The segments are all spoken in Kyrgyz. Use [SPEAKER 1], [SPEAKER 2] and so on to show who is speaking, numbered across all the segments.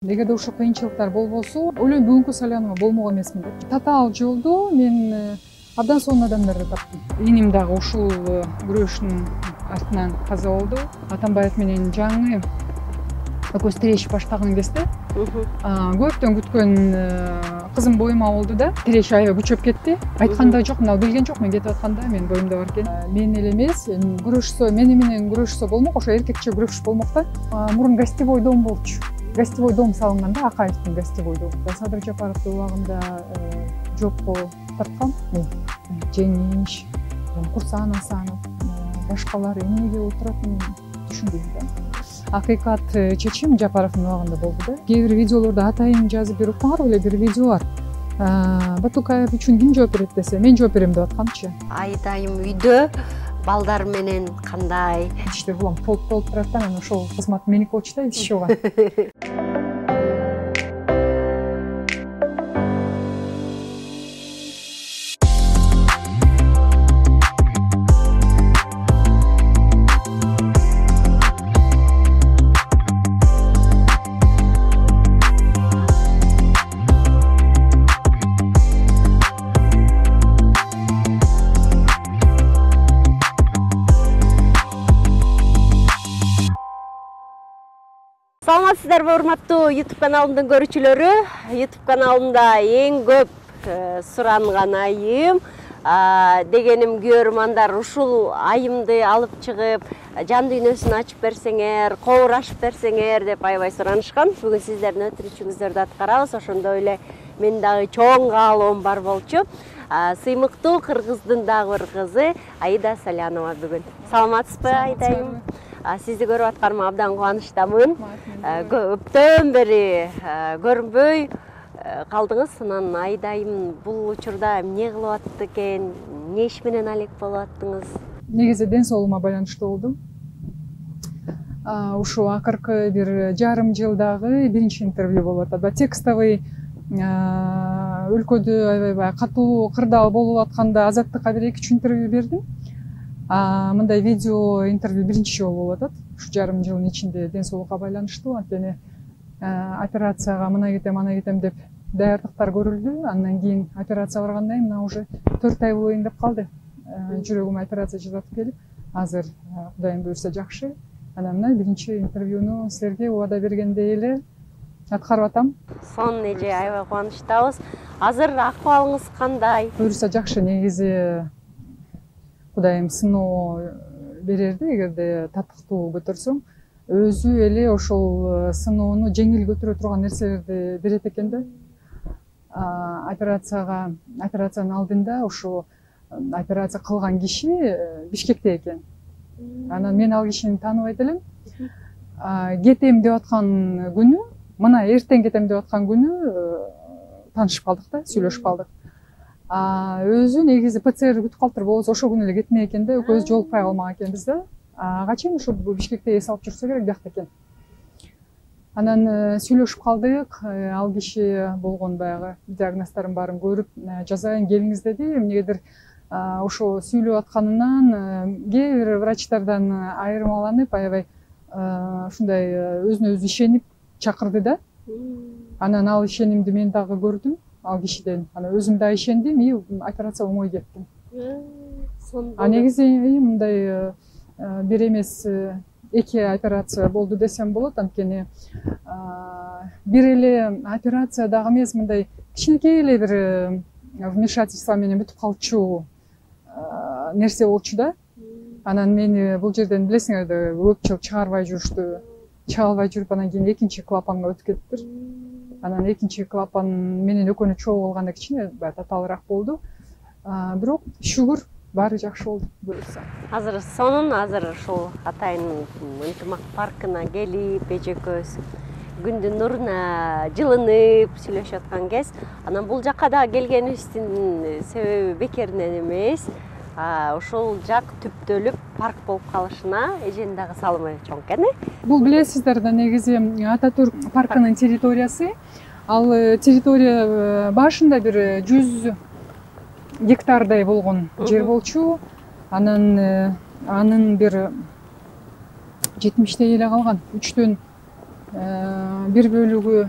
[SPEAKER 1] Эгерде ушул кыйынчылыктар болбосо, ойлойм бүгүнкү Салянова болмок эмесмин деп. Татаал жолдо мен абдан сонун адамдарды таптым. Иним дагы ушул күрөштүн артынан каза болду. Атамбаев менен жаңы экөөбүз тирешип баштаган кезде көптөн күткөн кызым боюма болду да. Тиреш аябай күчөп кетти. Айткан да жок, мына билген жок мен кетип атканда, мен боюмда бар экен. Мен эле эмес, күрөшсө, мени менен күрөшсө болмок, ошо эркекче күрөшүш болмок да. Мурун гостевой дом болчу. Гостевой дом салынганда, Акаевдин гостевой дом. Садыр Жапаровдун убагында жопко тарткан. Жеңиш, Курсан Асанов, башкалар эмнеге отуратын түшүнбөйм да. Акыйкат чечим Жапаровдун убагында болду да. Кээ бир видеолордо атайын жазып берип калган эле бир видео бар. Батукаев үчүн ким жооп берет десе, мен жооп берем деп атканчы.
[SPEAKER 2] Айдайым үйдө балдар менен кандай?
[SPEAKER 1] Иштер улам толуп турат да, анан ошол кызмат меники болчу да, ишчига.
[SPEAKER 2] Саламатсыздарбы, урматтуу YouTube каналымдын көрүүчүлөрү? YouTube каналымда эң көп суранган айым дегеним көрөрмандар ушул айымды алып чыгып, жан дүйнөсүн ачып берсеңер, кобур ачып берсеңер деп аябай суранышкан. Бүгүн сиздердин өтүнүчүңүздөрдү аткарабыз. Ошондой эле мен дагы чоң каалоом бар болчу. Сыймыктуу кыргыздын дагы бир кызы Аида Салянова бүгүн. Саламатсызбы, Айдайым? Сизди көрүп атканыма абдан кубанычтамын. Көптөн бери көрүнбөй калдыңыз. Анан Айдайым бул учурда эмне кылып атты экен? Эмне иш менен алек болуп аттыңыз?
[SPEAKER 1] Негизи ден соолугума байланыштуу болду. Ушул акыркы бир жарым жылдагы биринчи интервью болуп атат. Текстовый өлкөдө аябай катуу кырдаал болуп атканда Азаттыкка бир 2-3 интервью бердим. Мындай видео интервью биринчи жолу болуп атат. Ушу жарым жылдын ичинде ден соолукка байланыштуу. Анткени операцияга мына кетем деп даярдыктар көрүлдү. Андан кийин операцияга барганда мына уже 4 ай болоюн деп калды. Жүрөгүмө операция жасатып келип, азыр Кудайым буйрса жакшы. Анан мына биринчи интервьюну силерге убада бергендей эле аткарып атам.
[SPEAKER 2] Сонун эже, аябай кубанычтабыз. Азыр акыбалыңыз кандай?
[SPEAKER 1] Буйрса жакшы. Негизи Кудайым сыноо берерди, эгерде татыктуу көтөрсөң, өзү эле ошол сыноону жеңил көтөрө турган нерселерди берет экен да. Операциянын алдында ошо операция кылган киши Бишкекте экен. Анан мен ал кишини тааныбайт элем. Кетем деп аткан күнү, мына эртең кетем деп аткан күнү таанышып калдык да, сүйлөшүп калдык. Өзү негизи ПЦР күтүп калыптыр, болбосо ошол күнү эле кетмек экен да, экөөбүз жолукпай калмак экенбиз да. Ага чейин ушул Бишкекте эс алып жүрсө керек биякта экен. Анан сүйлөшүп калдык, ал киши болгон баягы диагноздордун баарын көрүп, жазайын келиңиз деди. Эмнегедир ошо сүйлөп атканынан кээ бир врачтардан айырмаланып, аябай ушундай өзүнө өзү ишенип чакырды да. Анан ал ишенимди мен дагы көрдүм ал кишиден. Анан өзүм да ишендим, и операция оңой кетти. Негизи мындай бир эмес 2 операция болду десем болот. Анткени бир эле операция дагы эмес, мындай кичинекей эле бир вмешательство менен бүтүп калчу нерсе болчу да. Анан мени бул жерден билесиңер да көп жыл чыгарбай жүрүштү. Чыга албай жүрүп, анан кийин экинчи клапанга өтүп кеттир. Анан экинчи клапан менен экөөнү чогуу кылганда кичине татаалыраак болду. Бирок шүгүр баары жакшы болду буюрса.
[SPEAKER 2] Азыр сонун, азыр ушул атайын ынтымак паркына келип, эжекөөбүз күндүн нуруна жылынып сүйлөшүп аткан кез. Анан бул жакка да келгенибиздин себеби бекеринен эмес. Ушул жак түптөлүп парк болуп калышына эженин дагы салымы чоң экен.
[SPEAKER 1] Бул билесиздер да, негизи Ататүрк паркынын территориясы. Ал территория башында бир 100 гектардай болгон жер болчу. Анын бир 70 эле калган. 3төн бир бөлүгү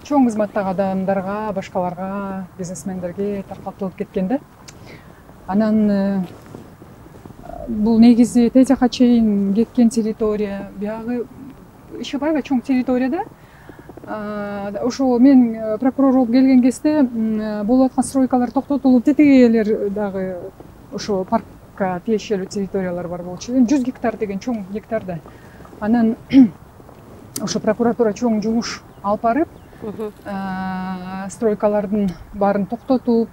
[SPEAKER 1] чоң кызматтагы адамдарга, башкаларга, бизнесмендерге таркатылып кеткен да. Анан бул негизи тез жака чейин кеткен территория, биягы иши аябай чоң территория да. Ошо мен прокурор болуп келген кезде болуп аткан стройкалар токтотулуп, тетигелер дагы ошо паркка тиешелүү территориялар бар болчу. 100 гектар деген чоң гектар да. Анан ошо прокуратура чоң жумуш алып барып, стройкалардын баарын токтотуп,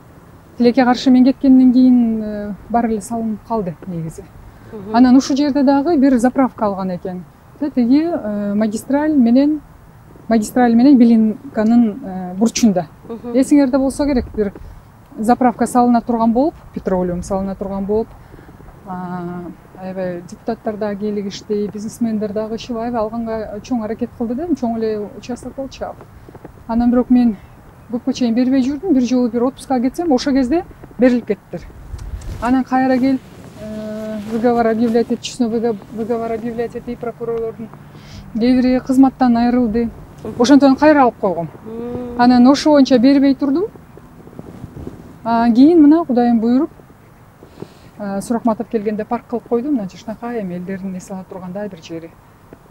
[SPEAKER 1] тилекке каршы мен кеткенден кийин баары эле салынып калды негизи. Анан ушул жерде дагы бир заправка алган экен. Тиги магистраль менен Белинканын бурчунда. Эсиңерде болсо керек, бир заправка салына турган болуп, петролиум салына турган болуп, аябай депутаттар дагы кийлигишти, бизнесмендер дагы иши алганга чоң аракет кылды да, чоң эле участок болчу. Анан бирок мен көпкө чейин бербей жүрдүм. Бир жолу бир отпускка кетсем, ошол кезде берилип кеттиler. Анан кайра келип выговор объявлять этчүсүнө выговор объявлять этти прокурорлордун кээ бири кызматтан айрылды. Ошондон кайра алып койгом. Анан ошо боюнча бербей турдум. Кийин мына Кудайым буйруп Суракматов келгенде парк кылып койду. Мына жакшынакай эми элдердин эс ала тургандай бир жери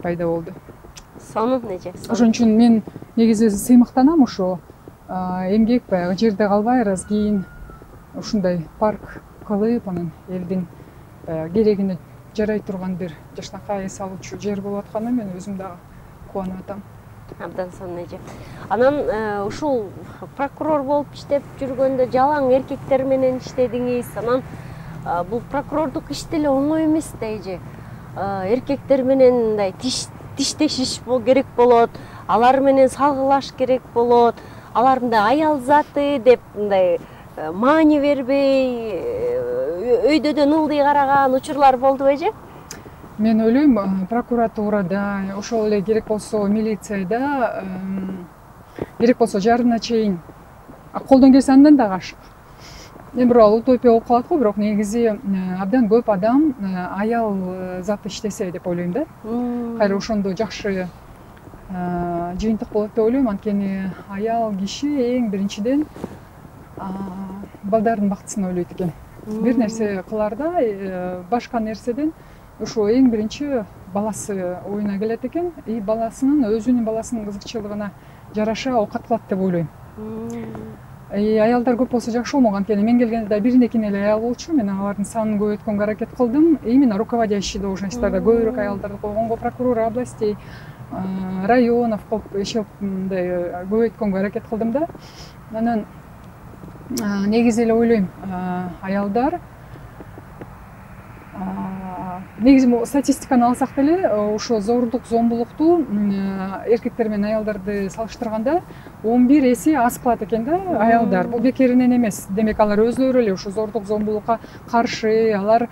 [SPEAKER 1] пайда болду.
[SPEAKER 2] Сонун эже.
[SPEAKER 1] Ошон үчүн мен негизи сыймыктанам ошо эмгек баягы жерде калбай, раз кийин ушундай парк кылып, анан элдин керегине жарай турган бир жакшынакай эс алуучу жер болуп атканына мен өзүм дагы кубанып атам.
[SPEAKER 2] Абдан сонун эже. Анан ушул прокурор болуп иштеп жүргөндө жалаң эркектер менен иштедиңиз. Анан бул прокурордук иш деле оңой эмес да эже. Эркектер менен мындай тиштешиш керек болот, алар менен салгылаш керек болот, алар мындай аял заты деп мындай маани бербей, өйдөдөн ылдый караган учурлар болдубу эже?
[SPEAKER 1] Мен ойлойм, прокуратурада, ошол эле керек болсо милицияда, керек болсо жарына чейин колдон келсе андан дагы ашык. Мен бирок утопия болуп калат го, бирок негизи абдан көп адам аял заты иштесе деп ойлойм да. Кайра ошондо жакшы жыйынтык болот деп ойлойм. Анткени аял киши эң биринчиден балдардын бактысын ойлойт экен. Бир нерсе кыларда башка нерседен ошо эң биринчи баласы оюна келет экен, и өзүнүн баласынын кызыкчылыгына жараша оокат кылат деп ойлойм. Аялдар көп болсо жакшы болмок. Анткени мен келгенде да биринекин эле аял болчу. Мен алардын санын көбөйткөнгө аракет кылдым. Именно руководящий должностьтарда көбүрөөк аялдарды койгонго, прокурор областей, районов мындай көбөйткөнгө аракет кылдым да. Анан негизи эле ойлойм, аялдар негизи статистиканы алсак деле ошо зордук, зомбулукту эркектер менен аялдарды салыштырганда 11 эсе аз кылат экен да аялдар. Бул бекеринен эмес. Демек алар өзлөрү эле ошо зордук, зомбулукка каршы, алар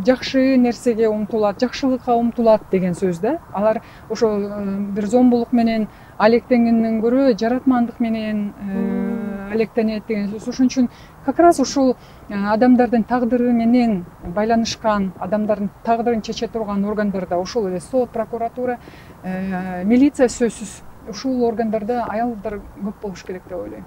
[SPEAKER 1] жакшы нерсеге умтулат, жакшылыкка умтулат деген сөз да. Алар ошо бир зомбулук менен алектенгенден көрө жаратмандык менен алектенет деген сөз. Ошон үчүн как раз ушул адамдардын тагдыры менен байланышкан, адамдардын тагдырын чече турган органдарда ошол эле сот, прокуратура, милиция сөзсүз ушул органдарда аялдар көп болуш керек деп ойлойм.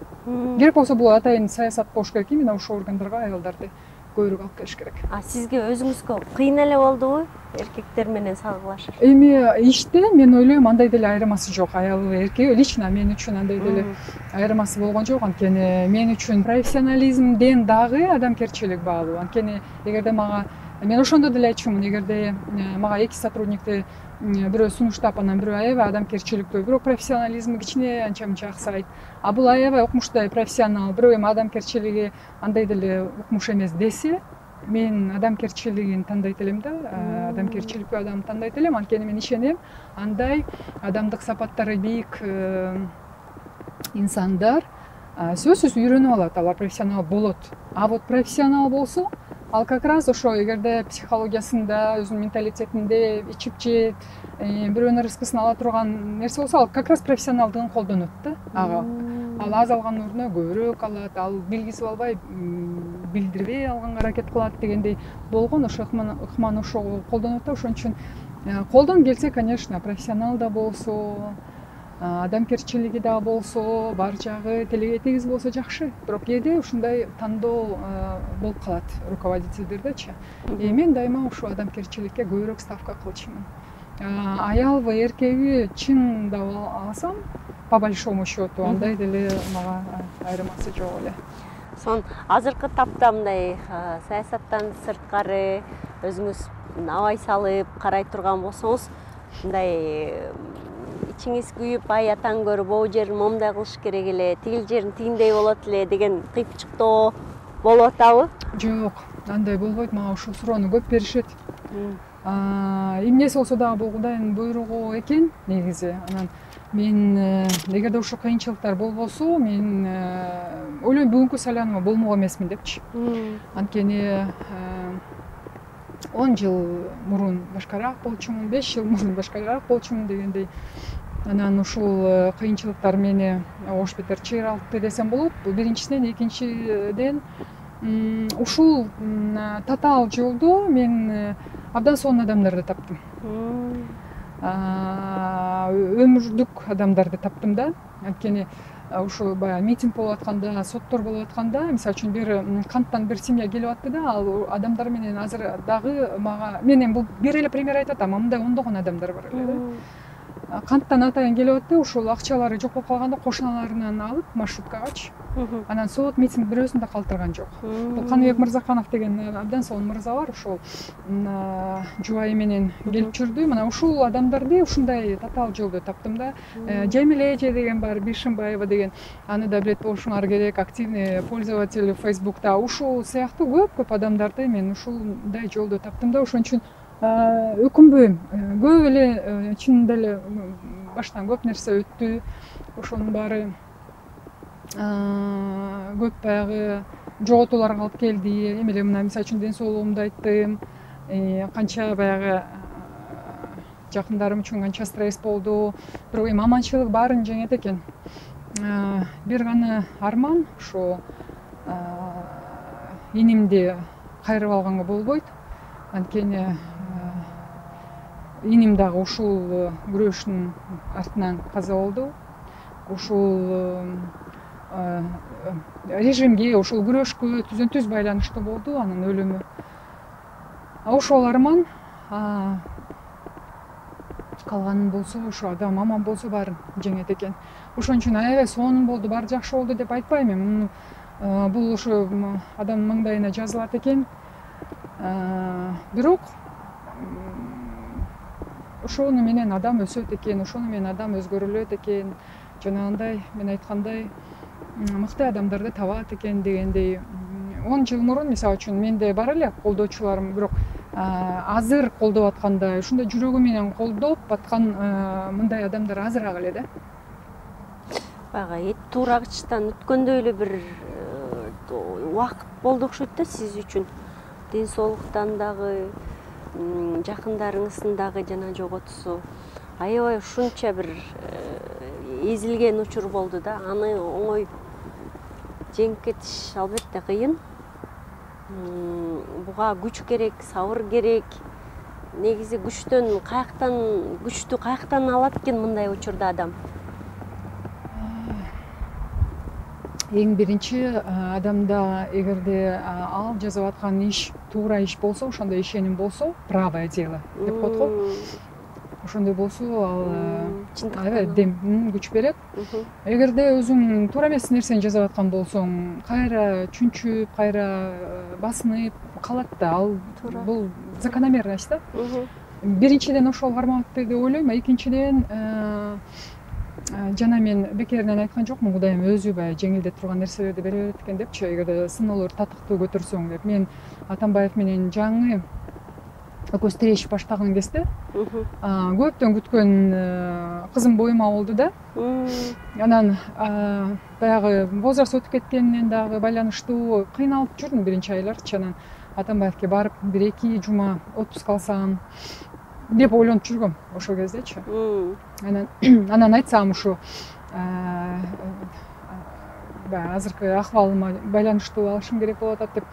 [SPEAKER 1] Керек болсо бул атайын саясат болуш керек, именно ушул органдарга аялдарды көбүрөөк алып келиш керек.
[SPEAKER 2] Сизге өзүңүзгө кыйын эле болдубу эркектер менен салгылашыш?
[SPEAKER 1] Эми иште мен ойлойм андай деле айырмасы жок. Аял эркек лично мен үчүн андай деле айырмасы болгон жок. Анткени мен үчүн профессионализмден дагы адамгерчилик баалуу. Анткени эгерде мен ошондо деле айтчумун, эгерде мага эки сотрудникти бирөө сунуштап, анан бирөө аябай адамгерчиликтүү, бирок профессионализми кичине анча-мынча аксайт. Бул аябай укмуштай профессионал, бирөө эми адамгерчилиги андай деле укмуш эмес десе, мен адамгерчилигин тандайт элем да, адамгерчиликтүү адамды тандайт элем. Анткени мен ишенем, андай адамдык сапаттары бийик инсандар сөзсүз үйрөнүп алат, алар профессионал болот. Вот профессионал болсо, ал как раз ошо эгерде психологиясында, өзүнүн менталитетинде ичип жеп, бирөөнүн рызкысын ала турган нерсе болсо, ал как раз профессионалдыгын колдонот да. Ал аз алган ордуна көбүрөөк алат, ал билгизип албай, билдирбей алганга аракет кылат дегендей болгон, ошо ыкманы ошого колдонот да. Ошон үчүн Колдон келсе, конечно, профессионал да болсо, адамгерчилиги да болсо, бар жагы тилиге тигиз болсо жакшы. Бирок кээде ушундай тандоо болуп калат руководительдердечи. Мен дайыма ушу адамгерчиликке көбүрөөк ставка кылчумун. Аялбы, эркеги чындап алсам, по большому счету, андай деле мага айырмасы жок эле.
[SPEAKER 2] Сон азыркы тапта мындай саясаттан сырткары өзүңүз абай салып карай турган болсоңуз, мындай ичиңиз күйүп, ай атаң көрүп, могу жерин момундай кылыш керек эле, тигил жерин тигиндей болот эле деген кыйпчыктоо болуп атабы?
[SPEAKER 1] Жок, андай болбойт. Мага ушул суроону көп беришет. Эмнеси болсо дагы бул Кудайдын буйругу экен негизи. Анан мен эгерде ушул кыйынчылыктар болбосо, мен ойлойм бүгүнкү Салянова болмок эмесмин депчи. Анткени 10 жыл мурун башкараак болчумун, 5 жыл мурун башкараак болчумун дегендей. Анан ушул кыйынчылыктар мени ош бетер чыйралтты десем болот. Бул биринчисинен, экинчиден ушул татаал жолдо мен абдан сонун адамдарды таптым. Өмүрдүк адамдарды таптым да. Анткени ушул баягы митинг болуп атканда, соттор болуп атканда, мисалы үчүн бир канттан бир семья келип атты да, ал адамдар менен азыр дагы мага менен бул бир эле пример айтып атам, мындай ондогон адамдар бар эле да. Канттан атайын келип атты, ушул акчалары жок болуп калганда кошуналарынан алып маршруткагачы. Анан сот митинг бирөөсүн да калтырган жок. Бул Каныбек Мырзаханов деген абдан сонун мырза бар, ошол жубайы менен келип жүрдү. Мына ушул адамдарды ушундай татаал жолдо таптым да. Жамиле эже деген бар, Бишимбаева деген, аны да билет болушуңар керек, активный пользователь Facebook'та. Ушул сыяктуу көп адамдарды мен ушундай жолдо таптым да. Ошон үчүн өкүнбөйм. Көп эле чынында эле баштан көп нерсе өттү. Ошонун баары көп баягы жоготууларга алып келди. Эми эле мына мисалы үчүн ден соолугумду айттым. Канча баягы жакындарым үчүн канча стресс болду. Бирок эми аманчылык баарын жеңет экен. Бир гана арман ушу инимди кайрып алганга болбойт. Анткени иним дагы ушул күрөштүн артынан каза болду. Ушул режимге, ушул күрөшкө түзөн-түз байланыштуу болду анын өлүмү. Ошол арман калганын болсо, ушу адам аман болсо баарын жеңет экен. Ошон үчүн аябай сонун болду, баары жакшы болду деп айтпайм мен. Бул ушу адамдын маңдайына жазылат экен. Бирок ошону менен адам өсөт экен, ошону менен адам өзгөрүлөт экен. Жанагындай мен айткандай мыкты адамдарды табат экен дегендей. 10 жыл мурун мисалы үчүн менде бар эле колдоочуларым, бирок азыр колдоп аткандай, ушундай жүрөгү менен колдоп аткан мындай адамдар азыраак эле да.
[SPEAKER 2] Баягы эт туурагычтан өткөндөй эле бир убакыт болду окшойт да сиз үчүн. Ден соолуктан дагы, жакындарыңыздын дагы жана жоготусу. Аябай ушунча бир эзилген учур болду да. Аны оңой жеңип кетиш албетте кыйын. Буга күч керек, сабыр керек. Негизи күчтү каяктан алат экен мындай учурда адам?
[SPEAKER 1] Эң биринчи адамда эгерде ал жасап аткан иш туура иш болсо, ошондой ишеним болсо, правое дело деп коет го. Ошондой болсо ал аябай дем, күч берет. Эгерде өзүң туура эмес нерсени жасап аткан болсоң, кайра чүнчүп, кайра басынып калат да. Ал бул закономерность да. Биринчиден ошол кармап атты деп ойлойм, экинчиден жана мен бекеринен айткан жокмун, Кудайым өзү баягы жеңилдетип турган нерселерди бере берет экен депчи, эгерде сыноолорду татыктуу көтөрсөң деп. Мен Атамбаев менен жаңы экөөбүз тирешип баштаган кезде көптөн күткөн кызым боюма болду да. Анан баягы возраст өтүп кеткенинен дагы байланыштуу кыйналып жүрдүм биринчи айларчы. Анан Атамбаевке барып бир 2 жума отпуск алсам деп ойлонуп жүргөм ошол кездечи. Анан айтсам ушу баягы азыркы акыбалыма байланыштуу алышым керек болуп атат деп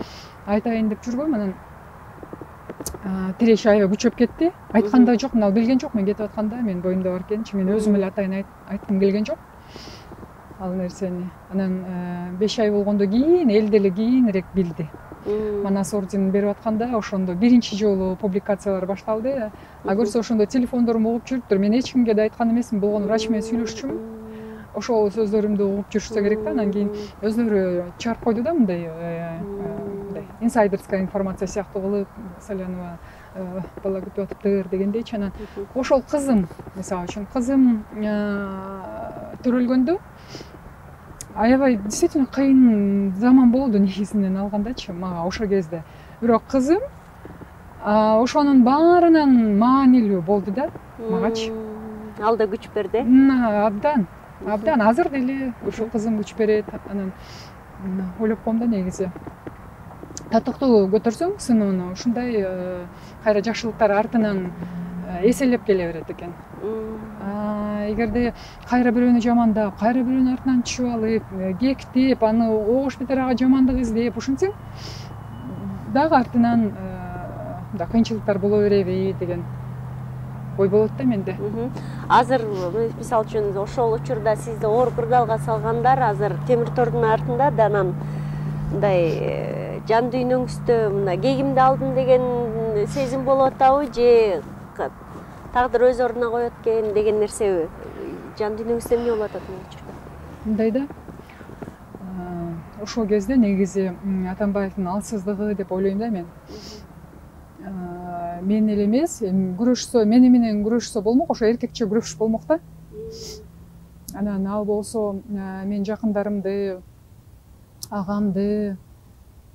[SPEAKER 1] айтайын деп жүргөм. Анан тиреш аябай күчөп кетти. Айткан да жок, ал билген жок мен кетип атканда, мен боюмда бар экенчи, мен өзүм эле атайын айткым келген жок ал нерсени. Анан 5 ай болгондон кийин эл деле кийинирээк билди. Манас орденин берип атканда ошондо биринчи жолу публикациялар башталды. А көрсө ошондо телефондорум угуп жүрүптүр. Мен эч кимге да айткан эмесмин. Болгону врач менен сүйлөшчүмүн. Ошол сөздөрүмдү угуп жүрүшсө керек да. Анан кийин өзүлөрү чыгарып койду да мындай инсайдерская информация сыяктуу кылып, Салянова бала күтүп атыптыр дегендейчи. Анан ошол кызым, мисалы үчүн кызым төрөлгөндө аябай действительно кыйын заман болду негизинен алгандачы мага ошол кезде. Бирок кызым ошонун баарынан маанилүү болду да магачы.
[SPEAKER 2] Ал да күч берди.
[SPEAKER 1] Абдан азыр деле ушул кызым күч берет. Анан ойлоп коем да негизи. Татыктуу көтөрсөң сыноону ушундай кайра жакшылыктар артынан эселеп келе берет экен. Эгерде кайра бирөөнү жамандап, кайра бирөөнүн артынан түшүп алып, кектеп, аны огош бетер ага жамандык издеп ушинтсең, дагы артынан да кыйынчылыктар боло береби деген ой болот да менде.
[SPEAKER 2] Азыр мисалы үчүн ошол учурда сизди оор кырдаалга салгандар азыр темир тордун артында да анан мындай жан дүйнөңүздө мына кегимди алдым деген сезим болуп атабы же тагдыр өз ордуна коет экен деген нерсеби? Жан дүйнөңүздө эмне болуп атат бул учурда?
[SPEAKER 1] Мындай да. Ошол кезде негизи Атамбаевдин алсыздыгы деп ойлойм да мен. Мен эле эмес, күрөшсө, мени менен күрөшсө болмок, ошо эркекче күрөшүш болмок да. Анан ал болсо мен жакындарымды, агамды,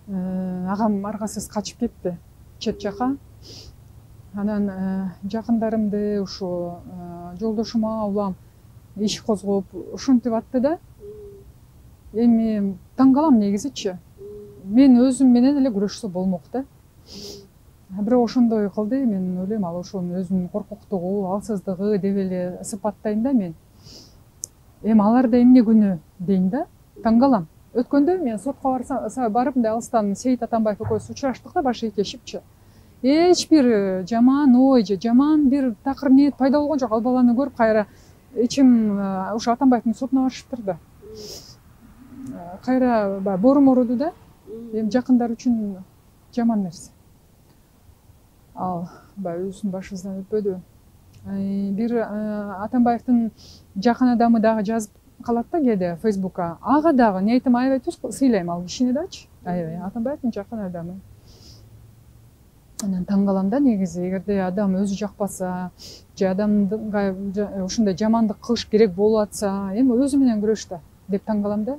[SPEAKER 1] агам аргасыз качып кетти чет жака. Анан жакындарымды ушу жолдошума улам иш козгоп ушинтип атты да. Эми таң калам негизичи. Мен өзүм менен эле күрөшсө болмок да. Бирок ошондой кылды, мен ойлойм ал ошонун өзүнүн коркоктугу, алсыздыгы деп эле сыпаттайм да мен. Эми аларда эмне күнөө дейм да. Таң калам. Өткөндө мен сотко барып мындай алыстан Сейит Атамбаев экөөбүз учураштык да баш ийкешипчи. Эч бир жаман ой же жаман бир такыр ниет пайда болгон жок. Ал баланы көрүп кайра ичим ушу Атамбаевдин сотуна барышыптыр да. Кайра борум оруду да. Эми жакындар үчүн жаман нерсе. Ал өзүнүн башыбыздан өтпөдү. Бир Атамбаевдин жакын адамы дагы жазып калат да кээде Фейсбукка. Ага дагы ниетим аябай түз сыйлайм ал кишини дачы. Аябай Атамбаевдин жакын адамы. Анан таң калам да негизи, эгерде адам өзү жакпаса, же адамга ушундай жамандык кылыш керек болуп атса, эми өзү менен күрөш да деп таң калам да.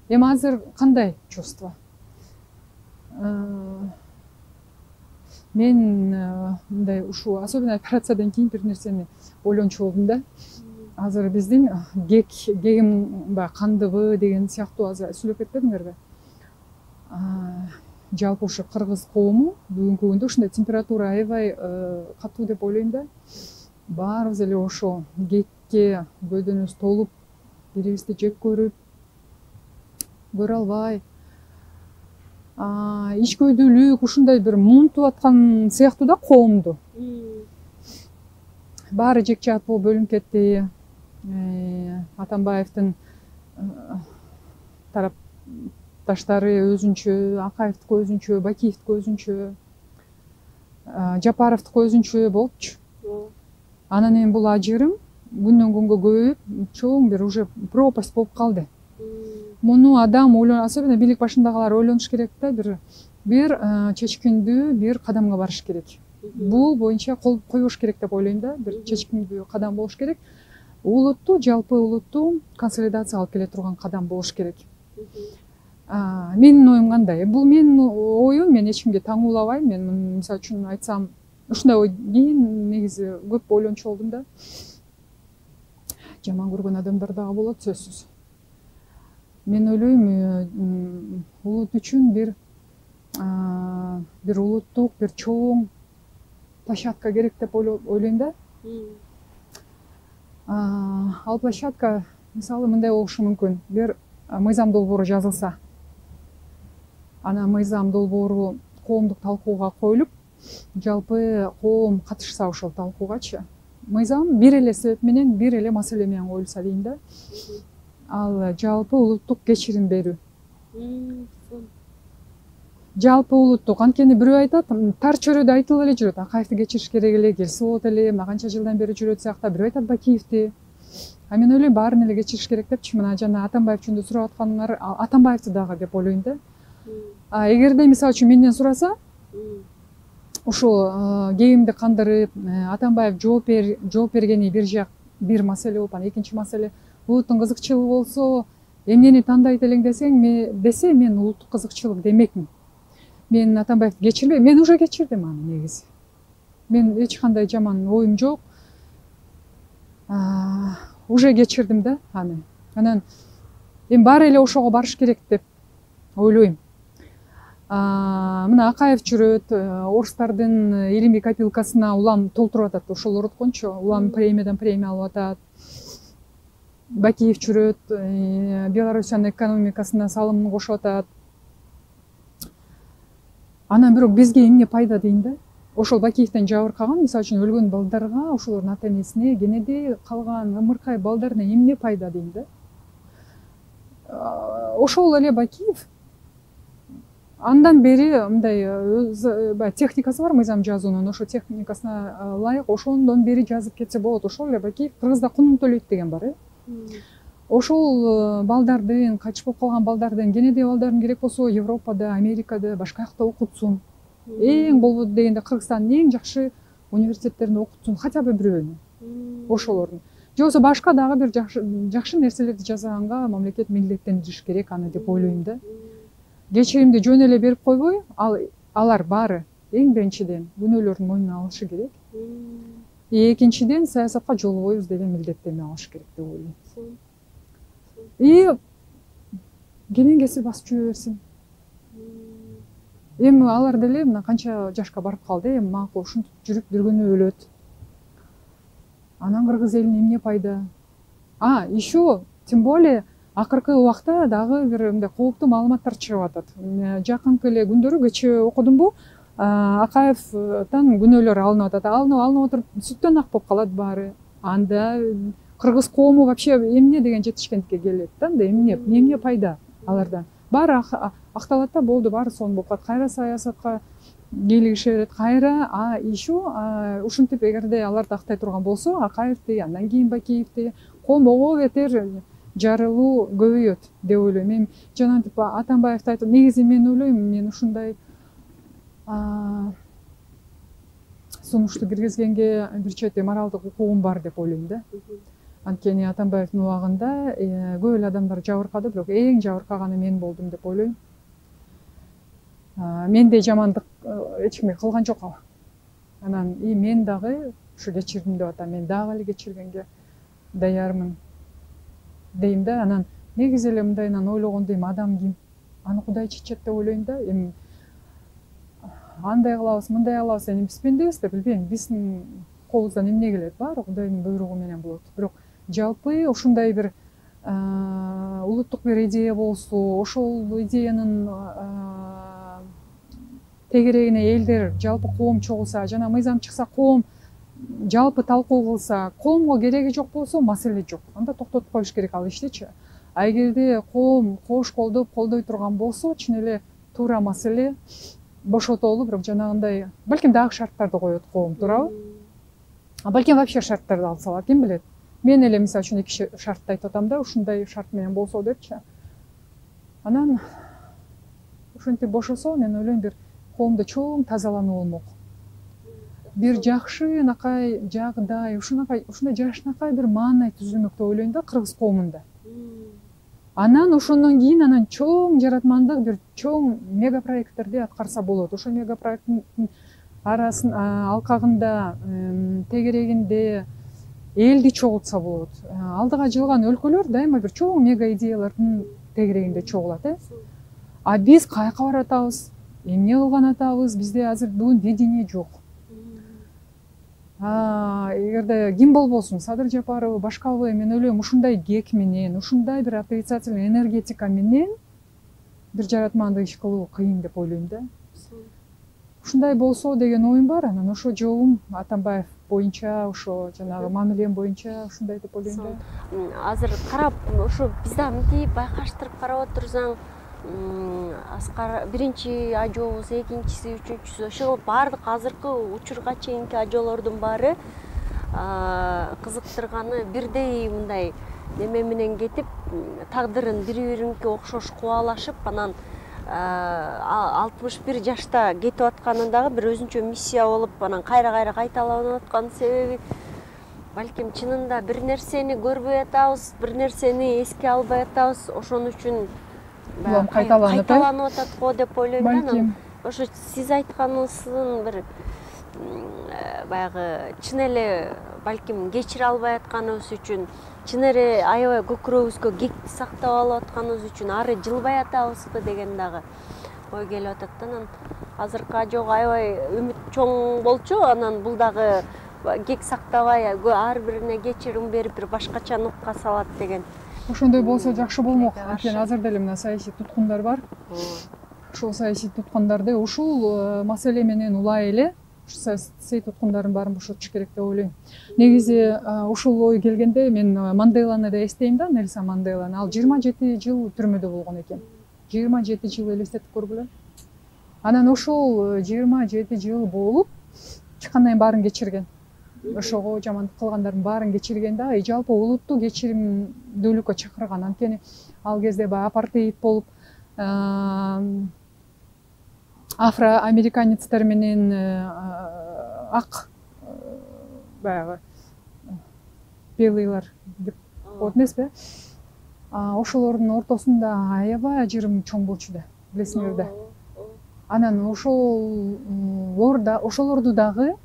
[SPEAKER 1] Эми азыр кандай чувство? Мен мындай ушу особенно операциядан кийин бир нерсени ойлончу болдум да. Азыр биздин кегим кандыбы деген сыяктуу азыр сүйлөп кетпедиңерби? Жалпы ушу кыргыз коому бүгүнкү күндө ушундай температура аябай катуу деп ойлойм да. Баарыбыз эле ошол кекке көдөнүбүз толуп, бирибизди жек көрүп, көрө албай, ичкөйдүүлүк ушундай бир муунтуп аткан сыяктуу да коомду. Баары жек жаат болуп бөлүнүп кетти. Атамбаевдин тарапташтары өзүнчө, Акаевдики өзүнчө, Бакиевдики өзүнчө, Жапаровдуку өзүнчө болупчу. Анан эми бул ажырым күндөн күнгө көбөйүп, чоң бир уже пропасть болуп калды. Муну адам особенно бийлик башындагылар ойлонуш керек да, бир чечкиндүү бир кадамга барыш керек. Бул боюнча кол коюш керек деп ойлойм да, бир чечкиндүү кадам болуш керек. Улутту, жалпы улутту консолидация алып келе турган кадам болуш керек. Менин оюм кандай? Бул менин оюм, мен эч кимге таңуулабайм. Мен мисалы үчүн айтсам, ушундай ой кийин негизи көп ойлончу болдум да. Жаман көргөн адамдар дагы болот, сөзсүз. Мен ойлойм, улут үчүн бир улуттук, бир чоң площадка керек деп ойлойм да. Ал площадка мисалы мындай болушу мүмкүн. Бир мыйзам долбоору жазылса, анан мыйзам долбоору коомдук талкууга коюлуп, жалпы коом катышса ошол талкуугачы, мыйзам бир эле себеп менен, бир эле маселе менен коюлса дейм да. Ал жалпы улуттук кечирим берүү. Жалпы улуттук, анткени бирөө айтат, тар чөйрөдө айтылып эле жүрөт, Акаевди кечириш керек эле, келсе болот эле, мына канча жылдан бери жүрөт сыякта. Бирөө айтат Бакиевди. А мен ойлойм баарын эле кечириш керек депчи. Мына жана Атамбаев жөнүндө сурап атканыңар, Атамбаевди дагы деп ойлойм да. Эгерде мисалы үчүн менден сураса, ушул кебимди кандырып, Атамбаев жооп бергени бир жак, бир маселе болуп, анан экинчи маселе улуттун кызыкчылыгы болсо, эмнени тандайт элең десе, мен улуттук кызыкчылык демекмин. Мен Атамбаевди кечирбейм, мен уже кечирдим аны негизи. Мен эч кандай жаман оюм жок. Уже кечирдим да аны. Анан эми баары эле ошого барыш керек деп ойлойм. Мына Акаев жүрөт, орустардын илимий копилкасына улам толтуруп атат, ошолор откончу, улам премиядан премия алып атат. Бакиев жүрөт, Белоруссиянын экономикасына салымын кошуп атат. Анан бирок бизге эмне пайда дейм да? Ошол Бакиевден жабыркаган, мисалы үчүн өлгөн балдарга, ошолордун ата энесине, кенеде калган ымыркай балдарына эмне пайда дейм да? Ошол эле Бакиев андан бери мындай техникасы бар мыйзам жазуунун, ошо техникасына ылайык ошондон бери жазып кетсе болот. Ошол эле Бакиев кыргызда кунун төлөйт деген бар, Ошол балдардын, качып болуп калган балдардын, кенеде балдардын керек болсо Европада, Америкада, башка жакта окутсун. Эң болбоду дегенде Кыргызстандын эң жакшы университеттеринде окутсун, хотя бы бирөөнү. Ошолордун. Же болбосо башка дагы бир жакшы нерселерди жасаганга мамлекет милдеттендириш керек аны деп ойлойм да. Кечиримди жөн эле берип койбой, алар баары эң биринчиден күнөөлөрдүн мойнуна алышы керек. Экинчиден саясатка жолбойбуз деген милдеттенме алыш керек деп ойлойм. Кенен кесип басып жүрө берсин. Эми алар деле мына канча жашка барып калды, эми макул ушинтип жүрүп бир күнү өлөт. Анан кыргыз элине эмне пайда? Еще тем более акыркы убакта дагы бир мындай кооптуу маалыматтар чыгып атат. Жакынкы эле күндөрү кечээ окудумбу? Акаевден күнөөлөр алынып атат. Алынып отуруп сүттөн ак болуп калат баары. Анда кыргыз коому вообще эмне деген жетишкендикке келет да, эмне пайда алардан? Баары акталат да, болду, баары сонун болуп калат. Кайра саясатка кийлигише берет, кайра еще ушинтип эгерде аларды актай турган болсо, Акаевди, андан кийин Бакиевди, коом ого бетер жарылуу көбөйөт деп ойлойм. Мен жанагынтип Атамбаевди айтып, негизи мен ойлойм, мен ушундай сунушту киргизгенге бир чети моралдык укугум бар деп ойлойм да. Анткени Атамбаевдин убагында көп эле адамдар жабыркады, бирок эң жабыркаганы мен болдум деп ойлойм. Менде жамандык эч кимге кылган жок. Анан мен дагы ушу кечирдим деп атам, мен дагы эле кечиргенге даярмын дейм да. Анан негизи эле мындайынан ойлогондо эми адам ким? Аны Кудай чечет деп ойлойм да. Эми андай кылабыз, мындай кылабыз, эми биз пендебиз да, билбейм, биздин колубуздан эмне келет, баары Кудайдын буйругу менен болот. Бирок жалпы ушундай бир улуттук бир идея болсо, ошол идеянын тегерегине элдер, жалпы коом чогулса, жана мыйзам чыкса, коом жалпы талкуу кылса, коомго кереги жок болсо маселе жок. Анда токтотуп коюш керек ал иштичи. Эгерде коом кош колдоп колдой турган болсо, чын эле туура маселе бошотолу, бирок жанагындай балким дагы шарттарды коет коом, туурабы? Балким вообще шарттарды алсалар, ким билет? Мен эле мисалы үчүн 2 шартты айтып атам да, ушундай шарт менен болсо депчи. Анан ушинтип бошосо, мен ойлойм бир коомдо чоң тазалануу болмок. Бир жакшынакай жагдай, ушундай жакшынакай бир маанай түзүлмөк деп ойлойм да кыргыз коомунда. Анан ошондон кийин анан чоң жаратмандык бир чоң мегапроекттерди аткарса болот. Ошол мегапроекттин арасын алкагында, тегерегинде элди чогултса болот. Алдыга жылган өлкөлөр дайыма бир чоң мега идеялардын тегерегинде чогулат, А биз каяка баратабыз? Эмне кылган атабыз? Бизде азыр бүгүн видение жок. Эгерде ким болбосун, Садыр Жапаров, башкабы, мен ойлойм, ушундай кек менен, ушундай бир отрицательный энергетика менен бир жаратмандык иш кылуу кыйын деп ойлойм да. ушундай болсо деген оюм бар. Анан ошо жолум Атамбаев боюнча, ошо жанагы мамилем боюнча ушундай деп ойлойм да.
[SPEAKER 2] Азыр карап, ошо биз да мынтип байкаштырып карап отурсаң, Аскар биринчи ажообуз, экинчиси, үчүнчүсү, ошол баардык азыркы учурга чейинки ажоолордун баары кызыктырганы бирдей мындай неме менен кетип, тагдырын бири-биринке окшош кубалашып, анан 61 жашта кетип атканы дагы бир өзүнчө миссия болуп, анан кайра кайталанып аткан себеби балким чынында бир нерсени көрбөй атабыз, бир нерсени эске албай атабыз, ошон үчүн кайталанып атат го деп ойлойм да. Анан ошо сиз айтканыңыздын бир баягы чын эле балким кечире албай атканыбыз үчүн, чын эле аябай көкүрөгүбүзгө кекти сактап алып атканыбыз үчүн ары жылбай атабызбы деген дагы ой келип атат да. Анан азыркы ажоого аябай үмүт чоң болчу, анан бул дагы кек сактабай ар бирине кечирим берип бир башкача нукка салат деген.
[SPEAKER 1] Ошондой болсо жакшы болмок. Анткени азыр деле мына саясий туткундар бар. Ошол саясий туткундарды ушул маселе менен улай эле саясий туткундардын баарын бошотуш керек деп ойлойм. Негизи ушул ой келгенде мен Манделаны да эстейм да, Нельсон Манделаны. Ал 27 жыл түрмөдө болгон экен. 27 жыл элестетип көргүлө. Анан ошол 27 жыл болуп чыккандан кийин баарын кечирген. Ошого жамандык кылгандардын баарын кечирген да, жалпы улутту кечиримдүүлүккө чакырган. Анткени ал кезде баягы апартеид болуп, афроамериканецтер менен ак баягы белыйлар деп коет эмеспи? Ошолордун ортосунда аябай ажырым чоң болчу да, билесиңер да. Анан ошолорду дагы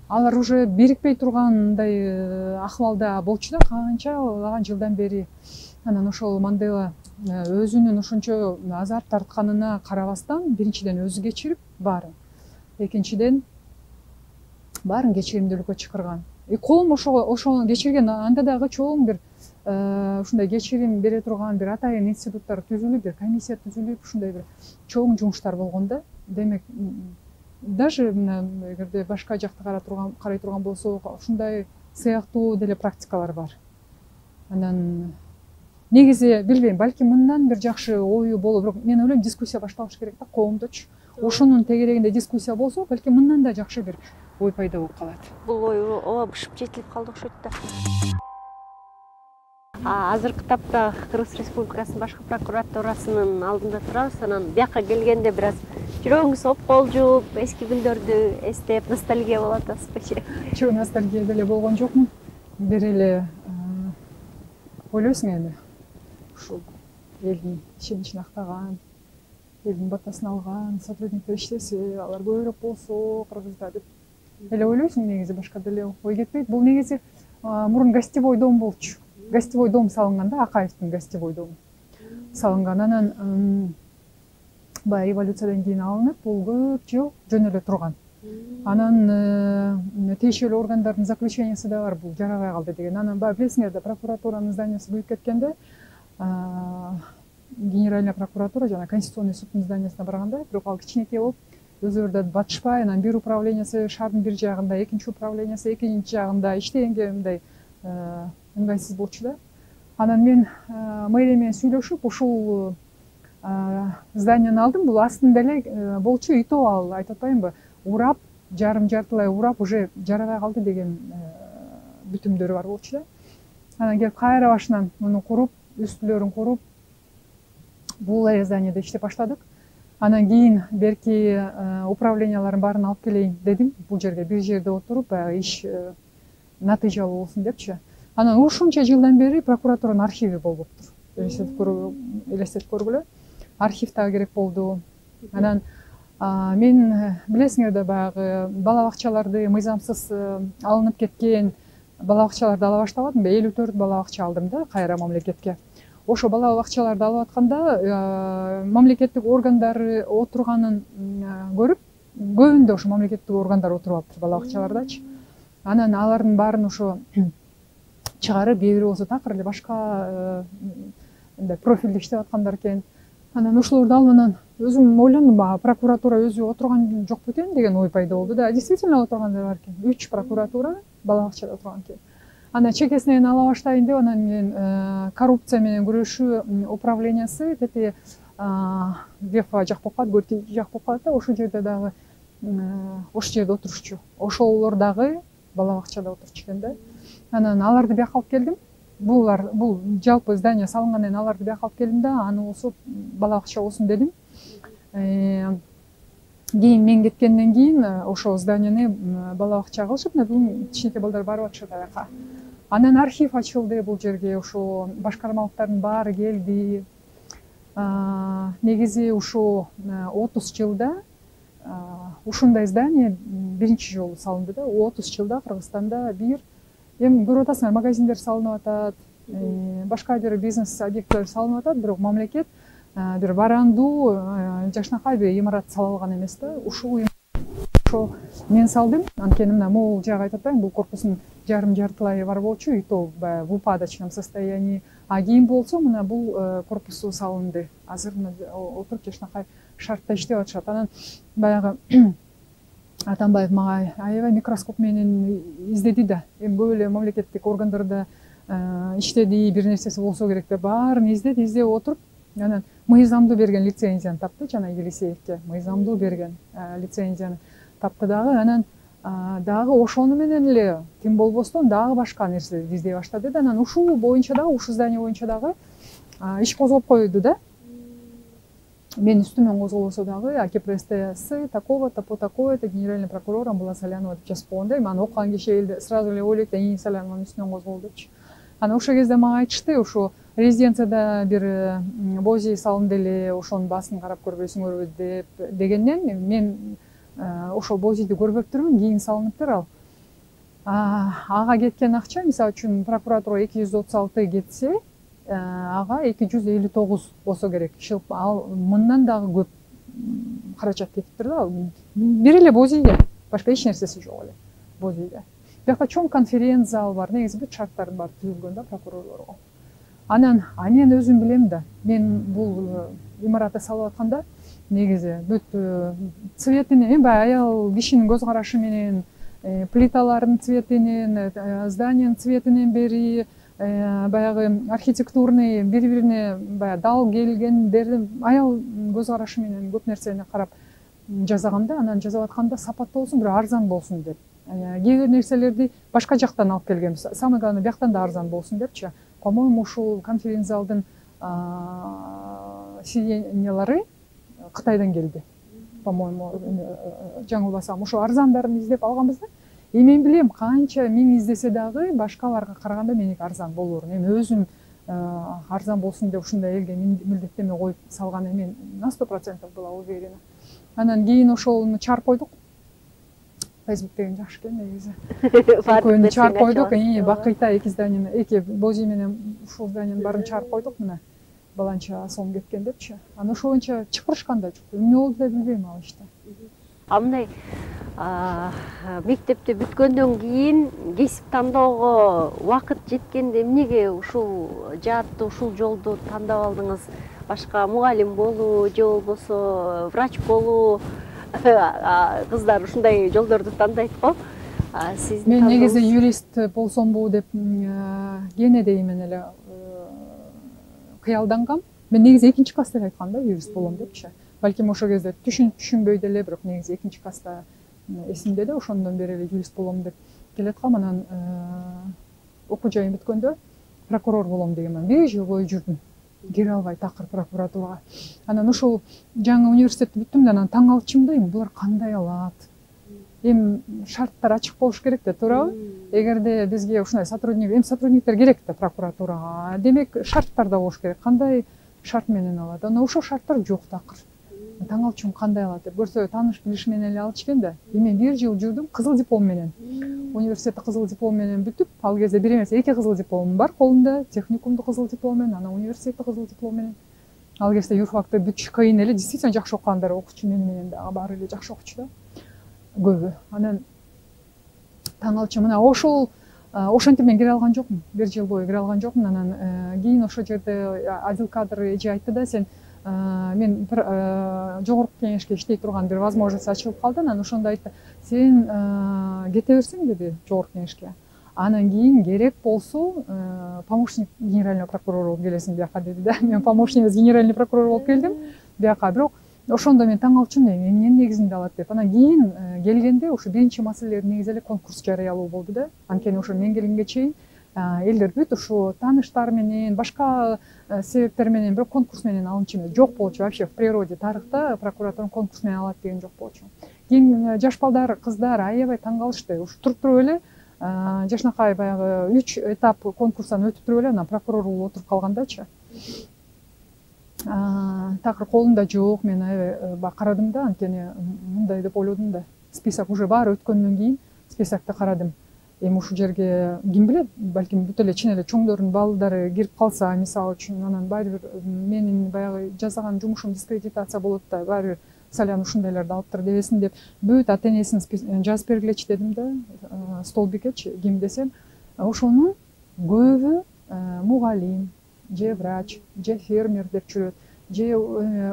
[SPEAKER 1] алар уже бирикпей тургандай акыбалда болчу да, канчалаган жылдан бери. Анан ошол Мандела өзүнүн ошончо азап тартканына карабастан, биринчиден өзү кечирип баарын, экинчиден баарын кечиримдүүлүккө чакырган. Колум ошону кечирген, анда дагы чоң бир ушундай кечирим бере турган бир атайын институттар түзүлүп, бир комиссия түзүлүп, ушундай бир чоң жумуштар болгон да. Демек, даже эгерде башка жакты карай турган болсок, ушундай сыяктуу деле практикалар бар. Анан негизи билбейм, балким мындан бир жакшы ою боло, бирок мен ойлойм дискуссия башталыш керек да, коомдочу. Ошонун тегерегинде дискуссия болсо, балким мындан да жакшы бир ой пайда болуп калат.
[SPEAKER 2] Бул ой ооба бышып жетилип калды окшойт да. Азыркы тапта Кыргыз Республикасынын башкы прокуратурасынын алдында турабыз. Анан бияка келгенде бир аз жүрөгүңүз опколжуп, эски күндөрдү эстеп, ностальгия болуп атасызбы?
[SPEAKER 1] Чоң ностальгия деле болгон жокмун. Бир эле ойлойсуң эми, ушул элдин ишеничин актаган, элдин батасын алган сотрудниктер иштесе, алар көбүрөөк болсо Кыргызда деп эле ойлойсуң. Негизи башка деле ой кетпейт. Бул негизи мурун гостевой дом болчу. Гостевой дом салынган да, Акаевдин гостевой дому салынган. Анан баягы революциядан кийин алынып, бул көп жыл жөн эле турган. Анан тиешелүү органдардын заключениясы да бар, бул жарабай калды деген. Анан баягы билесиңер да, прокуратуранын зданиясы күйүп кеткенде, Генеральная прокуратура жана Конституционный суддун зданиясына барганда, бирок ал кичинекей болуп, өзүлөрү да батышпай, анан бир управлениясы шаардын бир жагында, экинчи управлениясы экинчи жагында иштегенге мындай ыңгайсыз болчу да. Анан мен мэрия менен сүйлөшүп, ушул зданияны алдым. Бул астында эле болчу ИТО, ал айтып атпаймынбы, урап, жартылай урап, уже жарабай калды деген бүтүмдөрү бар болчу да. Анан келип кайра башынан муну куруп, үстүлөрүн куруп, бул зданияда иштеп баштадык. Анан кийин берки управлениялардын баарын алып келейин дедим. Бул жерге бир жерде отуруп, баягы иш натыйжалуу болсун депчи. Анан ушунча жылдан бери прокуратуранын архиви болуптур. Элестетип көргүлө. Архив дагы керек болду. Анан мен билесиңер да, баягы бала бакчаларды мыйзамсыз алынып кеткен бала бакчаларды ала баштабадымбы? 54 бала бакча алдым да кайра мамлекетке. Ошо бала бакчаларды алып атканда мамлекеттик органдар отурганын көрүп, көбүндө ошо мамлекеттик органдар отуруп алыптыр бала бакчалардачы. Анан алардын баарын ошо чыгарып, кээ бири болсо такыр эле башка мындай профилде иштеп аткандар экен. Анан ошолорду алып, анан өзүм ойлондум, баягы прокуратура өзү отурган жок бекен деген ой пайда болду да. Действительно отургандар бар экен. 3 прокуратура бала бакчада отурган экен. Анан чекесинен ала баштайын деп, анан мен коррупция менен күрөшүү управлениясы тети Вефа жак болуп калат, Гөрти жак болуп калат да, ошол жерде дагы ошол жерде отурчу. Ошолор дагы бала бакчада отурчу экен да. Анан аларды бияка алып келдим. Бул жалпы здание салынгандан кийин аларды бияка алып келдим да, аны болсо бала бакча болсун дедим. Кийин мен кеткенден кийин ошол зданияны бала бакча кылышып, бүгүн кичинекей балдар барып атышат аяка. Анан архив ачылды бул жерге, ошо башкармалыктардын баары келди. Негизи ушу 30 жылда ушундай здание биринчи жолу салынды да. 30 жылда Кыргызстанда эми көрүп атасыңар, магазиндер салынып атат, башка бир бизнес объекттер салынып атат, бирок мамлекет бир барандуу жакшынакай бир имарат сала алган эмес да. Ошо мен салдым. Анткени мына могул жагы айтып атпаймынбы, бул корпустун жарым-жартылай бар болчу, и то в упадочном состоянии. А кийин болсо мына бул корпусу салынды. Азыр отуруп жакшынакай шартта иштеп атышат. Анан баягы Атамбаев мага аябай микроскоп менен издеди да. Эми көп эле мамлекеттик органдарда иштеди, бир нерсеси болсо керек деп баарын издеп отуруп, анан мыйзамдуу берген лицензияны тапты, жана Елисеевке мыйзамдуу берген лицензияны тапты дагы. Анан дагы ошону менен эле ким болбостон дагы башка нерселерди издей баштады да. Анан ушул боюнча дагы, ушул здание боюнча дагы иш козгоп койду да. Мен үстүмөн козголбосо дагы АКПСТ такого-то по такое-то генеральный прокурор Амбула Салянова деп жазып койгон да. Эми аны окуган киши элде сразу эле ойлойт да, Салянованын үстүнөн козголду депчи. Анан ошол кезде мага айтышты, ошо резиденцияда бир бози салынды эле, ошонун баасын карап көрбөйсүңөрбү дегенден мен ошол бозиди көрбөптүрмүн, кийин салыныптыр ал. Ага кеткен акча, мисалы үчүн прокуратура 236 кетсе, ага 259 болсо керек. Ал мындан дагы көп каражат кетиптир да. Бир эле бозиге, башка эч нерсеси жок эле бозиде. Бияка чоң конференц зал бар, негизи бүт шарттардын баары түзүлгөн да прокурорлорго. Анан мен өзүм билем да, мен бул имаратты салып атканда негизи бүт цветине, эми баягы аял кишинин көз карашы менен, плиталардын цветинен, зданиянын цветинен бери, баягы архитектурный бири-бирине баягы дал келгендерди аял көз карашы менен көп нерсени карап жасагам да. Анан жасап атканда сапаттуу болсун, бирок арзан болсун деп. Кээ бир нерселерди башка жактан алып келгем. Самое главное, бияктан да арзан болсун депчи. По-моему, ушул конференц залдын сиденьялары Кытайдан келди. По-моему, жаңылбасам, ошо арзандарын издеп алганбыз да. Мен билем, канча миң издесе дагы башкаларга караганда меники арзан болурун. Эми өзүм арзан болсун деп ушундай элге милдеттеме коюп салган эмен на 100% была уверена. Анан кийин ошону чарп койдук. Facebook деген жакшы экен негизи. Экөөнү чарп койдук, бакыйта эки зданияны, эки бози менен ушул зданиянын баарын чарп койдук, мына баланча сом кеткен депчи. Анан ошол боюнча чыкырышкан да жок. Эмне болду деп билбейм ал иште.
[SPEAKER 2] Мындай мектепти бүткөндөн кийин кесип тандоого убакыт жеткенде эмнеге ушул жаатты, ушул жолду тандап алдыңыз? Башка мугалим болуу же болбосо врач болуу? Кыздар ушундай жолдорду тандайт го.
[SPEAKER 1] Мен негизи юрист болсомбу деп кенедеймен эле кыялдангам. Мен негизи 2-класста айткам да, юрист болом депчи. Балким ошол кезде түшүнбөй деле, бирок негизи 2-класста эсимде да, ошондон бери эле юрист болом деп келаткам. Анан окуу жайын бүткөндө прокурор болом дегенмин. 1 жыл бою жүрдүм. Кире албай такыр прокуратурага. Анан ушул жаңы университетти бүттүм да, анан таң калчым да, булар кандай алат? Эми шарттар ачык болуш керек да, туурабы? Эгерде бизге ушундай сотрудниктер керек да прокуратурага. Демек шарттар да болуш керек. Кандай шарт менен алат? Анан ошол шарттар жок такыр. Таң калчым, кандай алат деп. Көрсө тааныш билиш менен эле алчу экен да. Мен 1 жыл жүрдүм кызыл диплом менен. Университетти кызыл диплом менен бүтүп, ал кезде бир эмес, 2 кызыл дипломум бар колумда, техникумду кызыл диплом менен, анан университетти кызыл диплом менен. Ал кезде юрфакты бүтүш кыйын эле, действительно жакшы окугандар окучу менен дагы баары эле жакшы окучу да. Көбү. Анан таң калчым, мына ошентип мен кире алган жокмун. 1 жыл бою кире алган жокмун. Анан кийин ошол жерде отдел кадр эже айтты да, сен мен бир жогорку кеңешке иштей турган бир возможность ачылып калды. Анан ошондо айтты, сен кете берсең деди жогорку кеңешке. Анан кийин керек болсо помощник генерального прокурора болуп келесиң бияка деди да. Мен помощник генеральный прокурор болуп келдим бияка. Бирок ошондо мен таң калчумун, эмненин негизинде алат деп. Анан кийин келгенде ошо биринчи маселелер негизи эле конкурс жарыялоо болду да. Анткени ошо мен келгенге чейин элдер бүт ушу тааныштар менен, башка себептер менен, бирок конкурс менен алынчу эмес. Жок болчу вообще в природе, тарыхта прокуратура конкурс менен алат деген жок болчу. Кийин жаш балдар, кыздар аябай таң калышты. Ушу туруп туруп эле жашынакай баягы 3 этап конкурстан өтүп туруп эле анан прокурор болуп отуруп калгандачы. Такыр колумда жок, мен аябай карадым да, анткени мындай деп ойлодум да. Список уже баары өткөндөн кийин списокто карадым. Эми ушул жерге ким билет, балким бүт эле чын эле чоңдордун балдары кирип калса, мисалы үчүн, анан баары бир менин баягы жасаган жумушум дискредитация болот да, баары бир Салян ушундайларды алыптыр дебесин деп бүт ата энесин жазып бергилечи дедим да, столбикечи ким десем, ошонун көбү мугалим, же врач, же фермер деп жүрөт, же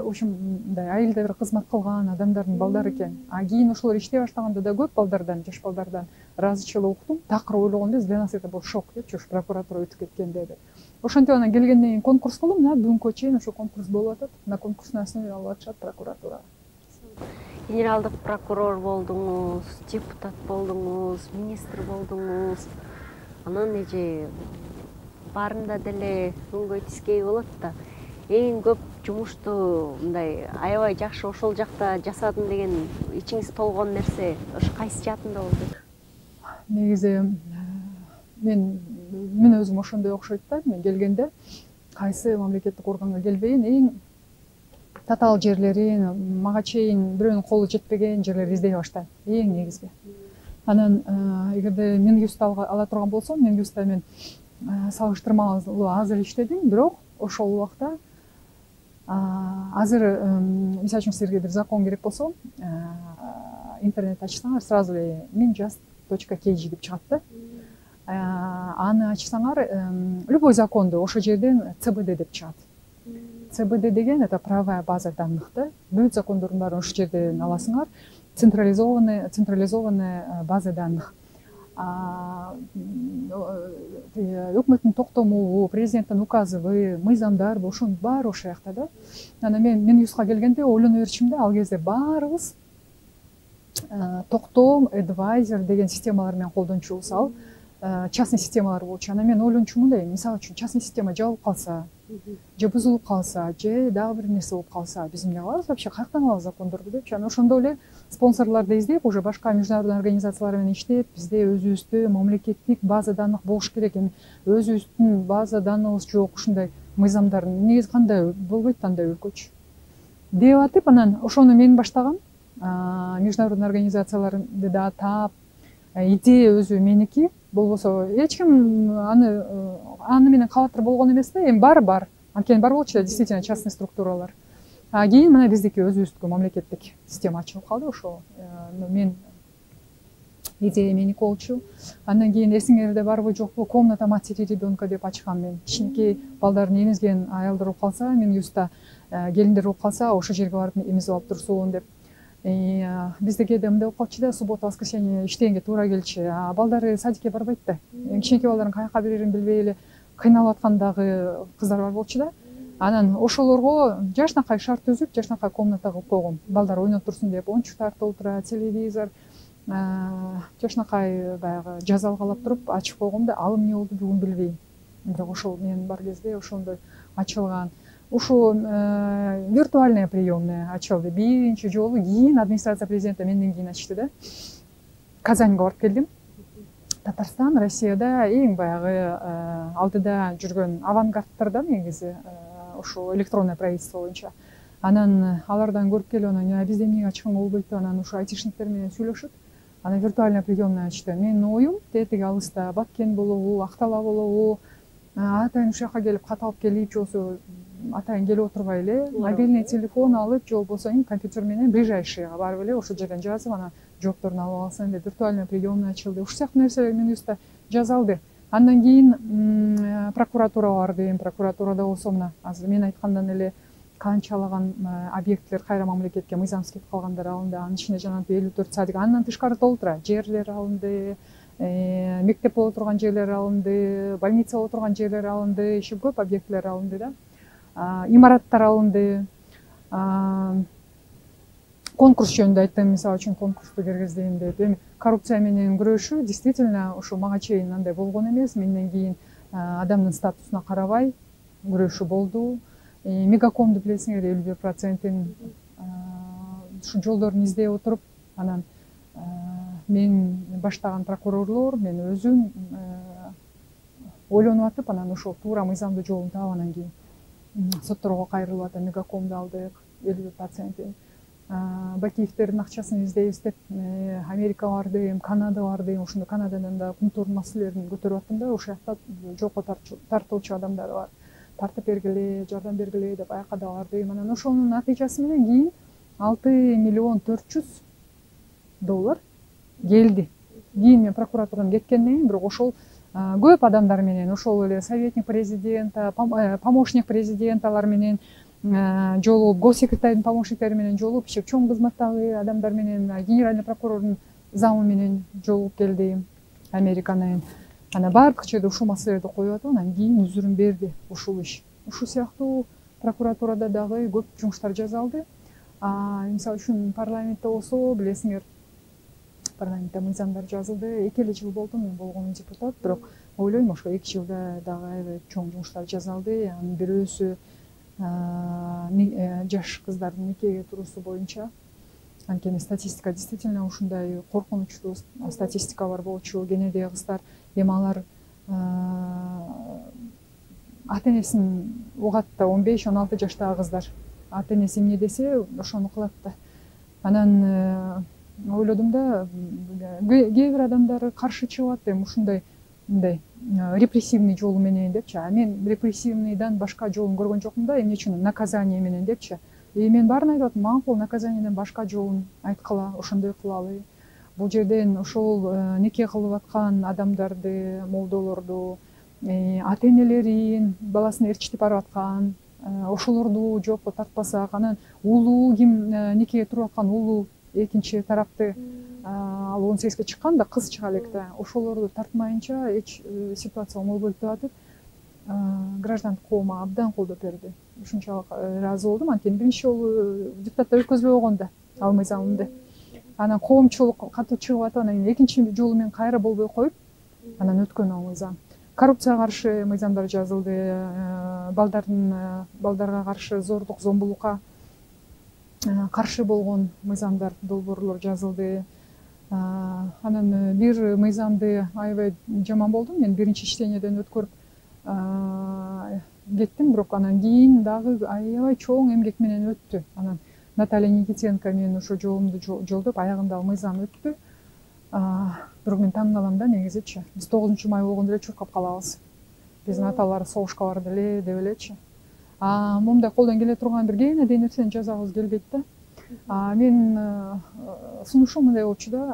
[SPEAKER 1] ушундай айылда бир кызмат кылган адамдардын балдары экен. Кийин ошолор иштей баштаганда да көп балдардан, жаш балдардан ыраазычылык уктум. Такыр ойлогондо для нас это был шок депчи, ушу прокуратура өтүп кеткенде деп. Ошентип анан келгенден кийин конкурс кылдым, бүгүнкү чейин ошо конкурс болуп атат. На конкурстун основе алып атышат прокуратурага.
[SPEAKER 2] Генералдык прокурор болдуңуз, депутат болдуңуз, министр болдуңуз. Анан эже баарында деле өңгөй тискей болот да. Эң көп жумушту мындай аябай жакшы ошол жакта жасадым деген ичиңиз толгон нерсе ошо кайсы жаатында болду?
[SPEAKER 1] Негизи мен өзүм ошондой окшойт да. Мен келгенде кайсы мамлекеттик органга келбейин, эң татаал жерлерин, мага чейин бирөөнүн колу жетпеген жерлерди издей баштайм, эң негизги. Анан эгерде Минюстта ала турган болсом, Минюстта мен салыштырмалуу аз эле иштедим, бирок ошол убакта азыр мисалы үчүн силерге бир закон керек болсо, интернет ачсаңар сразу эле minjust.kg деп чыгат да. Аны ачсаңар любой законду ошол жерден ЦБД деп чыгат. ЦБД деген это правовая база данных да. Бүт закондордун баарын ошол жерден аласыңар. Централизованная база данных. Өкмөттүн токтомубу, президенттин указыбы, мыйзамдарбы, ошонун баары ошол жакта да. Анан мен Минюстка келгенде ойлоно берчим да, ал кезде баарыбыз токтом, адвайзер деген системалар менен колдончубуз, ал частный системалар болчу. Анан мен ойлончумун мындай, мисалы үчүн частный система жабылып калса, же бузулуп калса, же дагы бир нерсе болуп калса, биз эмне кылабыз вообще, каяктан алабыз закондорду депчи. Анан ошондо эле спонсорлорду издеп, уже башка международный организациялар менен иштеп, бизде өзүбүздө мамлекеттик база данных болуш керек. Эми өзүбүздүн база данныгыбыз жок, ушундай мыйзамдар негизи кандай болбойт андай өлкөчү деп атып, анан ошону мен баштагам. Международный организацияларды да таап, идея өзү меники, болбосо эч ким аны менен кабатыр болгон эмес да. Эми бар. Анткени бар болчу да, действительно частный структуралар. Кийин мына биздики өзүбүздүкү мамлекеттик система ачылып калды. Ошо мен идея меники болчу. Андан кийин эсиңерде барбы жокпу, комната матери ребенка деп ачкам мен. Кичинекей балдарын эмизген аялдар болуп калса, мен юста келиндер болуп калса, ошол жерге барып эмизип алып турсун деп. Бизде кээде мындай болуп калчу да, суббота, воскресенье иштегенге туура келчү. Балдары садикке барбайт да. Кичинекей балдарын каяка берерин билбей эле кыйналып аткандагы кыздар бар болчу да. Анан ошолорго жашынакай шарт түзүп, жашынакай комната кылып койгом. Балдар ойноп турсун деп, оюнчуктарды толтура, телевизор, жашынакай баягы жазалгалап туруп ачып койгом да. Ал эмне болду бүгүн билбейм. Бирок ошол мен бар кезде ошондой ачылган. Ушу виртуальная приемная ачылды. Биринчи жолу кийин администрация президента менден кийин ачты да. Казаньга барып келдим. Татарстан, Россияда эң баягы алдыда жүргөн авангардтардан негизи ошо электронное правительство боюнча. Анан алардан көрүп келип, анан бизде эмнеге ачканга болбойт деп, анан ошо айтишниктер менен сүйлөшүп, анан виртуальная приемная ачты. Менин оюм тетиги алыста, Баткен болобу, Актала болобу, атайын ушул жака келип кат алып келип, же болбосо атайын келип отурбай эле мобильный телефон алып, же болбосо компьютер менен ближайшийга барып эле ошол жерден жазып, анан жоопторун алып алсаң деп виртуальная приемная ачылды. Ушул сыяктуу нерселер Минюстта жазалды. Андан кийин прокуратурага бардым. Прокуратурада болсо мына азыр мен айткандан эле канчалаган объекттер кайра мамлекетке мыйзамсыз кетип калгандар алынды. Анын ичинде жанагы 54 садик, андан тышкары толтура жерлер алынды, мектеп боло турган жерлер алынды, больница боло турган жерлер алынды, еще көп объекттер алынды да. Имараттар алынды. Конкурс жөнүндө айттым, мисалы үчүн конкурсту киргиздим деп. Эми коррупция менен күрөшүү действительно ошо мага чейин андай болгон эмес. Менден кийин адамдын статусуна карабай күрөшүү болду. Мегакомду билесиңер, 51%-ин ушу жолдорун издей отуруп, анан мен баштаган прокурорлор мен өзүм ойлонуп атып, анан ошол туура мыйзамдуу жолун таап, анан кийин сотторго кайрылып атам. Мегакомду алдык 51%. Бакиевтердин акчасын издейбиз деп Америка бардым, Канада бардым. Ошондо Канададан да кумтур маселелерин көтөрүп аттым да. Ошол жакта жолко тартылчу адамдар бар. Тартып бергиле, жардам бергиле деп аяка да бардым. Анан ошонун натыйжасы менен кийин $6,400,000 келди. Кийин мен прокуратурадан кеткенден кийин, бирок ошол көп адамдар менен, ошол эле советник президента, помощник президенталар менен жолугуп, госсекретардын помощниктери менен жолугуп, иши чоң кызматтагы адамдар менен, генеральный прокурордун замы менен жолугуп келдим Американын. Анан баардык жерде ушул маселелерди коюп атып, анан кийин үзүрүн берди ушул иш. Ушул сыяктуу прокуратурада дагы көп жумуштар жасалды. Мисалы үчүн парламентте болсо, билесиңер, парламентте мыйзамдар жазылды. 2 жыл болду мен болгонум депутат, бирок ойлойм ошо 2 жылда дагы аябай чоң жумуштар жасалды. Анын бирөөсү жаш кыздардын никеге туруусу боюнча. Анткени статистика действительно ушундай коркунучтуу статистика бар болчу. Кенедеги кыздар эми алар ата-энесин угат да, 15-16 жаштагы кыздар. Ата-энеси эмне десе, ошону кылат да. Анан ойлодум да, кээ бир адамдар каршы чыгып атты, эми ушундай мындай репрессивный жолу менен депчи. Мен репрессивныйдан башка жолун көргөн жокмун да, эмне үчүн наказание менен депчи. Мен баарын айтып атам, макул наказаниеден башка жолун айткыла, ошондой кылалы. Бул жерден ошол нике кылып аткан адамдарды, молдолорду, ата-энелерин баласын ээрчитип барып аткан, ошолорду жоопко тартпасак, анан улуу ким никеге туруп аткан улуу экинчи тарапты, ал 18-ге чыккан да, кыз чыга элек да, ошолорду тартмайынча эч ситуация болбойт деп атып, граждандык коом абдан колдоп берди. Ушунчалык ыраазы болдум, анткени биринчи жолу депутаттар өткөзбөй койгон да ал мыйзамымды. Анан коомчулук катуу чыгып атып, анан экинчи жолу мен кайра болбой коюп, анан өткөн ал мыйзам. Коррупцияга каршы мыйзамдар жазылды, балдарга каршы зордук, зомбулукка каршы болгон мыйзамдар, долбоорлор жазылды. Анан бир мыйзамды аябай жаман болдум, мен биринчи иштениядан өткөрүп кеттим, бирок анан кийин дагы аябай чоң эмгек менен өттү. Анан Наталья Никитенко мен ошо жолумду жолдоп, аягында ал мыйзам өттү. Бирок мен таң калам да, негизичи. Биз 9-май болгондо эле чуркап калабыз. Биздин аталар согушка барды эле деп элечи. Момундай колдон келе турган бир кенедей нерсени жасагыбыз келбейт да. Мен сунушум мындай болчу да,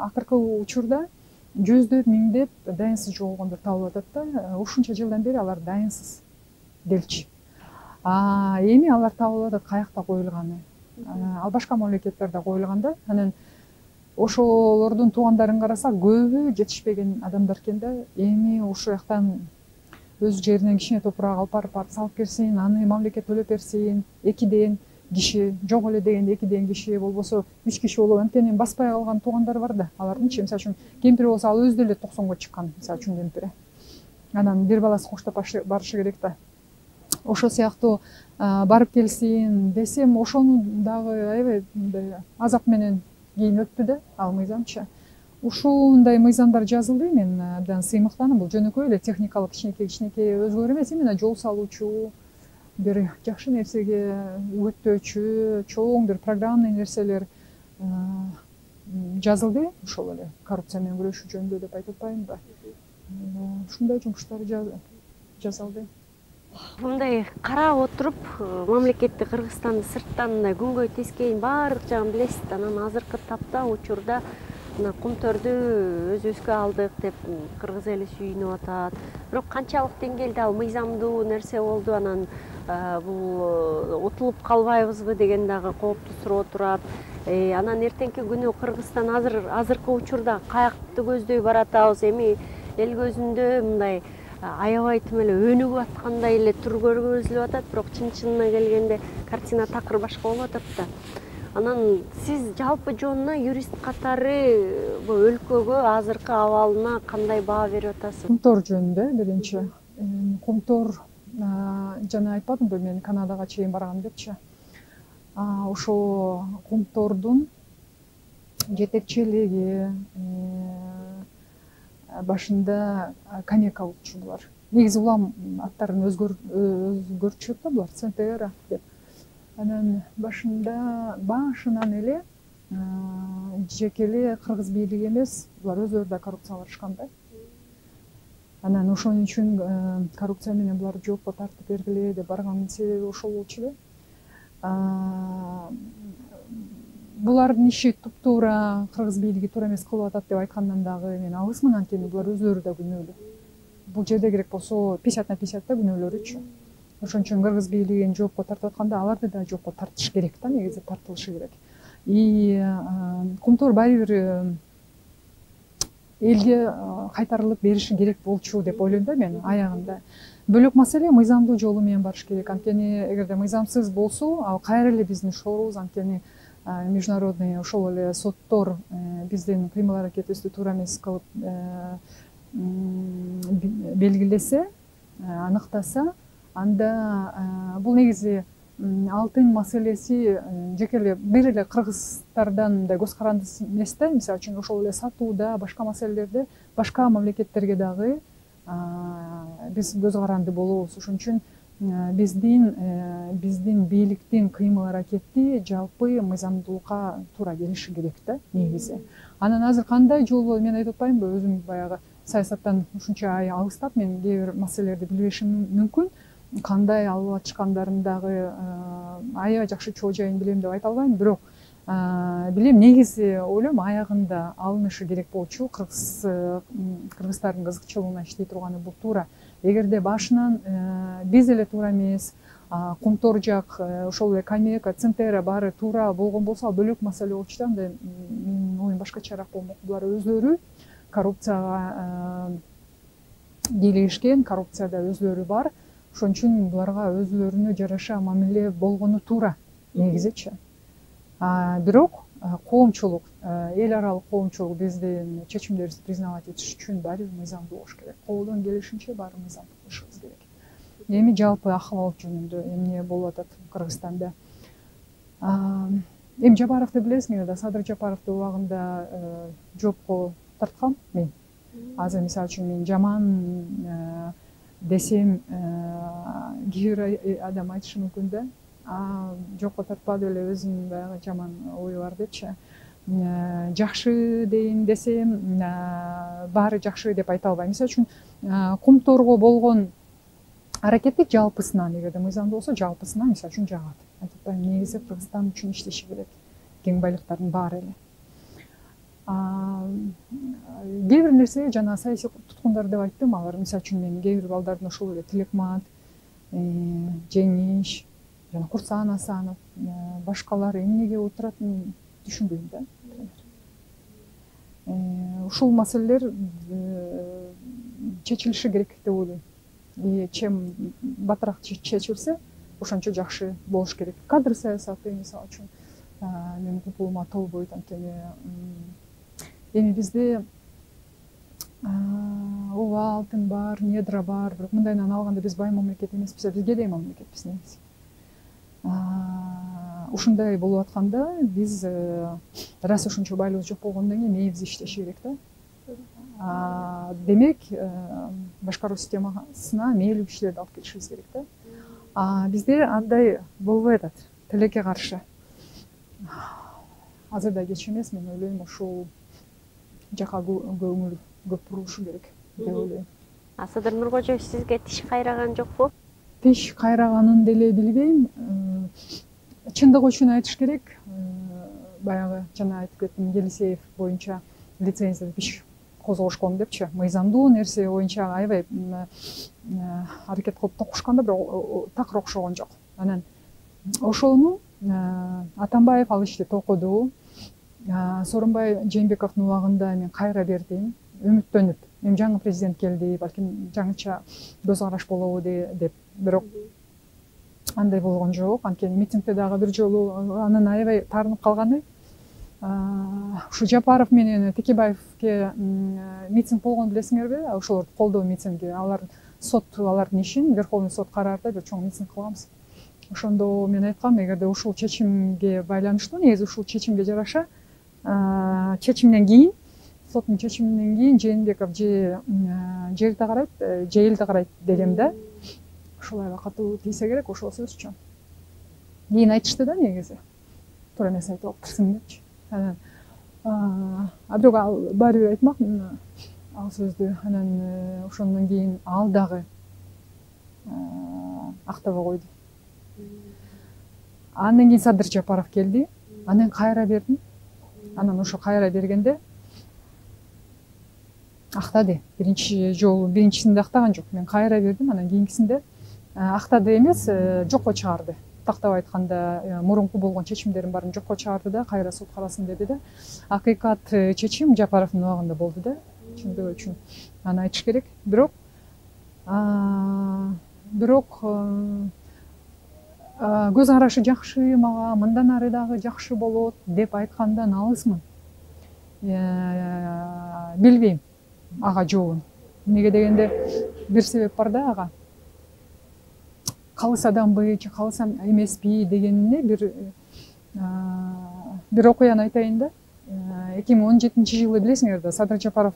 [SPEAKER 1] акыркы учурда жүздөп, миңдеп дайынсыз жоголгондор табылып атат да. Ушунча жылдан бери алар дайынсыз делчи. Эми алар табылып атат, каякта коюлганы. Ал башка мамлекеттерде коюлган да. Анан ошолордун туугандарын карасак, көбү жетишпеген адамдар экен да. Эми ушул жактан өз жеринен кичине топурак алып барып салып берсин, аны мамлекет төлөп берсин. 2ден киши, жок эле дегенде 2ден киши, болбосо 3 киши болуп, анткени баспай калган туугандар бар да. Алардынчы, мисалы үчүн кемпир болсо, ал өзү деле 90го чыккан, мисалы үчүн кемпири. Анан бир баласы коштоп барышы керек да. Ошол сыяктуу барып келсин десем, ошону дагы аябай азап менен кийин өттү да ал мыйзамчы. Ушундай мыйзамдар жазылды, мен абдан сыймыктанам. Бул жөнөкөй эле техникалык кичинекей өзгөрүү эмес, именно жол салуучу, бир жакшы нерсеге үгүттөөчү, чоң бир программный нерселер жазылды. Ошол эле коррупция менен күрөшүү жөнүндө деп айтып атпаймынбы? Ушундай жумуштар жасалды.
[SPEAKER 2] Мындай карап отуруп, мамлекетти Кыргызстанды сырттан күнгөй тескейин баардык жагын билесиз. Анан азыркы тапта учурда мына кумторду өзүбүзгө алдык деп кыргыз эли сүйүнүп атат. Бирок канчалык деңгээлде ал мыйзамдуу нерсе болду, анан бул утулуп калбайбызбы деген дагы кооптуу суроо турат. Анан эртеңки күнү Кыргызстан азыркы учурда каякты көздөй баратабыз? Эми эл көзүндө мындай аябай тим эле өнүгүп аткандай эле көргөзүлүп атат, бирок чын-чынына келгенде картина такыр башка болуп атат да. Анан сиз жалпы жонуна юрист катары бул өлкөгө азыркы абалына кандай баа берип атасыз?
[SPEAKER 1] Кумтор жөнүндө биринчи кумтор, жана айтпадымбы мен Канадага чейин баргам депчи. Ошол кумтордун жетекчилиги башында Канека болчу булар. Негизи улам аттарын өзгөртүшөт да булар, Центера деп. Анан башынан эле жеке эле кыргыз бийлиги эмес, булар өзүлөрү да коррупцияга барышкан да. Анан ошон үчүн коррупция менен буларды жоопко тартып бергиле деп барган себеби ошол болчу эле. Булардын иши туп-туура кыргыз бийлиги туура эмес кылып атат деп айткандан дагы мен алысмын, анткени булар өзүлөрү да күнөөлүү. Бул жерде керек болсо 50/50 да күнөөлөрүчү. Ошон үчүн кыргыз бийлигин жоопко тартып атканда аларды да жоопко тартыш керек да, негизи тартылышы керек. Кумтор баары бир элге кайтарылып бериши керек болчу деп ойлойм да мен аягында. Бөлөк маселе мыйзамдуу жолу менен барыш керек. Анткени эгерде мыйзамсыз болсо, ал кайра эле биздин шорубуз, анткени международный ошол эле соттор биздин кыймыл аракетибизди туура эмес кылып белгилесе, аныктаса, анда бул негизи алтын маселеси жеке эле бир эле кыргыздардан мындай көз каранды эмес да. Мисалы үчүн ошол эле сатууда, башка маселелерде башка мамлекеттерге дагы биз көз каранды болобуз. Ошон үчүн биздин бийликтин кыймыл аракети жалпы мыйзамдуулукка туура келиши керек да, негизи. Анан азыр кандай жол мен айтып атпаймынбы, өзүм баягы саясаттан ушунча алыстап, мен кээ бир маселелерди билбешим мүмкүн. Кандай алып атышкандарын дагы аябай жакшы чоо жайын билем деп айта албайм, бирок билем, негизи ойлойм аягында алынышы керек болчу. Кыргыздардын кызыкчылыгына иштей турганы бул туура. Эгерде башынан биз эле туура эмес, кумтор жак, ошол эле Канека, Центера баары туура болгон болсо, ал бөлөк маселе болчу да. Анда менин оюм башкачараак болмок. Булар өзлөрү коррупцияга кийлигишкен, коррупцияда өзлөрү бар. Ошон үчүн буларга өзлөрүнө жараша мамиле болгону туура, негизичи. Бирок коомчулук, эл аралык коомчулук биздин чечимдерибизди признавать этиш үчүн баары бир мыйзамдуу болуш керек. Колдон келишинче баары мыйзамдуу кылышыбыз керек. Эми жалпы акыбал жөнүндө эмне болуп атат Кыргызстанда? Эми Жапаровду билесиңер да, Садыр Жапаровду убагында жоопко тарткам мен. Азыр мисалы үчүн мен жаман десем, кээ бир адам айтышы мүмкүн да. Жокко тартпады эле, өзүнүн баягы жаман ою бар депчи. Жакшы дейин десем, баары жакшы деп айта албайм. Мисалы үчүн кумторго болгон аракети жалпысынан, эгерде мыйзамдуу болсо, жалпысынан мисалы үчүн жагат. Айтып атпайм, негизи Кыргызстан үчүн иштеши керек. Кең байлыктардын баары эле. Кээ бир нерсе жана саясий туткундар деп айттым, алар мисалы үчүн мен кээ бир балдардын ошол эле Тилекмат, Жеңиш жана Курсан Асанов, башкалар эмнеге отуратын түшүнбөйм да. Ушул маселелер чечилиши керек деп ойлойм. Чем батыраак чечилсе, ошончо жакшы болуш керек. Кадр саясаты мисалы үчүн менин купулума толбойт, анткени эми бизде ооба алтын бар, недра бар, бирок мындайынан алганда биз бай мамлекет эмеспиз, биз кедей мамлекетпиз негизи. Ушундай болуп атканда биз раз ошончо байлыгыбыз жок болгондон кийин мээбиз иштеши керек да. Демек, башкаруу системасына мээлүү кишилерди алып келишибиз керек да. Бизде андай болбой атат, тилекке каршы. Азыр да кеч эмес, мен ойлойм, ушул жака көңүл көп бурулушу керек деп ойлойм.
[SPEAKER 2] Садыр Нуркожоев сизге тиш кайраган жокпу?
[SPEAKER 1] Тиш кайраганын деле билбейм. Чындыгы үчүн айтыш керек. Баягы жана айтып кеттим, Елисеев боюнча лицензия иш козгошкон депчи, мыйзамдуу нерсе боюнча аябай аракет кылып токушкан да, бирок такыр окшогон жок. Анан ошону Атамбаев ал ишти токуду. Сооронбай Жээнбековдун убагында мен кайра бердим, үмүттөнүп. Эми жаңы президент келди, балким жаңыча көз караш болобу деп, бирок андай болгон жок. Анткени митингде дагы бир жолу анын аябай таарынып калганы, ушу Жапаров менен Текебаевке митинг болгон билесиңерби? Ошолорду колдоо митинги. Алар сот алардын ишин, Верховный сот караарда бир чоң митинг кылганбыз. Ошондо мен айткам, эгерде ушул чечимге байланыштуу, негизи ушул чечимге жараша чечимден кийин, соттун чечиминен кийин Жээнбеков жерди карайт, же элди карайт дегем да. Ушул аябай катуу тийсе керек ошол сөзчү. Кийин айтышты да, негизи туура эмес айтып алыптырсың депчи. Анан бирок ал баары бир айтмак ал сөздү. Анан ошондон кийин ал дагы актабай койду. Андан кийин Садыр Жапаров келди. Анан кайра бердим. Анан ошо кайра бергенде актады. Биринчисинде актаган жок. Мен кайра бердим. Анан кийинкисинде актады эмес, жокко чыгарды. Тактап айтканда мурунку болгон чечимдердин баарын жокко чыгарды да, кайра сот карасын деди да. Акыйкат чечим Жапаровдун убагында болду да, чындыгы үчүн. Аны айтыш керек. Бирок көз карашы жакшы, мага мындан ары дагы жакшы болот деп айткандан алысмын. Билбейм ага жообун. Эмнеге дегенде бир себеп бар да ага. Калыс адамбы же калыс эмеспи дегенине бир окуяны айтайын да. 2017-жылы билесиңер да, Садыр Жапаров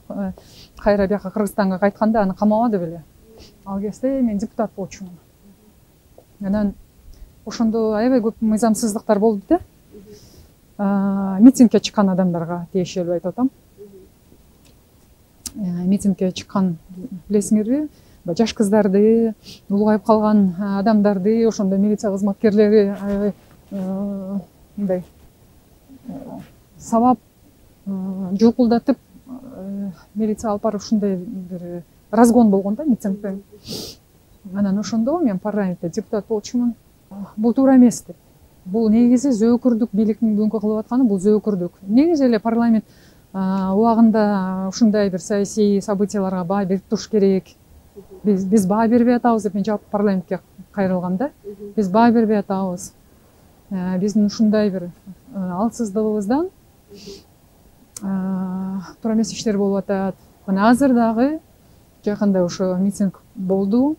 [SPEAKER 1] кайра бияка Кыргызстанга кайтканда аны камабады беле. Ал кезде мен депутат болчумун. Анан ошондо аябай көп мыйзамсыздыктар болду да. Митингге чыккан адамдарга тиешелүү айтып атам. Митингге чыккан билесиңерби? Жаш кыздарды, улгайып калган адамдарды, ошондо милиция кызматкерлери мындай сабап жулкулдатып милиция алып барып ушундай бир разгон болгон да митингде. Анан ошондо мен парламентте депутат болчумун. Бул туура эмес деп. Бул негизи зөөкүрдүк, бийликтин бүгүнкү кылып атканы бул зөөкүрдүк. Негизи эле парламент убагында ушундай бир саясий событияларга баа берип туруш керек. Биз баа бербей атабыз деп мен жалпы парламентке кайрылгам да. Биз баа бербей атабыз. Биздин ушундай бир алсыздыгыбыздан туура эмес иштер болуп атат. Мына азыр дагы жакында ошо митинг болду.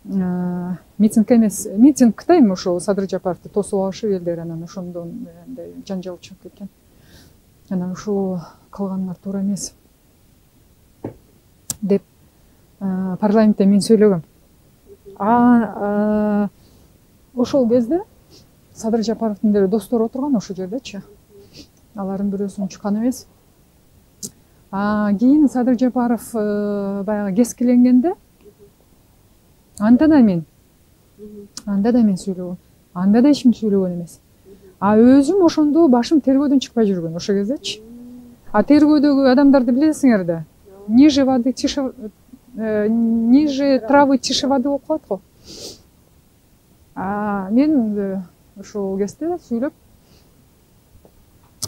[SPEAKER 1] Митинг эмес, митингде эми ошо Садыр Жапаровду тосуп алышып элдер, анан ошондон мындай жанжал чыгып кеткен. Анан ушул кылганыңар туура эмес деп парламентте мен сөйлөгөм. Ошол кезде Садыр Жапаровдун деле достору отурган ошол жердечи. Алардын бирөөсүн чыккан эмес. Кийин Садыр Жапаров баягы кескиленгенде анда да мен сөйлөгөм. Анда да эч ким сөйлөгөн эмес. Өзүм ошондо башым тергөөдөн чыкпай жүргөн ошол кездечи. Тергөөдөгү адамдарды билесиңер да. Ниже травы, тише воды болуп калат го. Мен ошол кезде сүйлөп,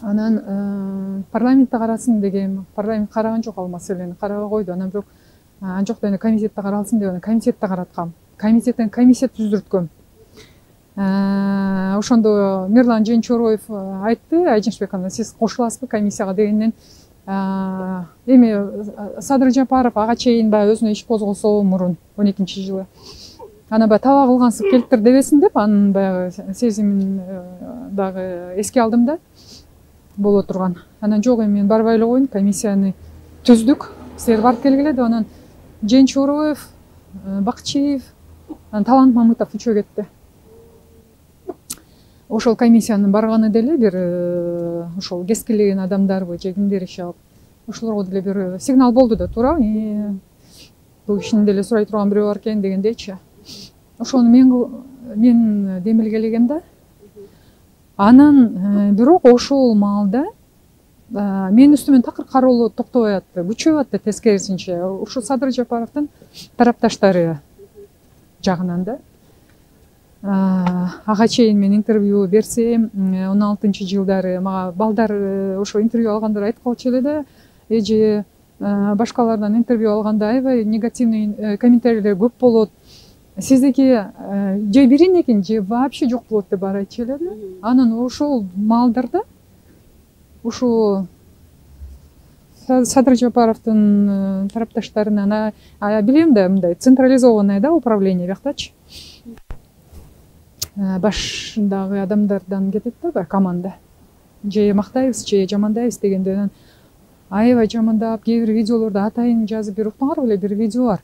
[SPEAKER 1] анан парламентте карасын дегем. Парламент караган жок ал маселени, карабай койду. Анан бирок жок эми комитетте каралсын деп, комитетте караткам. Комитеттен комиссия түздүрткөм. Ошондо Мирлан Женчороев айтты, Айжаншбек ана сиз кошуласызбы комиссияга дегенден, эми Садыр Жапаров ага чейин баягы өзүнө иш козгосо мурун 12-жылы. Ана баягы таба кылгансып келиптир дебесин деп, анын баягы сезимин дагы эске алдым да боло турган. Анан жок эми мен барбай эле коеюн, комиссияны түздүк, силер барып келгиле деп, анан Женчороев, Бакчиев, Талант Мамытов үчөө кетти. Ошол комиссиянын барганы деле бир ошол кескилеген адамдарбы же кимдер иши алып, ошолорго деле бир сигнал болду да, туура. Бул кишини деле сурай турган бирөө бар экен дегендейчи. Ошону мен демилгелегем да. Анан бирок ошол маалда менин үстүмөн такыр кароолоо токтобой атты, күчөп атты, тескерисинче ушул Садыр Жапаровдун тарапташтары жагынан да. Ага чейин мен интервью берсем, 16-жылдары мага балдар ошо интервью алгандар айтып калчу эле да, эже башкалардан интервью алганда аябай негативный комментарийлер көп болот. Сиздики же бирин экен, же вообще жок болот деп баары айтчу эле да. Анан ошол маалдарда ушу Садыр Жапаровдун тарапташтарынан билем да, мындай централизованный да управление бияктачы. Башындагы адамдардан кетет да баягы команда. Же мактайбыз, же жамандайбыз дегенде аябай жамандап, кээ бир видеолорду атайын жазып берип уктуңарбы эле, бир видео бар.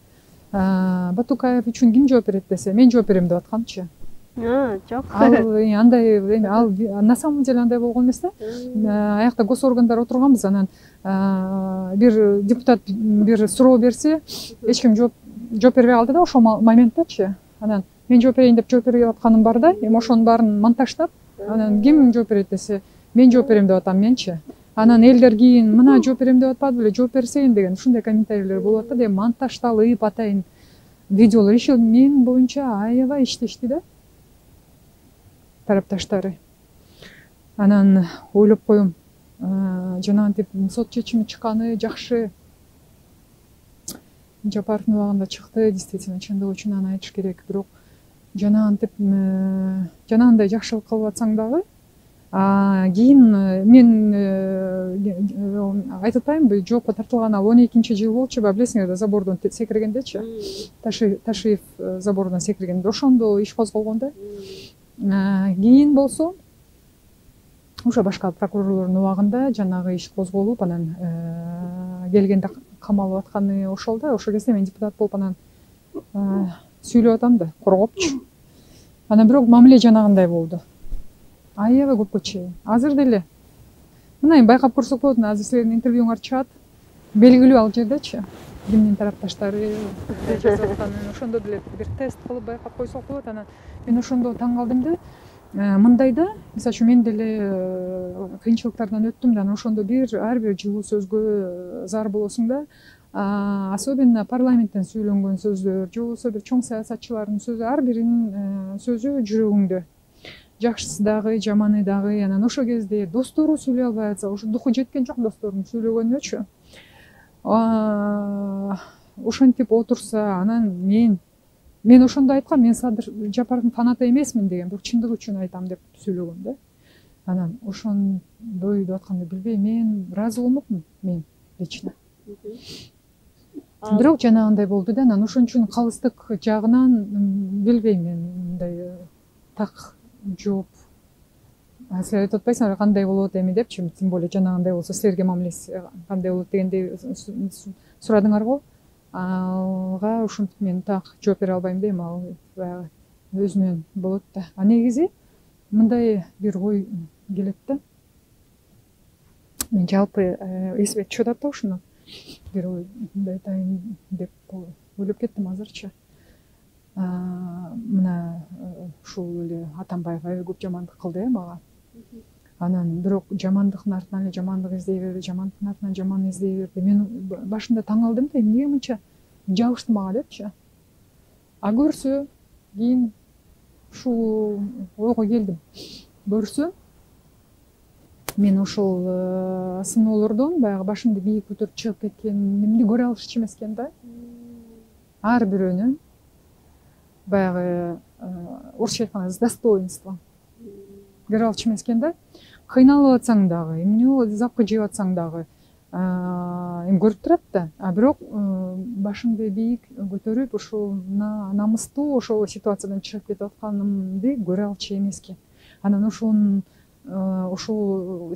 [SPEAKER 1] Батукаев үчүн ким жооп берет десе, мен жооп берем деп атканчы.
[SPEAKER 2] Жок.
[SPEAKER 1] Ал андай, ал на самом деле андай болгон эмес да. Аякта госоргандар отурганбыз, анан бир депутат бир суроо берсе, эч ким жооп бербей калды да ошол моменттачы. Анан мен жооп берейин деп жооп берип атканым бар да, эми ошонун баарын монтаждап, анан ким жооп берет десе, мен жооп берем деп атам менчи. Анан элдер кийин мына жооп берем деп атпады беле, жооп берсейин деген ушундай комментарийлер болуп атты деп монтаждалып атайын видеолор иши мен боюнча аябай иштешти да тарапташтары. Анан ойлоп коем, жанагынтип сот чечими чыкканы жакшы. Жапаровдун убагында чыкты, действительно чындыгы үчүн аны айтыш керек. Бирок жанагынтип жанагындай жакшылык кылып атсаң дагы, кийин мен айтып атпаймынбы, жоопко тартылган ал 12-жыл болчу, билесиңер да, забордон секиргендечи. Ташиев забордон секиргенде ошондо иш козголгон да. Кийин болсо ошо башка прокурорлордун убагында жанагы иш козголуп, анан келгенде камалып атканы ошол да. Ошол кезде мен депутат болуп анан сүйлөп атам да, коргопчу. Анан бирок мамиле жанагындай болду. Аябай көпкө чейин. Азыр деле мына байкап көрсөк болот, азыр силердин интервьюңар чыгат. Белгилүү ал жердечи кимдин тарапташтары жазып атканын ошондо деле бир тест кылып байкап койсок болот. Анан мен ошондо таң калдым да. Мындай да, мисалы үчүн мен деле кыйынчылыктардан өттүм да, ошондо ар бир жылуу сөзгө зар болосуң да. Особенно парламенттен сүйлөнгөн сөздөр, же болбосо бир чоң саясатчылардын сөзү, ар биринин сөзү жүрөгүңдө. Жакшысы дагы, жаманы дагы. Анан ошол кезде достору сүйлөй албай атса, ошо духу жеткен жок достордун сүйлөгөнүнөчү. Ошентип отурса, анан мен ошондо айткам, мен Садыр Жапаровдун фанаты эмесмин деген, бирок чындыгы үчүн айтам деп сүйлөгөм да. Анан ошондой деп атканды билбейм, мен ыраазы болмокмун, мен лично. Бирок жанагындай болду да, анан ошон үчүн калыстык жагынан билбейм, мен мындай так жооп. Силер айтып атпайсыңар кандай болот эми депчи, тем более жанагындай болсо силерге мамилеси кандай болот дегендей сурадыңарбы? Алга ушинтип мен так жооп бере албайм дейм, ал баягы өзүнөн болот да. Негизи мындай бир ой келет да. Мен жалпы эсиме түшүп атат да ушуну. Бир ой айтайын деп ойлоп кеттим азырчы. Мына ушул эле Атамбаев аябай көп жамандык кылды мага. Анан бирок жамандыктын артынан эле жамандык издей берди, жамандыктын артынан жаман издей берди. Мен башында таң калдым да, эмнеге мынча жабышты мага депчи. Көрсө, кийин ушул ойго келдим. Көрсө, мен ошол сыноолордон баягы башымды бийик көтөрүп чыгып кеткенимди көрө алышчу эмес экен да. Ар бирөөнүн баягы орусча айтканда с достоинством көрө алчу эмес экен да. Кыйналып атсаң дагы, эмне запкы жеп атсаң дагы эми көрүп турат да. Бирок башымды бийик көтөрүп ушул намыстуу ошол ситуациядан чыгып кетип атканымды көрө алчу эмес экен. Анан ошол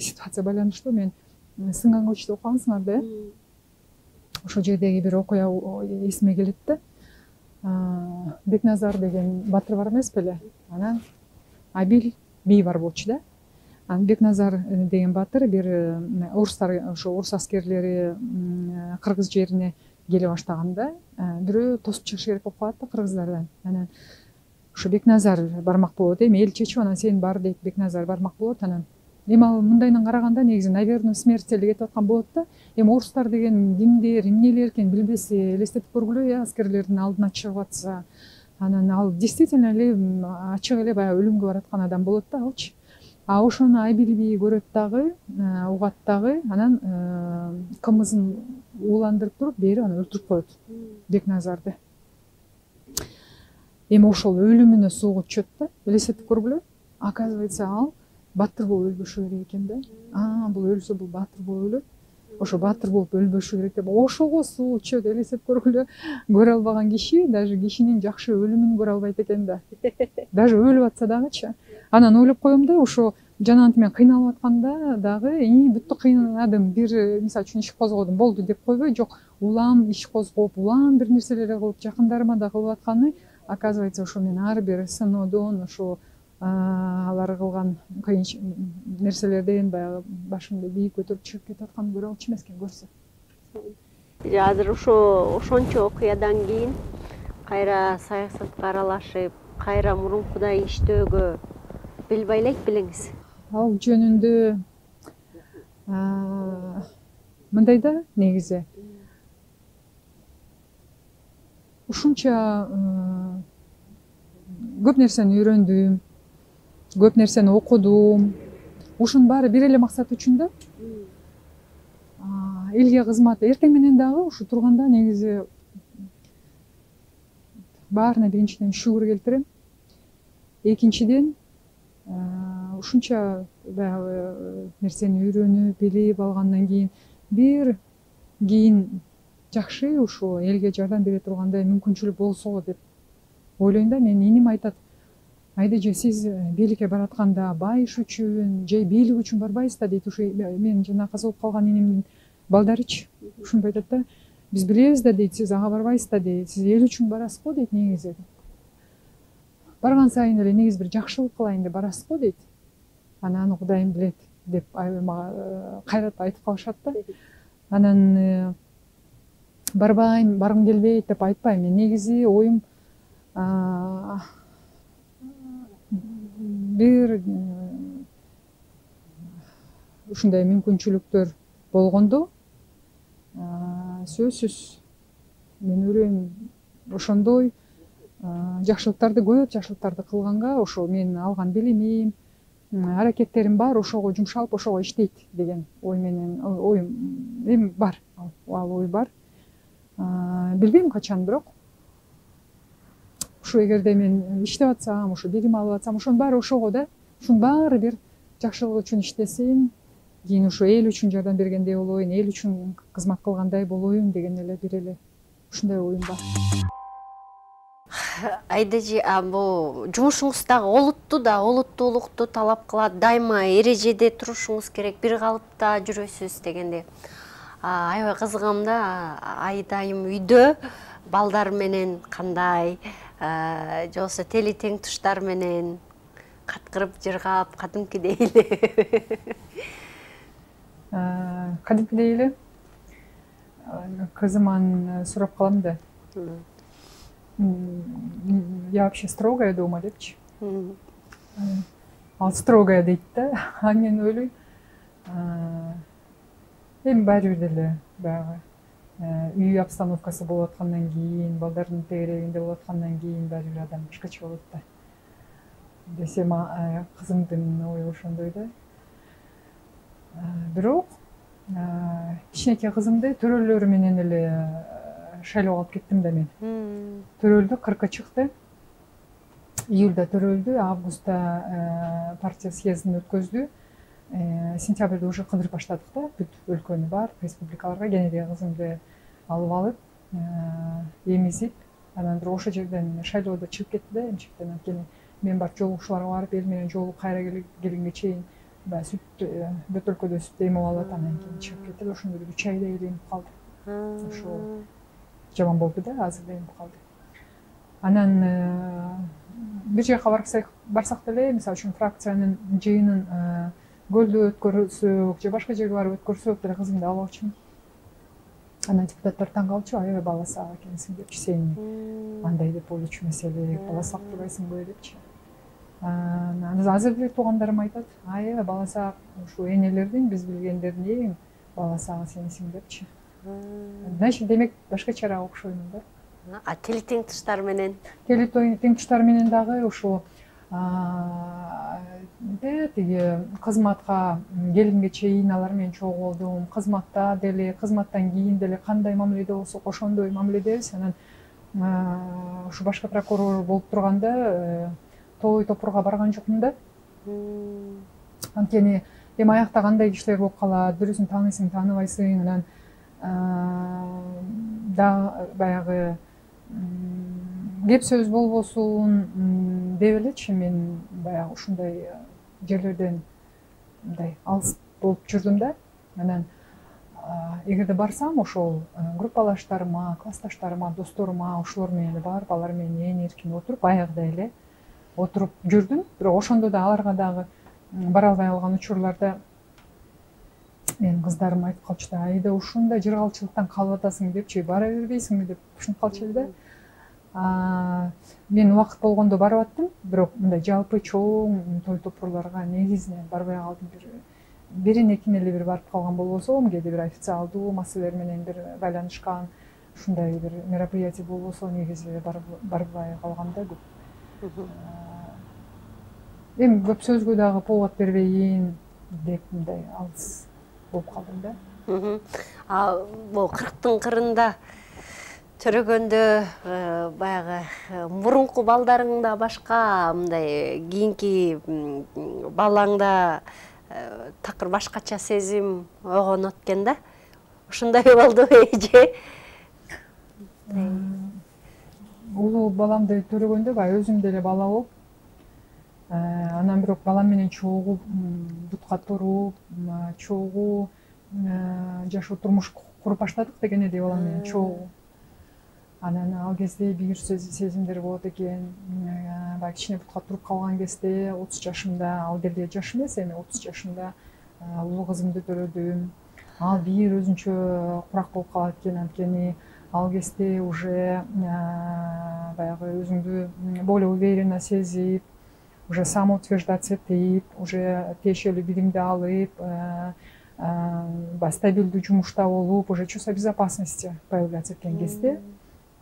[SPEAKER 1] ситуация байланыштуу мен Сынган көчтө окугансыңар да. Ошол жердеги бир окуя эсиме келет да. Бекназар деген батыр бар эмес беле? Анан Абил бий бар болчу да. Бекназар деген батыр бир орустар, ошо орус аскерлери кыргыз жерине келе баштаганда бирөө тосуп чыгыш керек болуп калат да кыргыздардан. Анан ошо Бекназар бармак болот, эми эл чечип анан сен бар дейт, Бекназар бармак болот. Анан эми ал мындайынан караганда негизи наверное смерть эле кетип аткан болот да. Эми орустар деген кимдер, эмнелер экен билбесе, элестетип көргүлө, аскерлердин алдына чыгып атса, анан ал действительно эле ачык эле баягы өлүмгө бараткан адам болот да алчы. А ошону Айбилби көрөт дагы, угат дагы, анан кымызын ууландырып туруп, бери аны өлтүрүп коет Бекназарды. Эми ошол өлүмүнө сууга түшөт да, элестетип көргүлө. Оказывается, ал баатыр болуп өлбөшү керек экен да. Бул өлсө бул баатыр болуп өлөт. Ошо баатыр болуп өлбөшү керек деп ошого суу ичет, элестетип көргүлө. Көрө албаган киши даже кишинин жакшы өлүмүн көрө албайт экен да. Даже өлүп атса дагычы. Анан ойлоп коем да, ошо жанагынтип мен кыйналып атканда дагы бүттү кыйнадым, бир мисалы үчүн иш козгодум, болду деп койбой, жок, улам иш козгоп, улам бир нерселер кылып, жакындарыма да кылып атканы, оказывается, ошо мен ар бир сыноодон ошо алар кылган кыйын нерселерден баягы башымды бийик көтөрүп чыгып кетип атканын көрө алчу эмес экен көрсө.
[SPEAKER 2] Азыр ошончо окуядан кийин кайра саясатка аралашып, кайра мурункудай иштөөгө бел байлайт белеңиз?
[SPEAKER 1] Ал жөнүндө мындай да, негизи ушунча көп нерсени үйрөндүм, көп нерсени окудум. Ушунун баары бир эле максат үчүн да. Элге кызмат. Эртең менен дагы ушу турганда негизи баарына биринчиден шүгүр келтирем. Экинчиден ушунча баягы нерсени үйрөнүп, билип алгандан кийин бир кийин жакшы ушу элге жардам бере тургандай мүмкүнчүлүк болсо деп ойлойм да. Менин иним айтат, айдажы сиз бийликке баратканда байыш үчүн же бийлик үчүн барбайсыз да дейт. Ушу мен жана каза болуп калган инимдин балдарычы ушинтип айтат да. Биз билебиз да дейт, сиз ага барбайсыз да дейт. Сиз эл үчүн барасыз го дейт негизи. Барган сайын эле негизи бир жакшылык кылайын деп барасыз го дейт. Аны Кудайым билет деп мага кайрат айтып калышат да. Анан барбайм, баргым келбейт деп айтпайм. Мен негизи оюм бир ушундай мүмкүнчүлүктөр болгондо сөзсүз мен ойлойм ошондой жакшылыктарды, көп жакшылыктарды кылганга ошо менин алган билимим, аракеттерим бар ошого жумшалып, ошого иштейт деген ой менен оюм эми бар. Ал ой бар. Билбейм качан, бирок ушу эгерде мен иштеп атсам, ушу билим алып атсам, ошонун баары ошого да. Ушунун баары бир жакшылык үчүн иштесем, кийин ушу эл үчүн жардам бергендей болоюн, эл үчүн кызмат кылгандай болоюн деген эле бир эле ушундай оюм бар.
[SPEAKER 2] Айдажы, бул жумушуңуз дагы олуттуу да, олуттуулукту талап кылат. Дайыма эрежеде турушуңуз керек, бир калыпта жүрөсүз дегенде. Аябай кызыгам да, айдайым үйдө балдар менен кандай, же болбосо тели тең туштар менен каткырып жыргап, кадимкидей эле.
[SPEAKER 1] Кадимкидей эле кызыман сурап калам да. Я вообще строгая дома депчи. Ал строгая дейт да. А мен ойлойм, эми баары бир деле баягы үй обстановкасы болуп аткандан кийин, балдардын тегерегинде болуп аткандан кийин баары бир адам башкача болот да. Десем, кызымдын ою ошондой да. Бирок кичинекей кызымды төрөлөрү менен эле шайлоого алып кеттим да мен. Төрөлдү, 40-ка чыкты. Июлда төрөлдү, августта партия съездин өткөздү. Сентябрда уже кыдырып баштадык да, бүт өлкөнү бар, республикаларга кенедеги кызымды алып алып, эмизип, анан бирок ошол жерден шайлоодо чыгып кетти да, эмчектен. Анткени мен барып жолугушууларга барып, эл менен жолугуп кайра келгенге чейин баягы сүт бөтөлкөдө сүт эмип алып, анан кийин чыгып кетти. Ошондо бир 3 айдай эле эмип калды. Ошо жаман болду да, азыр да эмип калды. Анан бир жака барсак деле, мисалы үчүн фракциянын жыйынын көлдө өткөрсөк же башка жерге барып өткөрсөк деле кызымды алып алчумун. Анан депутаттар таң калчу, аябай бала сак экенсиң депчи, сен андай деп ойлочу эмес эле, бала сак турбайсыңбы депчи. Азыр деле туугандарым айтат, бала саак ушу энелердин биз билгендердин эң бала сагы сенсиң депчи. Значит, демек башка чара окшоймун да.
[SPEAKER 2] Тили тең туштар менен?
[SPEAKER 1] Тили тең туштар менен дагы ушу тиги кызматка келгенге чейин алар менен чогуу болдум. Кызматта деле, кызматтан кийин деле кандай мамиледе болсок ошондой мамиледебиз. Анан ушу башкы прокурор болуп турганда той топурга барган жокмун да. Анткени эми аякта кандай кишилер болуп калат, бирөөсүн тааныйсың, тааныбайсың, анан да баягы кеп сөз болбосун деп элечи мен баягы ушундай жерлерден мындай алыс болуп жүрдүм да. Анан эгерде барсам ошол группалаштарыма, классташтарыма, досторума ошолор менен барып, алар менен ээн эркин отуруп, баягыдай эле отуруп жүрдүм. Бирок ошондо да аларга дагы бара албай калган учурларда менин кыздарым айтып калчу да, айда ушундай жыргалчылыктан калып атасың депчи, бара бербейсиңби деп ушинтип калчу эле да. Мен убакыт болгондо барып аттым, бирок мындай жалпы чоң той топурларга негизинен барбай калдым. Бирин экин эле бир барып калган болбосом, кээде бир официалдуу маселелер менен бир байланышкан ушундай бир мероприятие болбосо негизи барбай калгам да көп. Эми көп сөзгө дагы повод бербейин деп мындай алыс болуп калдым да.
[SPEAKER 2] Бул 40-тын кырында төрөгөндө баягы мурунку балдарыңда башка, мындай кийинки балаңда такыр башкача сезим ойгонот экен да. Ушундай болдубу эже?
[SPEAKER 1] Улуу баламды төрөгөндө баягы өзүм деле бала болуп, анан бирок балам менен чогуу бутка туруп, чогуу жашоо турмуш куруп баштадык деген эди балам менен чогуу. Анан ал кезде бир сезимдер болот экен. Баягы кичине бутка туруп калган кезде 30 жашымда, ал деле жаш эмес, эми 30 жашымда улуу кызымды төрөдүм. Ал бир өзүнчө курак болуп калат экен, анткени ал кезде уже баягы өзүңдү более уверенно сезип, уже самоутверждаться этип, уже тиешелүү билимди алып, стабилдүү жумушта болуп, уже чувство безопасности появляться эткен кезде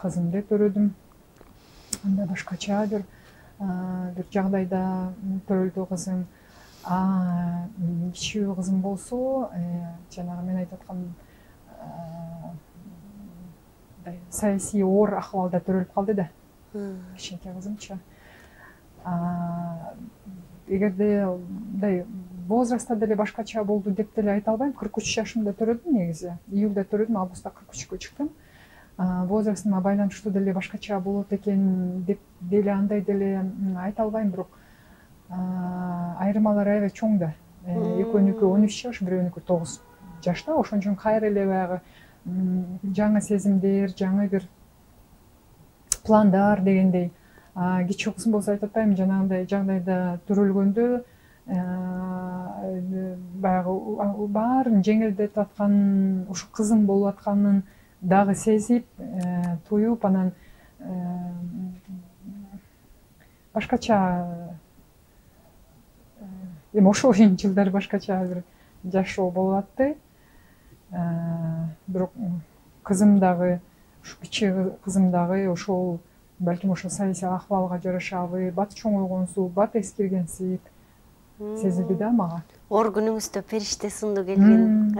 [SPEAKER 1] кызымды төрөдүм. Анда башкача бир жагдайда төрөлдү кызым. Кичүү кызым болсо, жанагы мен айтып аткан саясий оор акыбалда төрөлүп калды да. Кичинекей кызымчы. Эгерде мындай возрастта деле башкача болду деп деле айта албайм. 43 жашымда төрөдүм негизи. Июлда төрөдүм, августта 43-кө чыктым. Возрастыма байланыштуу деле башкача болот экен деп деле андай деле айта албайм, бирок айырмалар аябай чоң да. Экөөнүкү 13 жаш, бирөөнүкү 9 жашта. Ошон үчүн кайра эле баягы жаңы сезимдер, жаңы бир пландар дегендей. Кичүү кызым болсо айтып атпаймынбы, жанагындай жагдайда төрөлгөндө баягы баарын жеңилдетип аткан, ушу кызым болуп атканын дагы сезип, туюп, анан башкача эми ошол жылдары башкача бир жашоо болуп атты. Бирок кызым дагы, ушу кичи кызым дагы ошол балким ошо саясий акыбалга жарашабы, бат чоң ойгонсуп, бат эскиргенсип сезилди да мага.
[SPEAKER 2] Оор күнүңүздө периште сынду келген,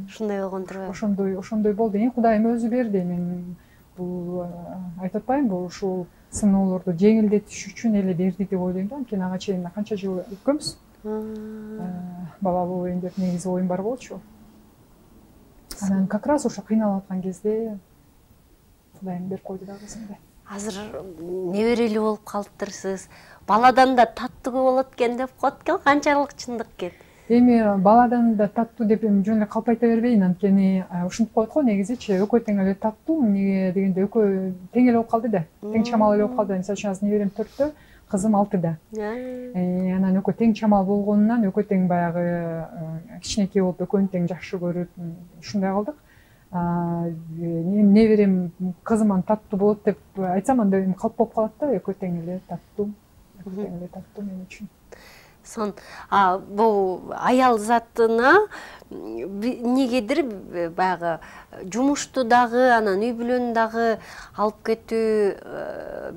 [SPEAKER 2] ушундай болгон турбайбы?
[SPEAKER 1] Ошондой болду. Кудайым өзү берди. Мен бул айтып атпаймынбы, ушул сыноолорду жеңилдетиш үчүн эле берди деп ойлойм да. Анткени ага чейин канча жыл өткөнбүз. Бала болоюн деп негизи оюм бар болчу. Анан как раз ошо кыйналып аткан кезде Кудайым берип койду да кызымды.
[SPEAKER 2] Азыр неберелүү болуп калыптырсыз. Баладан да таттуу болот экен деп коет экен, канчалык чындык экен?
[SPEAKER 1] Эми баладан да таттуу деп жөн эле калп айта бербейин, анткени ушинтип коет го негизичи, экөө тең эле таттуу, эмнеге дегенде экөө тең эле болуп калды да. Тең чамал эле болуп калды. Мисалы үчүн азыр неберем 4-тө, кызым 6-да. Анан экөө тең чамал болгонунан экөө тең баягы кичинекей болуп экөөнү тең жакшы көрүп, ушундай кылдык. Неберем кызым таттуу болот деп айтсам, анда эми калп болуп калат да, экөө тең эле таттуу. тең эле тартуу мен үчүн.
[SPEAKER 2] Сон бул аял затына негедир баягы жумушту дагы анан үй бүлөнү дагы алып кетүү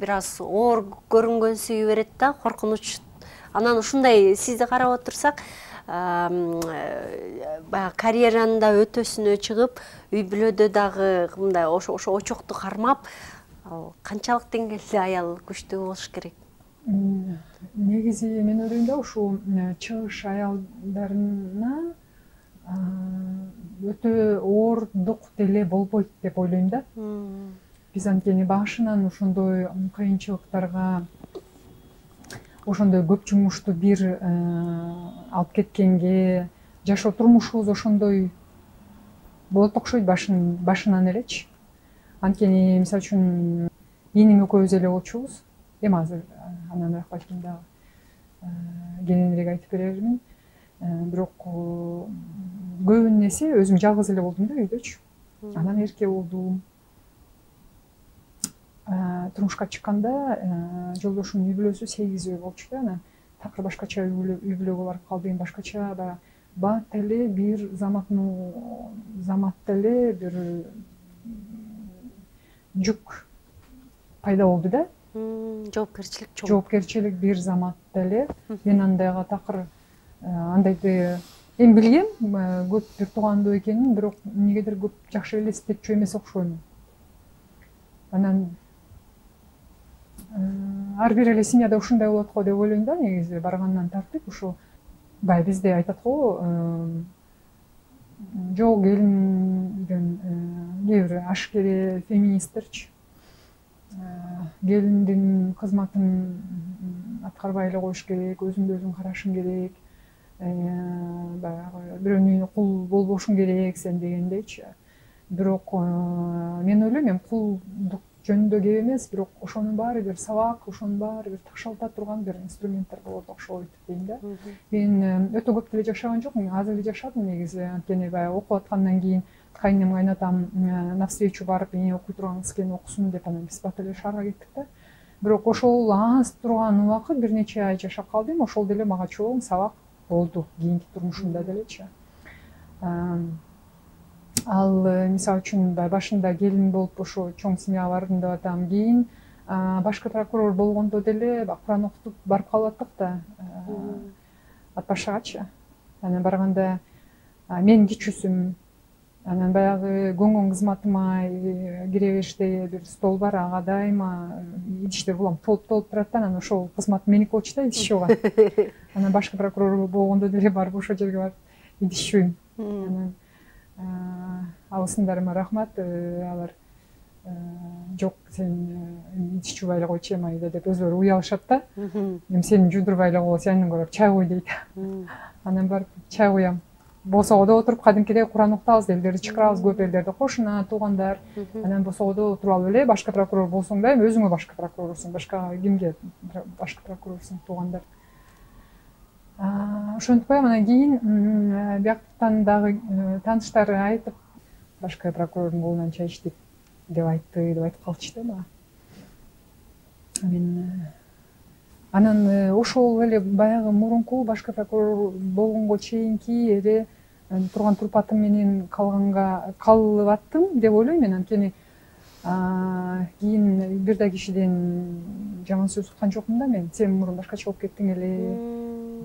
[SPEAKER 2] бир аз оор көрүнгөн берет да, коркунуч. Анан ушундай сизди карап отурсак, баягы карьераны да өтөсүнө чыгып, үй бүлөдө дагы мындай ошо очокту кармап, ал канчалык деңгээлде аял күчтүү болуш керек?
[SPEAKER 1] Негизи мен ойлойм да ушул чыгыш аялдарына өтө оордук деле болбойт деп ойлойм да. Биз анткени башынан ошондой кыйынчылыктарга, ошондой көп жумушту бир алып кеткенге, жашоо турмушубуз ошондой болот окшойт башынан элечи. Анткени мисалы үчүн ийним экөөбүз эле болчубуз. Эми азыр андан балким дагы кененирээк айтып берермин. Бирок көбүн эсе өзүм жалгыз эле болдум да үйдөчү. Анан эрке болдум. Турмушка чыкканда жолдошумдун үй бүлөсү 8 болчу да, анан такыр башкача үй бүлөгө барып калдым. Башкача баягы бат эле бир заматта эле бир жүк пайда болду да. Жоопкерчилик бир заматта эле. Мен андайга такыр андайды эми билгем, көп бир туугандуу экенин, бирок эмнегедир көп жакшы элестетчү эмес окшойм. Анан ар бир эле семьяда ушундай болот го деп ойлойм да, негизи баргандан тартып. Ушул баягы бизде айтат го, жок келиндин кээ бир ашкере феминисттерчи, келиндин кызматын аткарбай эле коюш керек, өзүңдү өзүң карашың керек, баягы бирөөнүн үйүнө кул болбошуң керек сен дегендейчи. Бирок мен ойлойм, эми кулдук жөнүндө кеп эмес, бирок ошонун баары бир сабак, ошонун баары бир ташалта турган бир инструменттер болот окшойт дейм да. Мен өтө көп деле жашаган жокмун, аз эле жашадым негизи. Анткени баягы окуп аткандан кийин кайнем кайнатам навстречу барып, эне окуй турган кыз экен окусун деп, анан биз бат эле шаарга кеттик да. Бирок ошол аз турган убакыт, бир нече ай жашап калдым, ошол деле мага чоң сабак болду кийинки турмушумда делечи. Ал мисалы үчүн башында келин болуп ошо чоң семьяга бардым деп атам. Кийин башкы прокурор болгондо деле Куран окутуп барып калып аттык да, Ат башыгачы. Анан барганда мен кичүүсүм. Анан баягы көңгөн кызматыма кире бериште бир стол бар, ага дайыма идиштер улам толуп турат да, анан ошол кызмат меники болчу да, идиш жууган. Анан башкы прокурор болгондо деле барып ошол жерге барып идиш жууйм. Анан абысындарыма рахмат, алар жок сен идиш жуубай эле койчу эми айда деп өзүлөрү уялышат да. Эми сени жуудурбай эле коебуз, андан көрө чай кой дейт. Анан барып чай куям. Босогодо отуруп кадимкидей Куран окутабыз, элдерди чакырабыз, көп элдерди, кошуна, туугандар. Анан босогодо отуруп алып эле башкы прокурор болсоң да, эми өзүңө башкы прокурорсуң, башка кимге башкы прокурорсуң, туугандар. Ошентип анан кийин бияктан дагы тааныштары айтып, башкы прокурордун колунан чай ичтик деп айтты, деп айтып калчу да мага. Мен анан ошол эле баягы мурунку башкы прокурор болгонго чейинки эле турган турпатым менен калып аттым деп ойлойм мен. Анткени кийин бир да кишиден жаман сөз уккан жокмун да мен. Сен мурун башкача болуп кеттиң эле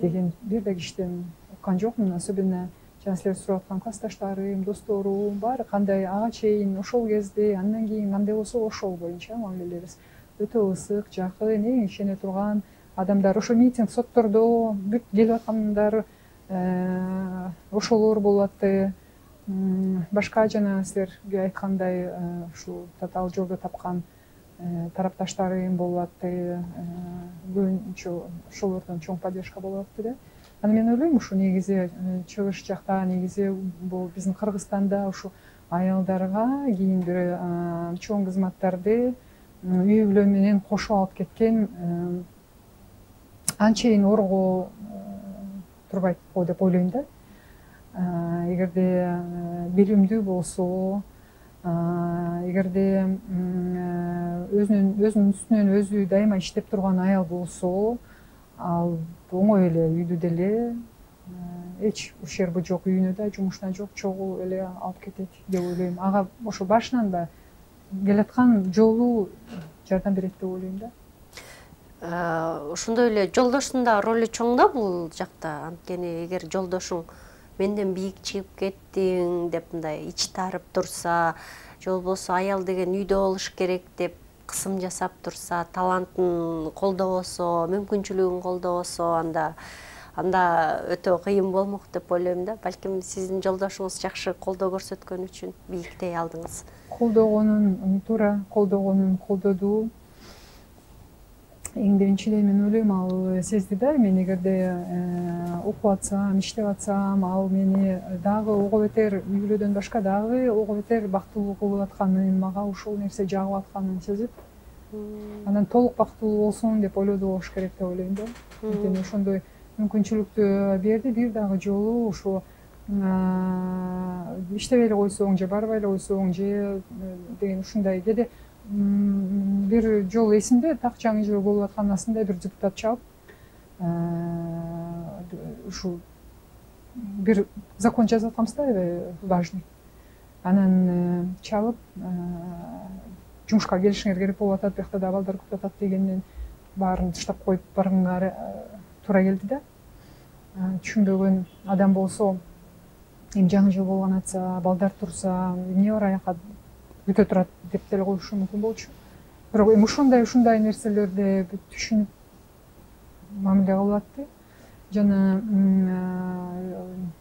[SPEAKER 1] деген бир да кишиден уккан жокмун. Особенно жана силер сурап аткан классташтарым, досторум баары кандай ага чейин ошол кезде, андан кийин кандай болсо ошол боюнча мамилелерибиз өтө ысык, жакын, эң ишене турган адамдар. Ошо митинг, соттордо бүт келип аткандар ошолор болуп атты. Башка жана силерге айткандай ушул татаал жолдо тапкан тарапташтарым болуп атты. Көбүнчө ошолордон чоң поддержка болуп атты да. Анан мен ойлойм, ушу негизи чыгыш жакта, негизи бул биздин Кыргызстанда ушу аялдарга кийин бир чоң кызматтарды үй бүлө менен кошуп алып кеткен анчейин орго турбайт го деп ойлойм да. Эгерде билимдүү болсо, эгерде өзүнүн үстүнөн өзү дайыма иштеп турган аял болсо, ал оңой эле үйдү деле эч ущерби жок, үйүнө да жумушуна жок, чогуу эле алып кетет деп ойлойм. Ага ошо башынан да келаткан жолу жардам берет деп ойлойм да.
[SPEAKER 2] Ошондой эле жолдоштун да ролу чоң да бул жакта. Анткени эгер жолдошуң менден бийик чыгып кеттиң деп мындай ичи тарып турса, же болбосо аял деген үйдө болуш керек деп кысым жасап турса, талантын колдобосо, мүмкүнчүлүгүн колдобосо, анда өтө кыйын болмок деп ойлойм да. Балким сиздин жолдошуңуз жакшы колдоо көрсөткөн үчүн бийиктей алдыңыз.
[SPEAKER 1] Колдогонун туура, колдогонун колдоду. Эң биринчиден мен ойлойм, ал сезди да, мен эгерде окуп атсам, иштеп атсам, ал мени дагы ого бетер үйлөөдөн башка дагы ого бетер бактылуу кылып атканын, мага ушул нерсе жагып атканын сезип, анан толук бактылуу болсун деп ойлоду болуш керек деп ойлойм да. Анткени ошондой мүмкүнчүлүктү берди, бир дагы жолу ушу иштебей эле койсоң же барбай эле койсоң же деген ушундай. Кээде бир жолу эсимде, так жаңы жыл болуп атканасында бир депутат чалып, ушу бир закон жазып атканбыз да, важный. Анан чалып, жумушка келишиңер керек болуп атат, биякта да балдар көп атат дегенден баарын таштап коюп барганга туура келди да. Түшүнбөгөн адам болсо, эми жаңы жыл болгон атса, балдар турса, эмне бар аяка бүтө турат деп деле коюшу мүмкүн болчу. Бирок эми ушундай нерселерди түшүнүп мамиле кылып атты. Жана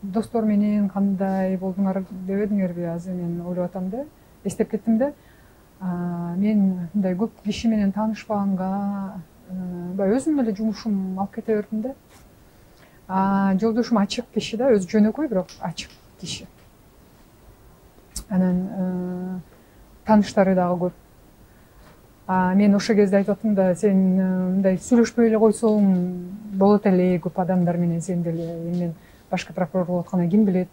[SPEAKER 1] достор менен кандай болдуңар дебедиңерби, азыр мен ойлоп атам да, эстеп кеттим да. Мен мындай көп киши менен таанышпаганга, баягы өзүм эле жумушум алып кете бердим да. Жолдошум ачык киши да, өзү жөнөкөй бирок ачык киши. Анан тааныштары дагы көп. Мен ошол кезде айтып аттым да, сен мындай сүйлөшпөй эле койсоң болот эле, көп адамдар менен сен деле. Мен башкы прокурор болуп аткандан ким билет,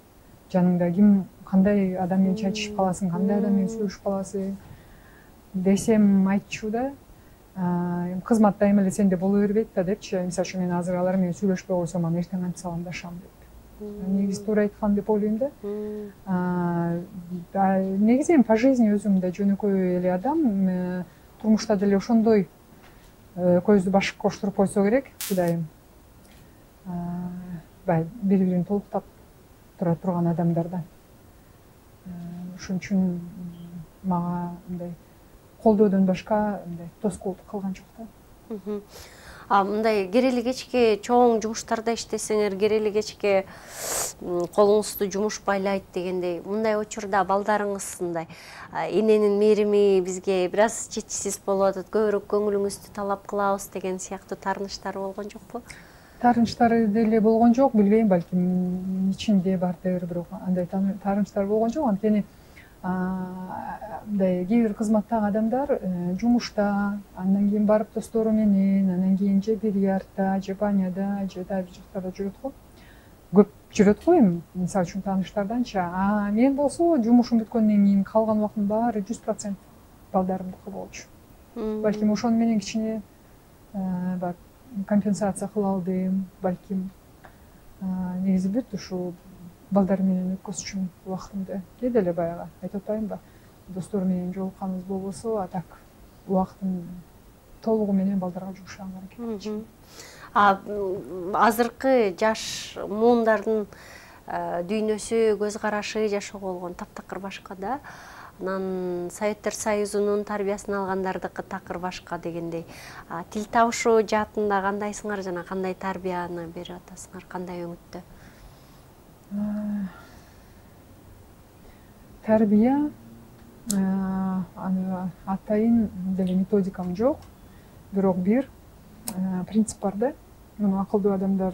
[SPEAKER 1] жаныңда ким, кандай адам менен чай ичип каласың, кандай адам менен сүйлөшүп каласың десем айтчу да. Кызмат дайыма эле сенде боло бербейт да депчи. Мисалы үчүн мен азыр алар менен сүйлөшпөй койсом, анан эртең кантип саламдашам деп. Негизи туура айткан деп ойлойм да. Негизи эми по жизни өзүм да жөнөкөй эле адам, турмушта деле ошондой көздү башка коштуруп койсо керек, Кудайым. Бири бирин толуктап тура турган адамдардан. Ошон үчүн мага мындай колдоодон башка мындай тоскоолдук кылган жок да.
[SPEAKER 2] Мындай керели кечке чоң жумуштарда иштесеңер, керели кечке колуңузду жумуш байлайт дегендей, мындай учурда балдарыңыз мындай эненин мээрими бизге бир аз жетишсиз болуп атат, көбүрөөк көңүлүңүздү талап кылабыз деген сыяктуу таарынычтары болгон жокпу?
[SPEAKER 1] Таарынычтары деле болгон жок, билбейм, балким ичинде бардыр, бирок андай таарынычтар болгон жок. Анткени мындай кээ бир кызматтагы адамдар жумушта, андан кийин барып достору менен, анан кийин же бильярдда, же баняда, же дагы бир жактарда жүрөт го. Көп жүрөт го эми, мисалы үчүн тааныштарданчы. Мен болсо жумушум бүткөндөн кийин калган убактымдын баары 100% балдарымдыкы болчу. Балким ошону менен кичине компенсация кыла алдым, балким. Негизи бүт ушу балдар менен өткөзчүмүн убактымды. Кээде эле баягы айтып атпаймынбы, достор менен жолукканыбыз болбосо, а так убактым толугу менен балдарга жумшаганга аракет кылчумун.
[SPEAKER 2] Азыркы жаш муундардын дүйнөсү, көз карашы, жашоо болгон таптакыр башка да. Анан Советтер Союзунун тарбиясын алгандардыкы такыр башка дегендей. Тил табышуу жаатында кандайсыңар жана кандай тарбияны берип атасыңар, кандай өңүттө?
[SPEAKER 1] Тарбия, аны атайын деле методикам жок, бирок бир принцип бар да. Муну акылдуу адамдар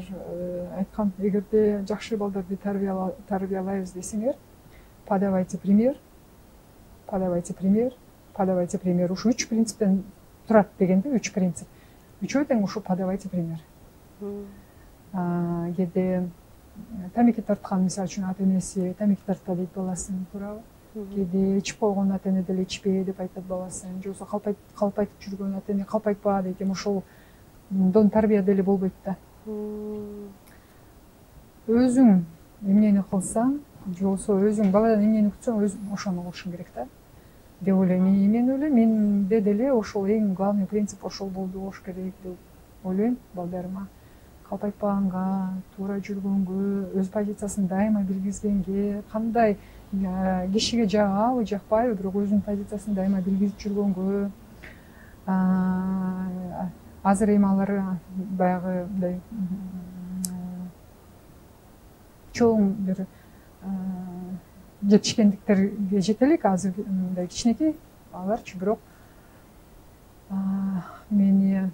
[SPEAKER 1] айткан, эгерде жакшы балдарды тарбиялайбыз десеңер, подавайте пример, подавайте пример, подавайте пример. Ушу 3 принциптен турат дегенде, 3 принцип. Үчөө тең ушу подавайте пример. Кээде тамеки тарткан, мисалы үчүн ата энеси тамеки тартпа дейт баласын, туурабы? Кээде ичип койгон ата эне деле ичпе деп айтат баласын, же болбосо калп айтып жүргөн ата эне калп айтпа дейт. Эми ошол дон тарбия деле болбойт да. Өзүң эмнени кылсаң же болбосо өзүң баладан эмнени күтсөң өзүң ошону кылышың керек да деп ойлойм. Мен ойлойм менде деле ошол эң главный принцип ошол болуш керек деп ойлойм. Балдарыма калп айтпаганга, туура жүргөнгө, өз позициясын дайыма билгизгенге, кандай кишиге жагабы жакпайбы, бирок өзүнүн позициясын дайыма билгизип жүргөнгө. Азыр эми алар баягы мындай чоң бир жетишкендиктерге жете элек, азыр мындай кичинекей аларчы, бирок мени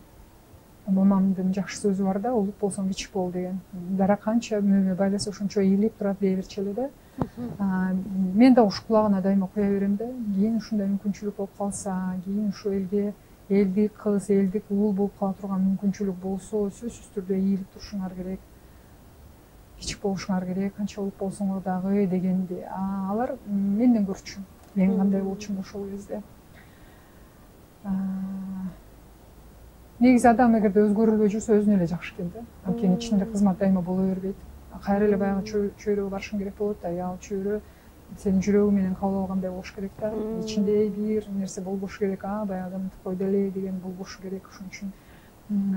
[SPEAKER 1] мамамдын жакшы сөзү бар да, улут болсоң кичик бол деген. Дара канча мөмө байласа ошончо ийилип турат дей берчү эле да. Мен да ушу кулагына дайыма куя берем да. Кийин ушундай мүмкүнчүлүк болуп калса, кийин ушу элге элдик кыз, элдик уул болуп кала турган мүмкүнчүлүк болсо, сөзсүз түрдө ийилип турушуңар керек. Кичик болушуңар керек, канча улут болсоңор дагы дегенди. Алар менден көрчү. Мен кандай болчумун ошол кезде. Негизи адам эгерде өзгөрүлбөй жүрсө өзүнө эле жакшы экен да. Анткени ичинде кызмат дайыма боло бербейт. Кайра эле баягы чөйрөгө барышың керек болот да. Ал чөйрө сенин жүрөгүң менен кабыл алгандай болуш керек да. Ичинде бир нерсе болбошу керек. Баягы адамдыкы койду эле деген болбошу керек. Ошон үчүн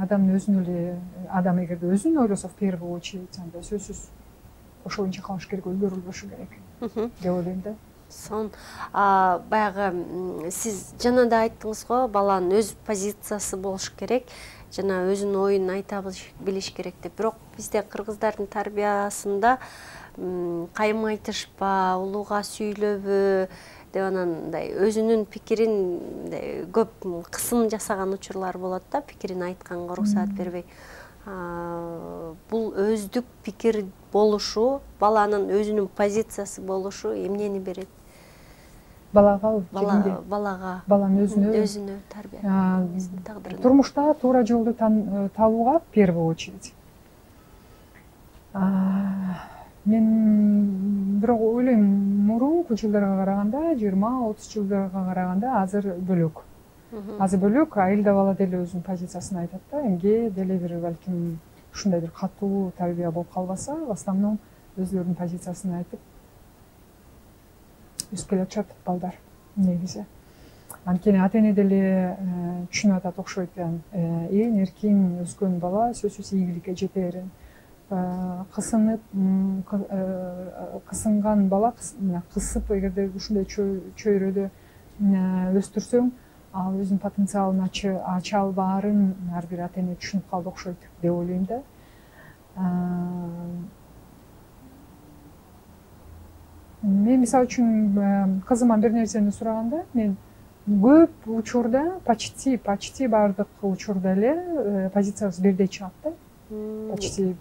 [SPEAKER 1] адамдын өзүнө эле, адам эгерде өзүн ойлосо в первую очередь, анда сөзсүз ошол боюнча калыш керек, өзгөрүлбөшү керек деп ойлойм да.
[SPEAKER 2] Баягы сиз жана да айттыңыз го, баланын өз позициясы болуш керек, жана өзүнүн оюн айта билиш керек деп. Бирок бизде кыргыздардын тарбиясында кайым айтышпа, улууга сүйлөбө деп анан мындай өзүнүн пикирин көп кысым жасаган учурлар болот да, пикирин айтканга уруксаат бербей. Бул өздүк пикир болушу, баланын өзүнүн позициясы болушу эмнени берет?
[SPEAKER 1] Балага,
[SPEAKER 2] балага,
[SPEAKER 1] баланын
[SPEAKER 2] өзүнө тарбия тагдырына.
[SPEAKER 1] Турмушта туура жолду табууга в первую очередь. Мен бирок ойлойм, мурунку жылдарга караганда, 20-30 жылдарга караганда азыр бөлөк. Азыр бөлөк, айыл да бала деле өзүнүн позициясын айтат да. Эмге деле бир балким ушундай бир катуу тарбия болуп калбаса, в основном өзлөрүнүн позициясын айтып өсүп келатышат балдар негизи. Анткени ата-эне деле түшүнүп атат окшойт экен. Эң эркин өскөн бала сөзсүз ийгиликке жетерин. Кысынып, кысынган бала кысып, эгерде ушундай чөйрөдө өстүрсөң, ал өзүнүн потенциалын ача албаарын ар бир ата-эне түшүнүп калды окшойт деп ойлойм да. Мен мисалы үчүн кызыман бир нерсени сураганда, мен көп учурда, почти бардык учурда эле позициябыз бирдей чыгат да.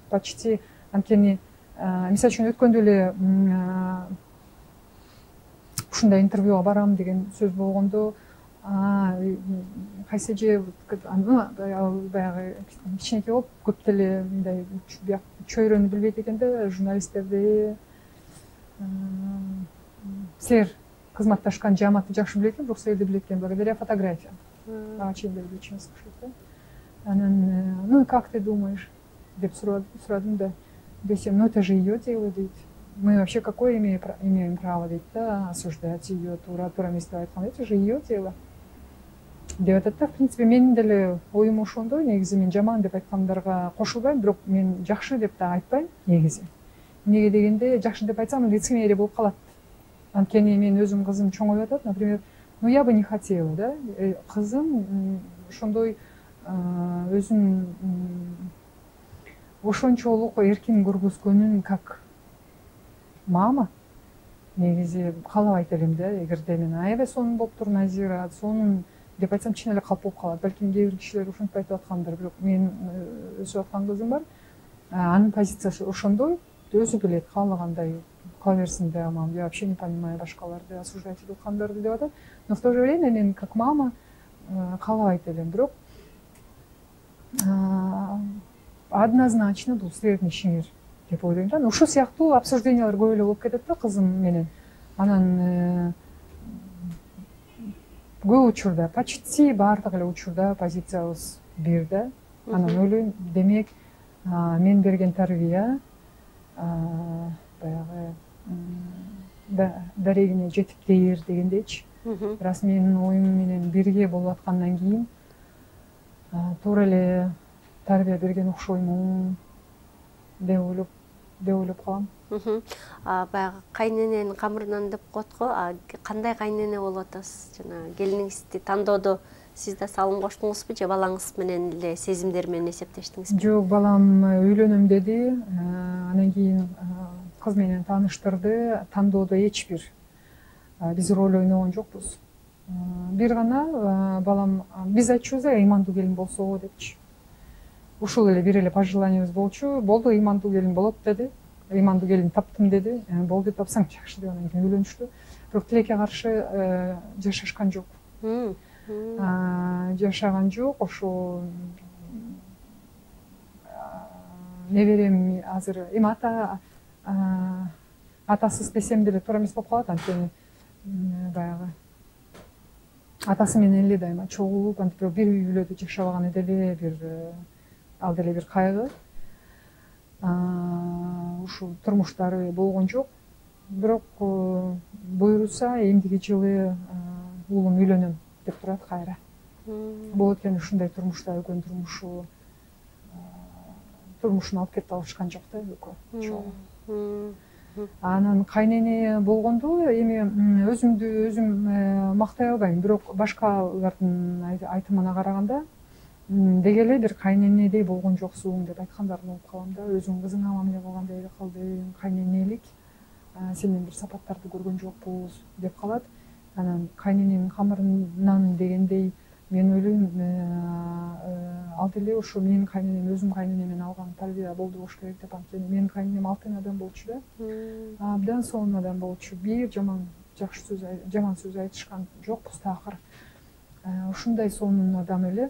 [SPEAKER 1] Почти. Анткени мисалы үчүн өткөндө эле ушундай интервьюга барам деген сөз болгондо, кайсы же баягы кичинекей болуп көп деле мындай чөйрөнү билбейт экен да, журналисттерди. Силер кызматташкан жамаатты жакшы билет экен, бирок силерди билет экен благодаря фотографиям. Ага чейин деле учебница да. Анан, ну и как ты думаешь? Деп сурадым да. Десем, ну это же ее дело, дейт. Мы вообще какое имеем право, дейт, да, осуждать ее, тура эмес айтканда, это же ее дело. Деп атат да, в принципе, менин деле оюм ошондой, негизи мен жаман деп айткандарга кошулбайм, бирок мен жакшы деп да айтпайм негизи. Эмнеге дегенде, жакшы деп айтсам, лицемерие болуп калат. Анткени мен өзүм кызым чоңоюп атат, например, ну я бы не хотела, да, кызым ошондой өзүн ошончолук эркин көргөзгөнүн как мама негизи каалабайт элем да. Эгерде мен аябай сонун болуптур Назира, сонун деп айтсам чын эле калп болуп калат. Балким кээ бир кишилер ошентип айтып аткандыр, бирок мен өсүп аткан кызым бар. Анын позициясы ошондой, өзү билет, каалагандай кыла берсин да, мам, я вообще не понимаю башкаларды осуждать этип аткандарды деп атат. Но в то же время мен как мама каалабайт элем, бирок однозначно бул силердин ишиңер деп ойлойм да. Ушул сыяктуу обсуждениялар көп эле болуп кетет да кызым менен. Анан көп учурда, почти баардык эле учурда позициябыз бир да. Анан ойлойм, демек мен берген тарбия баягы дарегине жетиптир дегендейчи. Раз менин оюм менен бирге болуп аткандан кийин туура эле тарбия берген окшоймун деп ойлоп калам.
[SPEAKER 2] Баягы кайнененин камырынан деп коет го. Кандай кайнене болуп атасыз? Жана келиниңизди тандоодо сиз да салым коштуңузбу же балаңыз менен эле сезимдер менен эсептештиңизби?
[SPEAKER 1] Жок, балам үйлөнөм деди. Анан кийин кыз менен тааныштырды. Тандоодо эч бир биз роль ойногон жокпуз. Бир гана балам биз айтчубуз ыймандуу келин болсо депчи. Ушул эле бир эле пожеланиябыз болчу. Болду, ыймандуу келин болот деди. Ыймандуу келин таптым деди. Болду, тапсаң жакшы деп анан кийин үйлөнүштү. Бирок тилекке каршы жашашкан жок. Жашаган жок. Ошо неберем азыр эми атасыз десем деле туура эмес болуп калат. Анткени баягы атасы менен эле дайыма чогулуп, антип бир үй бүлөдө жашабаганы деле бир ал деле бир кайгы. Ушул турмуштары болгон жок. Бирок буйруса эмдиги жылы уулум үйлөнөм деп турат кайра. Болот экен ушундай турмушта экөөнүн турмушун алып кетип алышкан жок да экөө. Анан кайнене болгондо эми өзүмдү өзүм мактай албайм, бирок башкалардын айтымына караганда деги эле бир кайненедей болгон жоксуң деп айткандарын угуп калам да. Өзүң кызыңа мамиле кылгандай эле кылдың, кайненелик сенден бир сапаттарды көргөн жокпуз деп калат. Анан кайнененин камырынан дегендей мен ойлойм ал деле ошо менин кайненем өзүм кайненемден алган тарбия болду болуш керек деп. Анткени менин кайненем алтын адам болчу да. Абдан сонун адам болчу. Бир жаман сөз айтышкан жокпуз такыр. Ушундай сонун адам эле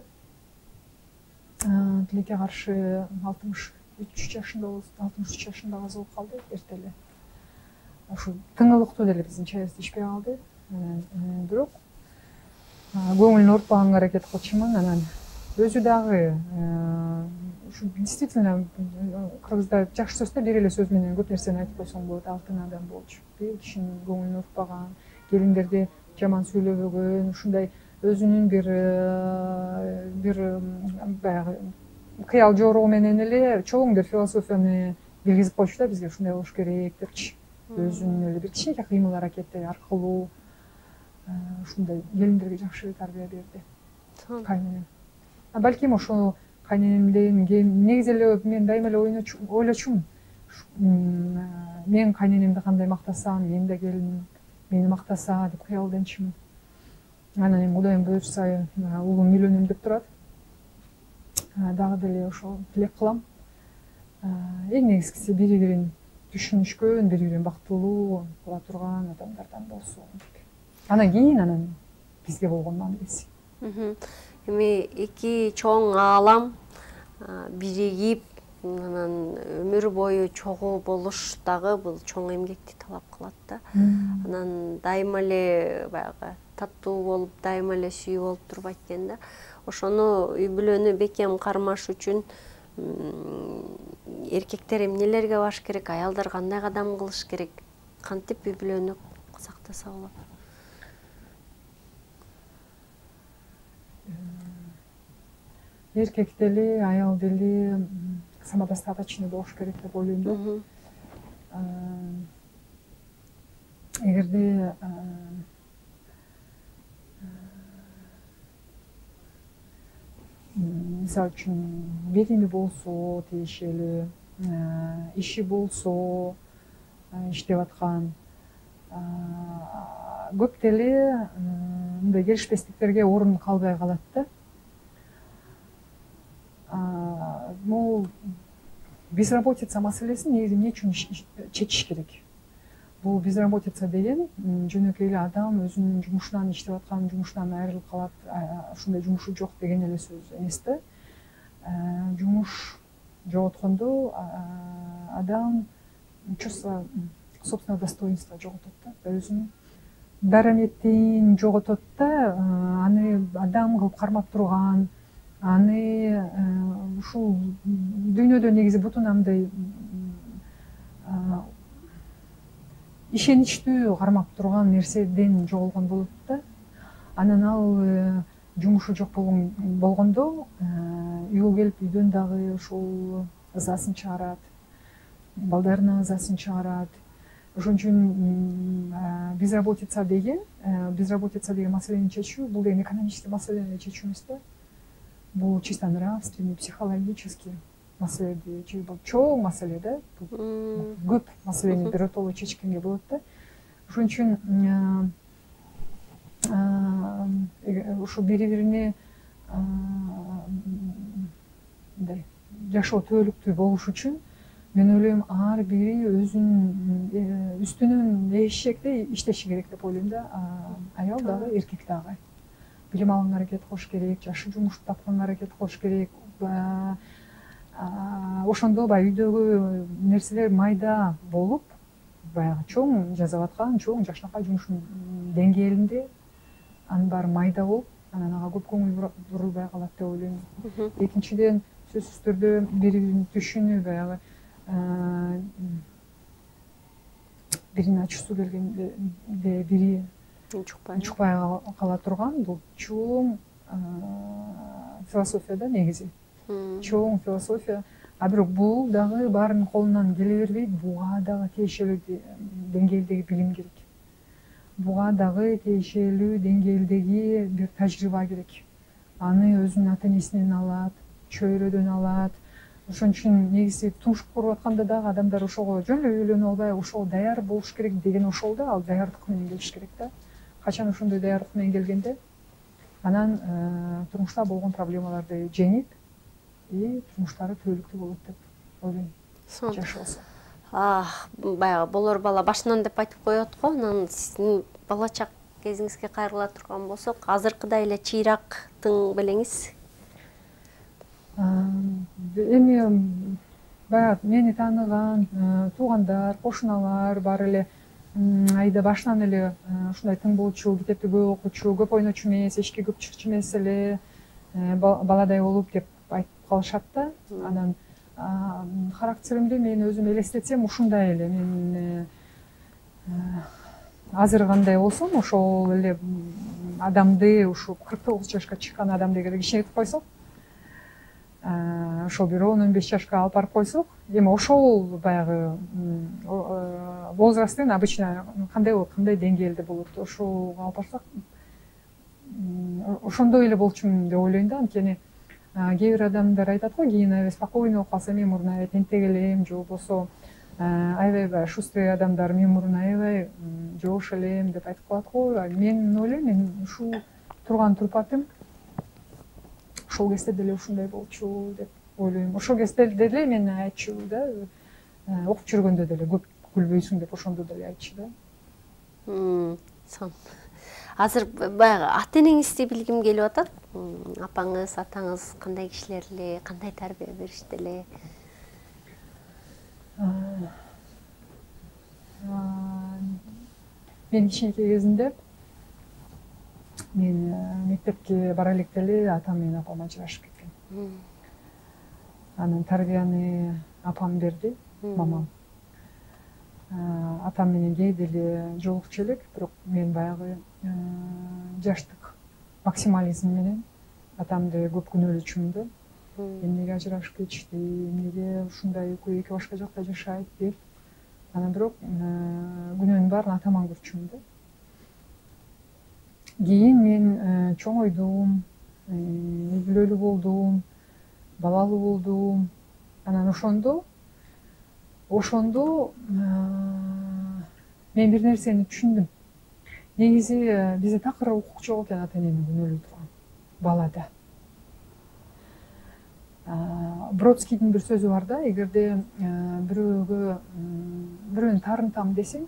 [SPEAKER 1] тилекке каршы 63 жашында каза болуп калды эрте эле. Ошо тыңылыктуу деле биздин чайыбызды ичпей калды. Бирок көңүлүн оорутпаганга аракет кылчумун. Анан өзү дагы ушу действительно кыргызда жакшы сөз да, бир эле сөз менен көп нерсени айтып койсоң болот. Алтын адам болчу. Бир кишинин көңүлүн оорутпаган, келиндерди жаман сүйлөбөгөн, ушундай өзүнүн бир баягы кыял жоругу менен эле чоң бир философияны билгизип койчу да бизге, ушундай болуш керек депчи. Өзүнүн эле бир кичинекей кыймыл аракети аркылуу ушундай келиндерге жакшы тарбия берди кайненем. Балким ошо кайненемден негизи эле мен дайыма эле ойлочумун. Мен кайненемди кандай мактасам, мен да келиним мени мактаса деп кыялденчимин. Анан эми Кудайым буйрса уулум үйлөнөм деп турат. Дагы деле ошол тилек кылам. Эң негизгиси бири-бирин түшүнүшкөн, бири-бирин бактылуу кыла турган адамдардан болсун деп. Анан кийин бизге болгон мамилеси.
[SPEAKER 2] Эми эки чоң аалам биригип, анан өмүр бою чогуу болуш дагы бул чоң эмгекти талап кылат да. Анан дайыма эле баягы таттуу болуп, дайыма эле сүйүү болуп турбайт экен да. Ошону үй бүлөнү бекем кармаш үчүн эркектер эмнелерге баш керек, аялдар кандай кадам кылыш керек, кантип үй бүлөнү сактаса болот?
[SPEAKER 1] Эркек деле, аял деле самодостаточный болуш керек деп ойлойм да. Эгерде мисалы үчүн берими болсо тиешелүү, иши болсо, иштеп аткан, көп деле мындай келишпестиктерге орун калбай калат да. Могу безработица маселесин негизи эмне үчүн чечиш керек? Бул безработица деген жөнөкөй эле адам өзүнүн жумушунан, иштеп аткан жумушунан айрылып калат, ушундай жумушу жок деген эле сөз эмес да. Жумуш жоготкондо адам чувство собственного достоинства жоготот да, өзүнүн дараметин жоготот да, аны адам кылып кармап турган, аны ушул дүйнөдө негизи бутунамдай ишеничтүү кармап турган нерседен жоголгон болот да. Анан ал жумушу жок болгондо үйгө келип үйдөн дагы ошол ызасын чыгарат, балдарынын ызасын чыгарат. Ошон үчүн безработица деген маселени чечүү, бул деген экономический маселени чечүү эмес да. Бул чисто нравственный, психологический маселе, бул чоң маселе да. Көп маселени биротоло чечкенге болот да. Ошон үчүн ушу бири-бирине мындай жашоо түбөлүктүү болуш үчүн мен ойлойм ар бири өзүнүн үстүнөн эшектей иштеши керек деп ойлойм да. Аял дагы, эркек дагы билим алганга аракет кылыш керек, жакшы жумуш тапканга аракет кылыш керек. Ошондо баягы үйдөгү нерселер майда болуп, баягы чоң жасап аткан чоң жакшынакай жумуштун деңгээлинде анын баары майда болуп, анан ага көп көңүл бурулбай калат деп ойлойм. Экинчиден, сөзсүз түрдө бири-бирин түшүнүү, баягы биринин ачуусу келгенде бири унчукпай кала турган бул чоң философия да негизи. Чоң философия. А бирок бул дагы баарынын колунан келе бербейт. Буга дагы тиешелүү деңгээлдеги билим керек. Буга дагы тиешелүү деңгээлдеги бир тажрыйба керек. Аны өзүнүн ата-энесинен алат, чөйрөдөн алат. Ошон үчүн негизи турмуш куруп атканда дагы адамдар ошого жөн эле үйлөнүп албай, ошого даяр болуш керек деген ошол да, ал даярдык менен келиш керек да. Качан ошондой даярдык менен келгенде анан турмушта болгон проблемаларды жеңип, турмуштары түбөлүктүү болот деп ойлойм. Жашоосу.
[SPEAKER 2] Баягы болор бала башынан деп айтып коет го, анан сиздин бала чак кезиңизге кайрыла турган болсок, азыркыдай эле чыйрак тың белеңиз?
[SPEAKER 1] Эми баягы мени тааныган туугандар, кошуналар баары эле айда башынан эле ушундай тың болчу, китепти көп окучу, көп ойночу эмес, эшикке көп чыкчу эмес эле баладай болуп деп айтып калышат да. Анан характеримди мен өзүм элестетсем ушундай эле. Мен азыр кандай болсом, ошол эле адамды ушу 49 жашка чыккан адамды эгер кичинетип койсок, ошол бир 10-15 жашка алып барып койсок, эми ошол баягы возрасттын обычно кандай болот, кандай деңгээлде болот, ошого алып барсак, ошондой эле болчумун деп ойлойм да. Анткени кээ бир адамдар айтат го, кийин аябай спокойный болуп калса, мен мурун аябай тентек элем, же болбосо аябай шустрый адамдар, мен мурун аябай жоош элем деп айтып калат го. Мен ойлойм, мен ушул турган турпатым ошол кезде деле ушундай болчу деп ойлойм. Ошол кезде деле мен айтчу да, окуп жүргөндө деле көп күлбөйсүң деп ошондо деле айтчу да.
[SPEAKER 2] Сон. Азыр баягы ата-энеңизди билгим келип атат. Апаңыз, атаңыз кандай кишилер эле, кандай тарбия беришти эле? Мен кичинекей кезимде мен мектепке бара электе эле атам менен апам ажырашып кеткен. Анан тарбияны апам берди, мамам. Атам менен кээде эле жолукчу элек, бирок мен баягы жаштык максимализм менен атамды көп күнөөлөчүмүн да. Эмнеге ажырашып кетишти, эмнеге ушундай экөө эки башка жакта жашайт деп. Анан бирок күнөөнүн баарын атаман көрчүмүн да. Кийин мен чоңойдум, үй бүлөлүү болдум, балалуу болдум. Анан ошондо мен бир нерсени түшүндүм. Негизи бизде такыр укук жок экен ата-энени күнөөлөй турган балада. Бродскийдин бир сөзү бар да, эгерде бирөөнү таарынтам десең,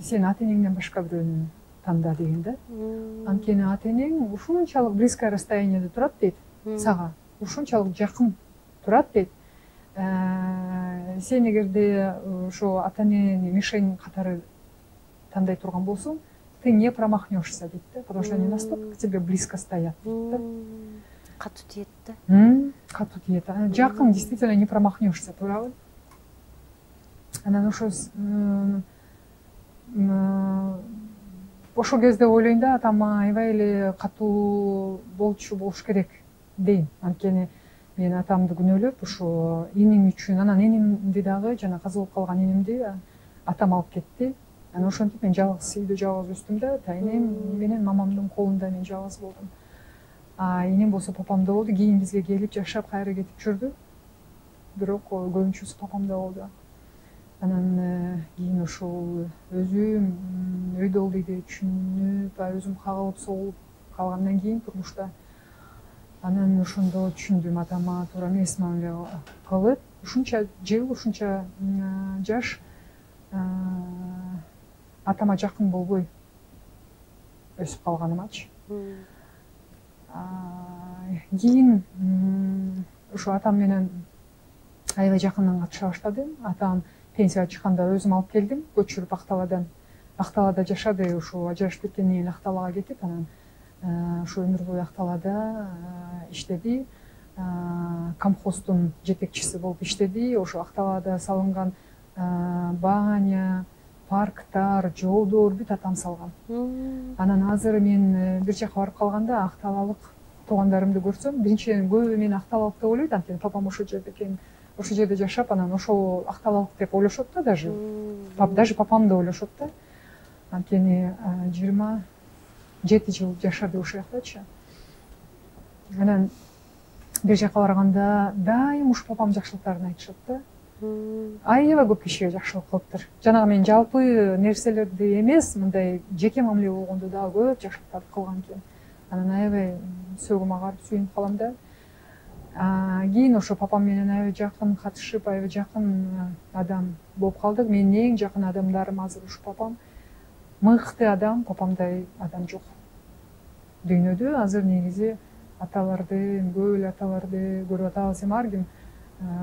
[SPEAKER 2] сен ата-энеңден башка бирөөнү танда деген да. Анткени ата-энең ушунчалык близкое расстоянияда турат дейт сага, ушунчалык жакын турат дейт. Сен эгерде ошо ата-энени мишень катары тандай турган болсоң,
[SPEAKER 1] ты не промахнешься дейт да, потому что они настолько к тебе близко стоят дейт да.
[SPEAKER 2] Катуу тиет да.
[SPEAKER 1] Катуу тиет. Жакын действительно не промахнешься, туурабы? Анан ошол кезде ойлойм да, атама аябай эле катуу болуш керек дейм. Анткени мен атамды күнөөлөп ушу иним үчүн, анан инимди дагы, жана каза болуп калган инимди атам алып кетти. Анан ошентип мен жалгыз үйдө жалгыз өстүм да, тайнем менен мамамдын колунда мен жалгыз болдум. Инем болсо папамда болду, кийин бизге келип жашап кайра кетип жүрдү. Бирок көбүнчөсү папамда болду. Анан кийин ошол өзүм өйдө болду деп түшүнүп, өзүм кагылып согулуп калгандан кийин турмушта анан ошондо түшүндүм, атама туура эмес мамиле кылып, ушунча жыл, ушунча жаш атама жакын болбой өсүп калганымачы. Кийин ушу атам менен аябай жакындан катыша баштадым. Атам пенсияга чыкканда өзүм алып келдим, көчүрүп Акталада жашады. Ушу ажырашып кеткенден кийин Акталага кетип, анан ушу өмүр бою Акталада иштеди. Комхоздун жетекчиси болуп иштеди. Ошо Акталада салынган баня, парктар, жолдор бүт атам салган. Анан азыр мен бир жака барып калганда акталалык туугандарымды көрсөм, биринчиден көбү мени акталалык деп ойлойт, анткени папам ошол жерде экен, ошол жерде жашап, анан ошол акталалык деп ойлошот да, даже папам да ойлошот да. Анткени 27 жыл жашады ошол жактачы. Анан бир жака барганда дайым ушу папам жакшылыктарын айтышат да. Аябай көп кишиге жакшылык кылыптыр. Жанагы мен жалпы нерселерди эмес, мындай жеке мамиле болгондо дагы көп жакшылыктарды кылган экен. Анан аябай сөөгүм агарып сүйүнүп калам да. Кийин ошо папам менен аябай жакын катышып, аябай жакын адам болуп калдык. Менин эң жакын адамдарым азыр ушу папам. Мыкты адам, папамдай адам жок дүйнөдө. Азыр негизи аталарды, көп эле аталарды көрүп атабыз, эми ар ким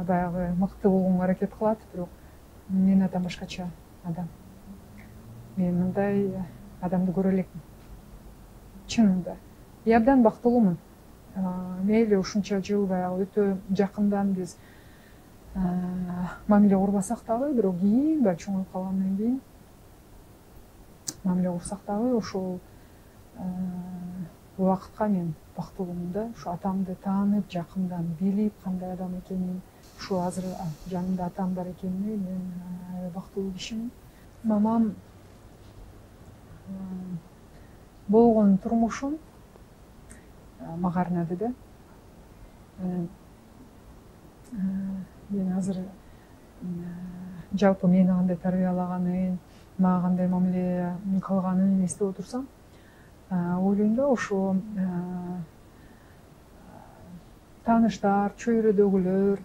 [SPEAKER 1] баягы мыкты болгонго аракет кылат, бирок менин атам башкача адам. Мен мындай адамды көрө элекмин. Чынында. И абдан бактылуумун. Мейли ушунча жыл баягы өтө жакындан биз мамиле курбасак дагы, бирок кийин баягы чоңоюп калгандан кийин мамиле курсак дагы ошол убакытка мен бактылуумун да. Ушу атамды таанып, жакындан билип, кандай адам экенин, ушу азыр жанымда атам бар экенине мен бактылуу кишимин. Мамам болгон турмушун мага арнады да. Мен азыр жалпы мени кандай тарбиялаганын, мага кандай мамиле кылганын эстеп отурсам, ойлойм да, ошо тааныштар, чөйрөдөгүлөр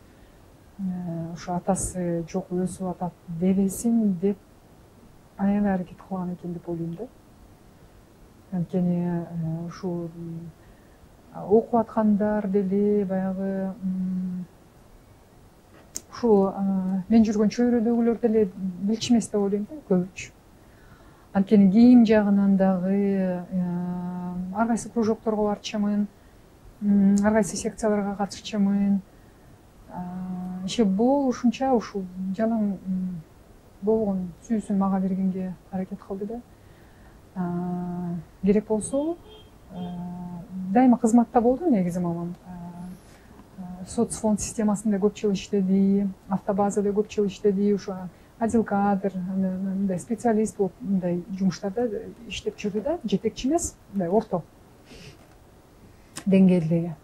[SPEAKER 1] ошо атасы жок өсүп атат дебесин деп аябай аракет кылган экен деп ойлойм да. Анткени ушу окуп аткандар деле баягы ушул мен жүргөн чөйрөдөгүлөр деле билчү эмес деп ойлойм да, көбүчү. Анткени кийим жагынан дагы ар кайсы кружокторго барчумун, ар кайсы секцияларга катышчумун. Иши болушунча ушул жалаң болгон сүүсүн мага бергенге аракет кылды да. Керек болсо дайыма кызматта болду негизи мамам. Соцфонд системасында көп жыл иштеди, автобазада көп жыл иштеди, ушу отдел кадр, мындай специалист болуп мындай жумуштарда иштеп жүрдү да, жетекчи эмес, мындай орто деңгээлдеги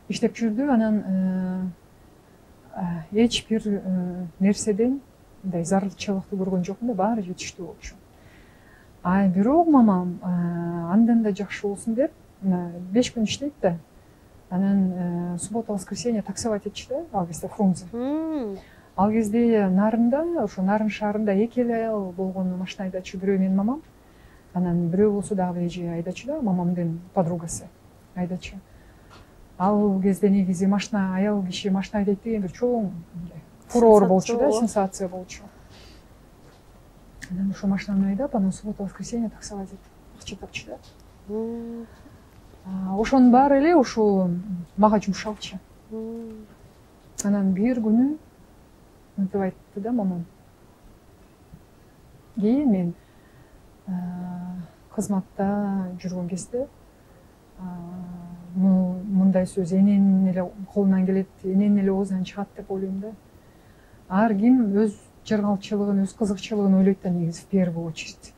[SPEAKER 1] иштеп жүрдү. Анан эч бир нерседен мындай зарылчылыкты көргөн жокмун да, баары жетиштүү болчу. Бирок мамам андан да жакшы болсун деп 5 күн иштейт да. Анан суббота, воскресенье таксовать этчү да, ал кезде Фрунзе. Ал кезде Нарында, ошо Нарын шаарында 2 аял болгон машина айдачу, бирөө менин мамам, анан бирөө болсо дагы эже айдачу да, мамамдын подругасы айдачу. Ал кезде негизи машина, аял киши машина айдайт деген бир чоң фурор болчу да, сенсация болчу. Анан ошо машинаны айдап, анан суббота, воскресенье таксовать этип. акча тапчу да. Ошонун баары эле ушул мага жумшалчу. Анан бир күнү мынтип айтты да мамам. Кийин мен кызматта жүргөн кезде мындай сөз эненин эле колунан келет, эненин эле оозунан чыгат деп ойлойм да. Ар ким өз жыргалчылыгын, өз кызыкчылыгын ойлойт да негизи в первую очередь.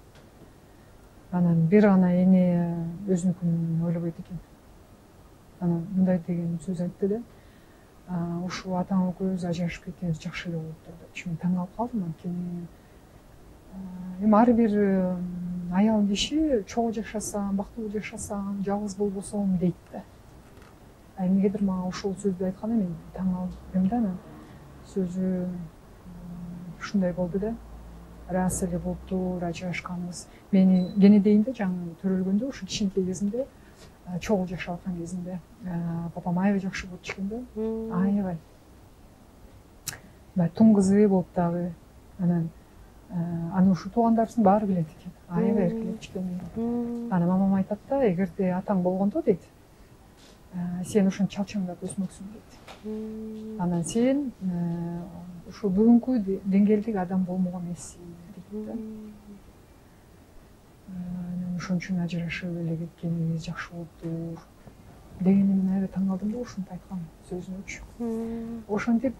[SPEAKER 1] Анан бир гана эне өзүнүкүн ойлобойт экен. Анан мындай деген сөз айтты да. Ушул атаң экөөбүз ажырашып кеткенибиз жакшы эле болуптур депчи. Мен таң калып калдым. Анткени эми ар бир аял киши чогуу жашасам, бактылуу жашасам, жалгыз болбосом дейт да. Эмнегедир мага ушул сөздү айтканда мен таң калдым да. Анан сөзү ушундай болду да. Рас эле болуптур, ажырашканбыз. Мени кенедейин да жаңы төрөлгөндө ушу кичинекей кезимде, чогуу жашап аткан кезимде папам аябай жакшы болчу экен да. Аябай. Баягы тун кызы болуп дагы. Анан аны ушу туугандарыбыздын баары билет экен. Аябай эркелетчү экен. Анан мамам айтат да, эгерде атаң болгондо дейт, сен ошентип чалчаңдап өсмөксүң дейт. Анан сен ушул бүгүнкү деңгээлдеги адам болмок эмессиң дейт да. Анан ошон үчүн ажырашып эле кеткенибиз жакшы болуптур дегенде мен аябай таң калдым да ушинтип айткан сөзүнөчү. Ошентип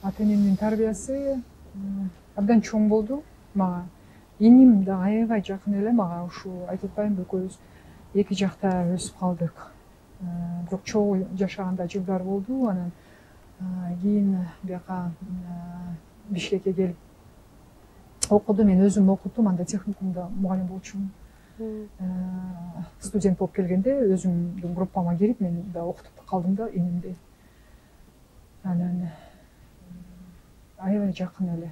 [SPEAKER 1] ата энемдин тарбиясы абдан чоң болду мага. Иним да аябай жакын эле мага. Ушул айтып атпаймынбы, экөөбүз эки жакта өсүп калдык. Бирок чогуу жашаганда жылдар болду. Анан кийин бияка Бишкекке келип окуду. Мен өзүм окудум, анда техникумда мугалим болчумун. Студент болуп келгенде өзүмдүн группама кирип мен да окутуп калдым да инимди. Анан аябай жакын эле.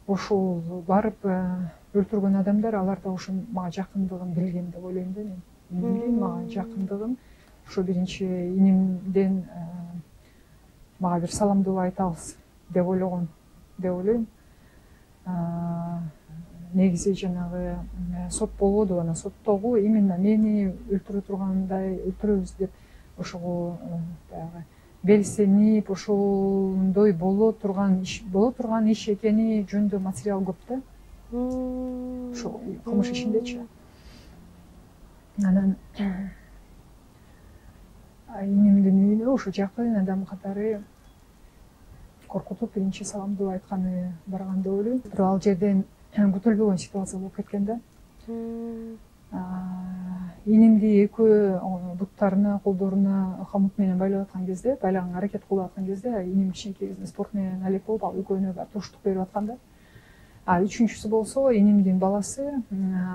[SPEAKER 1] Ошол барып өлтүргөн адамдар, алар да ошо мага жакындыгын билген деп ойлойм да мен. Инимдин мага жакындыгын ошо биринчи инимден мага бир саламдуу айтабыз деп ойлогон деп ойлойм. Негизи жанагы сот болбоду, анан соттогу именно мени өлтүрө тургандай, өлтүрөбүз деп ошого баягы белсенип ошондой боло турган иш экени жөнүндө материал көп да. Ошо кылмыш ишиндечи. Анан инимдин үйүнө ошо жакын адам катары коркутуп биринчи саламдуу айтканы барган деп ойлойм. Бирок ал жерден күтүлбөгөн ситуация болуп кеткен да. Инимди экөө буттарына, колдоруна камыт менен байлап аткан кезде, байлаганга аракет кылып аткан кезде, иним кичинекей кезинде спорт менен алек болуп, ал экөөнө баары туруштук берип аткан да. Үчүнчүсү болсо инимдин баласы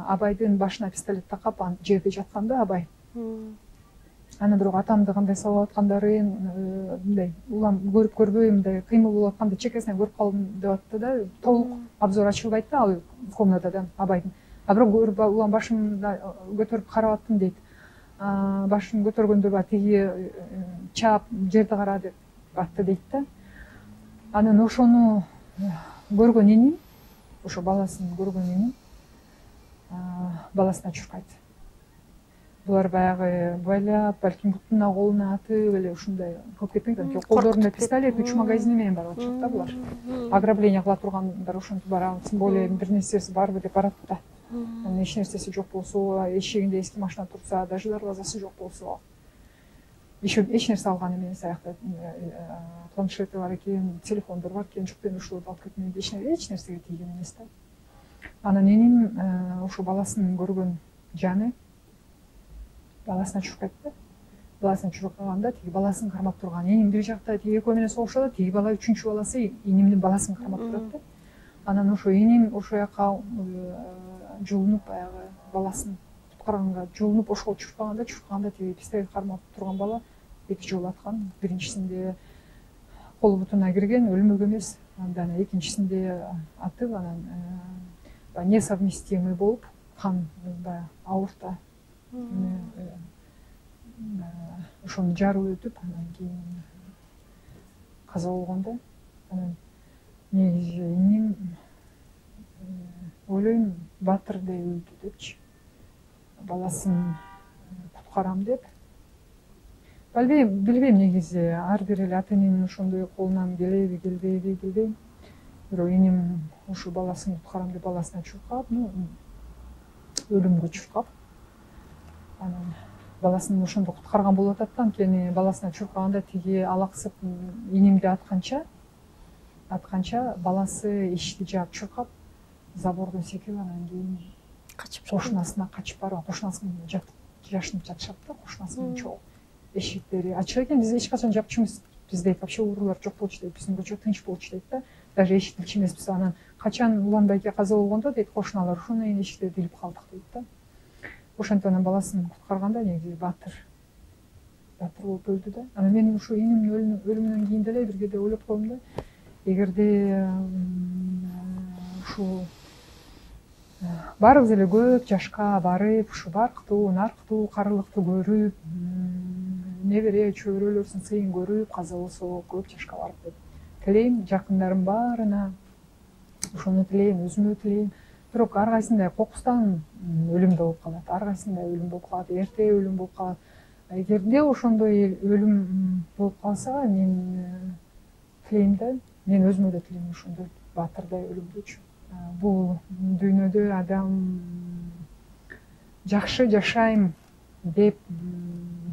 [SPEAKER 1] Абайдын башына пистолет такап жерде жатканда Абай. Анан бирок атамды кандай салып аткандарын мындай улам көрүп көрбөй мындай кыймыл болуп атканда чекесинен көрүп калдым деп атты да. Толук обзор ачылбайт да ал комнатадан Абайдын. Бирок көрүп улам башымды көтөрүп карап аттым дейт. Башын көтөргөндө баягы тиги чаап жерди кара деп атты дейт да. Анан ошону көргөн иним, ошо баласын көргөн иним баласына чуркайт. Булар баягы байлап, балким бутуна колуна атып эле ушундай кылып кетпейт анткени колдорунда пистолет 3 магазини менен барып атышат да булар. Ограбление кыла тургандар ошентип барабы, тем более бир нерсеси барбы деп барат да. Анан эч нерсеси жок болсо, эшигинде эски машина турса, даже дарбазасы жок болсо, эч нерсе алган эмес. Аякта планшети бар экен, телефондор бар экен, жок мен ушуларды алып кетмейм, эч нерсеге тийген эмес да. Анан иним ошо баласын көргөн жаны баласына чуркайт да. Баласына чуркаганда тиги баласын кармап турган иним бир жакта тиги экөө менен согушат, тиги бала үчүнчү баласы инимдин баласын кармап турат да. Анан ошо иним ошо жака жулунуп баягы баласын куткарганга жулунуп ошого чуркаганда тиги пистолет кармап турган бала 2 жолу аткан. Биринчисинде колу бутуна кирген, өлмөк эмес. Андан экинчисинде атып, анан несовместимый болуп, кан баягы аорта ошону жарып өтүп, анан кийин каза болгон да. Анан негизи иним ойлойм баатырдай өлдү депчи, баласын куткарам деп. Билбейм негизи ар бир эле ата эненин ошондой колунан келеби келбейби билбейм. Бирок энем ушу баласын куткарам деп баласына чуркап, өлүмгө чуркап, анан баласын ошондо куткарган болуп атат да, анткени баласына чуркаганда тиги алаксып энемди атканча баласы эшикти жаап чуркап забордон секирип анан кийин кошунасына качып барып, кошунасы менен жашынып жатышат да, кошунасы менен чогуу. Эшиктери ачык экен, биз эч качан жапчу эмес, бизде вообще уруулар жок болчу дейт, биздин көчө тынч болчу дейт да, даже эшикти илчү эмеспиз. Анан качан Уланбайке каза болгондо дейт, кошуналар ошондон кийин эшиктерди илип калдык дейт да. Ошентип анан баласын куткарганда негизи баатыр болуп өлдү да. Анан мен ушу энемдин өлүмүнөн кийин деле бир кээде ойлоп койдум да, эгерде ушул баарыбыз эле көп жашка барып, ушу барктуу, нарктуу, карылыктуу көрүп, небере чөбөрөлөрүбүздүн сыйын көрүп, каза болсо көп жашка барып деп тилейм. Жакындарым баарына ошону тилейм, өзүмө тилейм. Бирок ар кайсындай кокустан өлүм да болуп калат, ар кайсындай өлүм болуп калат, эрте өлүм болуп калат. Эгерде ошондой өлүм болуп калса, мен тилейм да, мен өзүмө да тилейм ошондой баатырдай өлүмдүчү. Бул дүйнөдө адам жакшы жашайм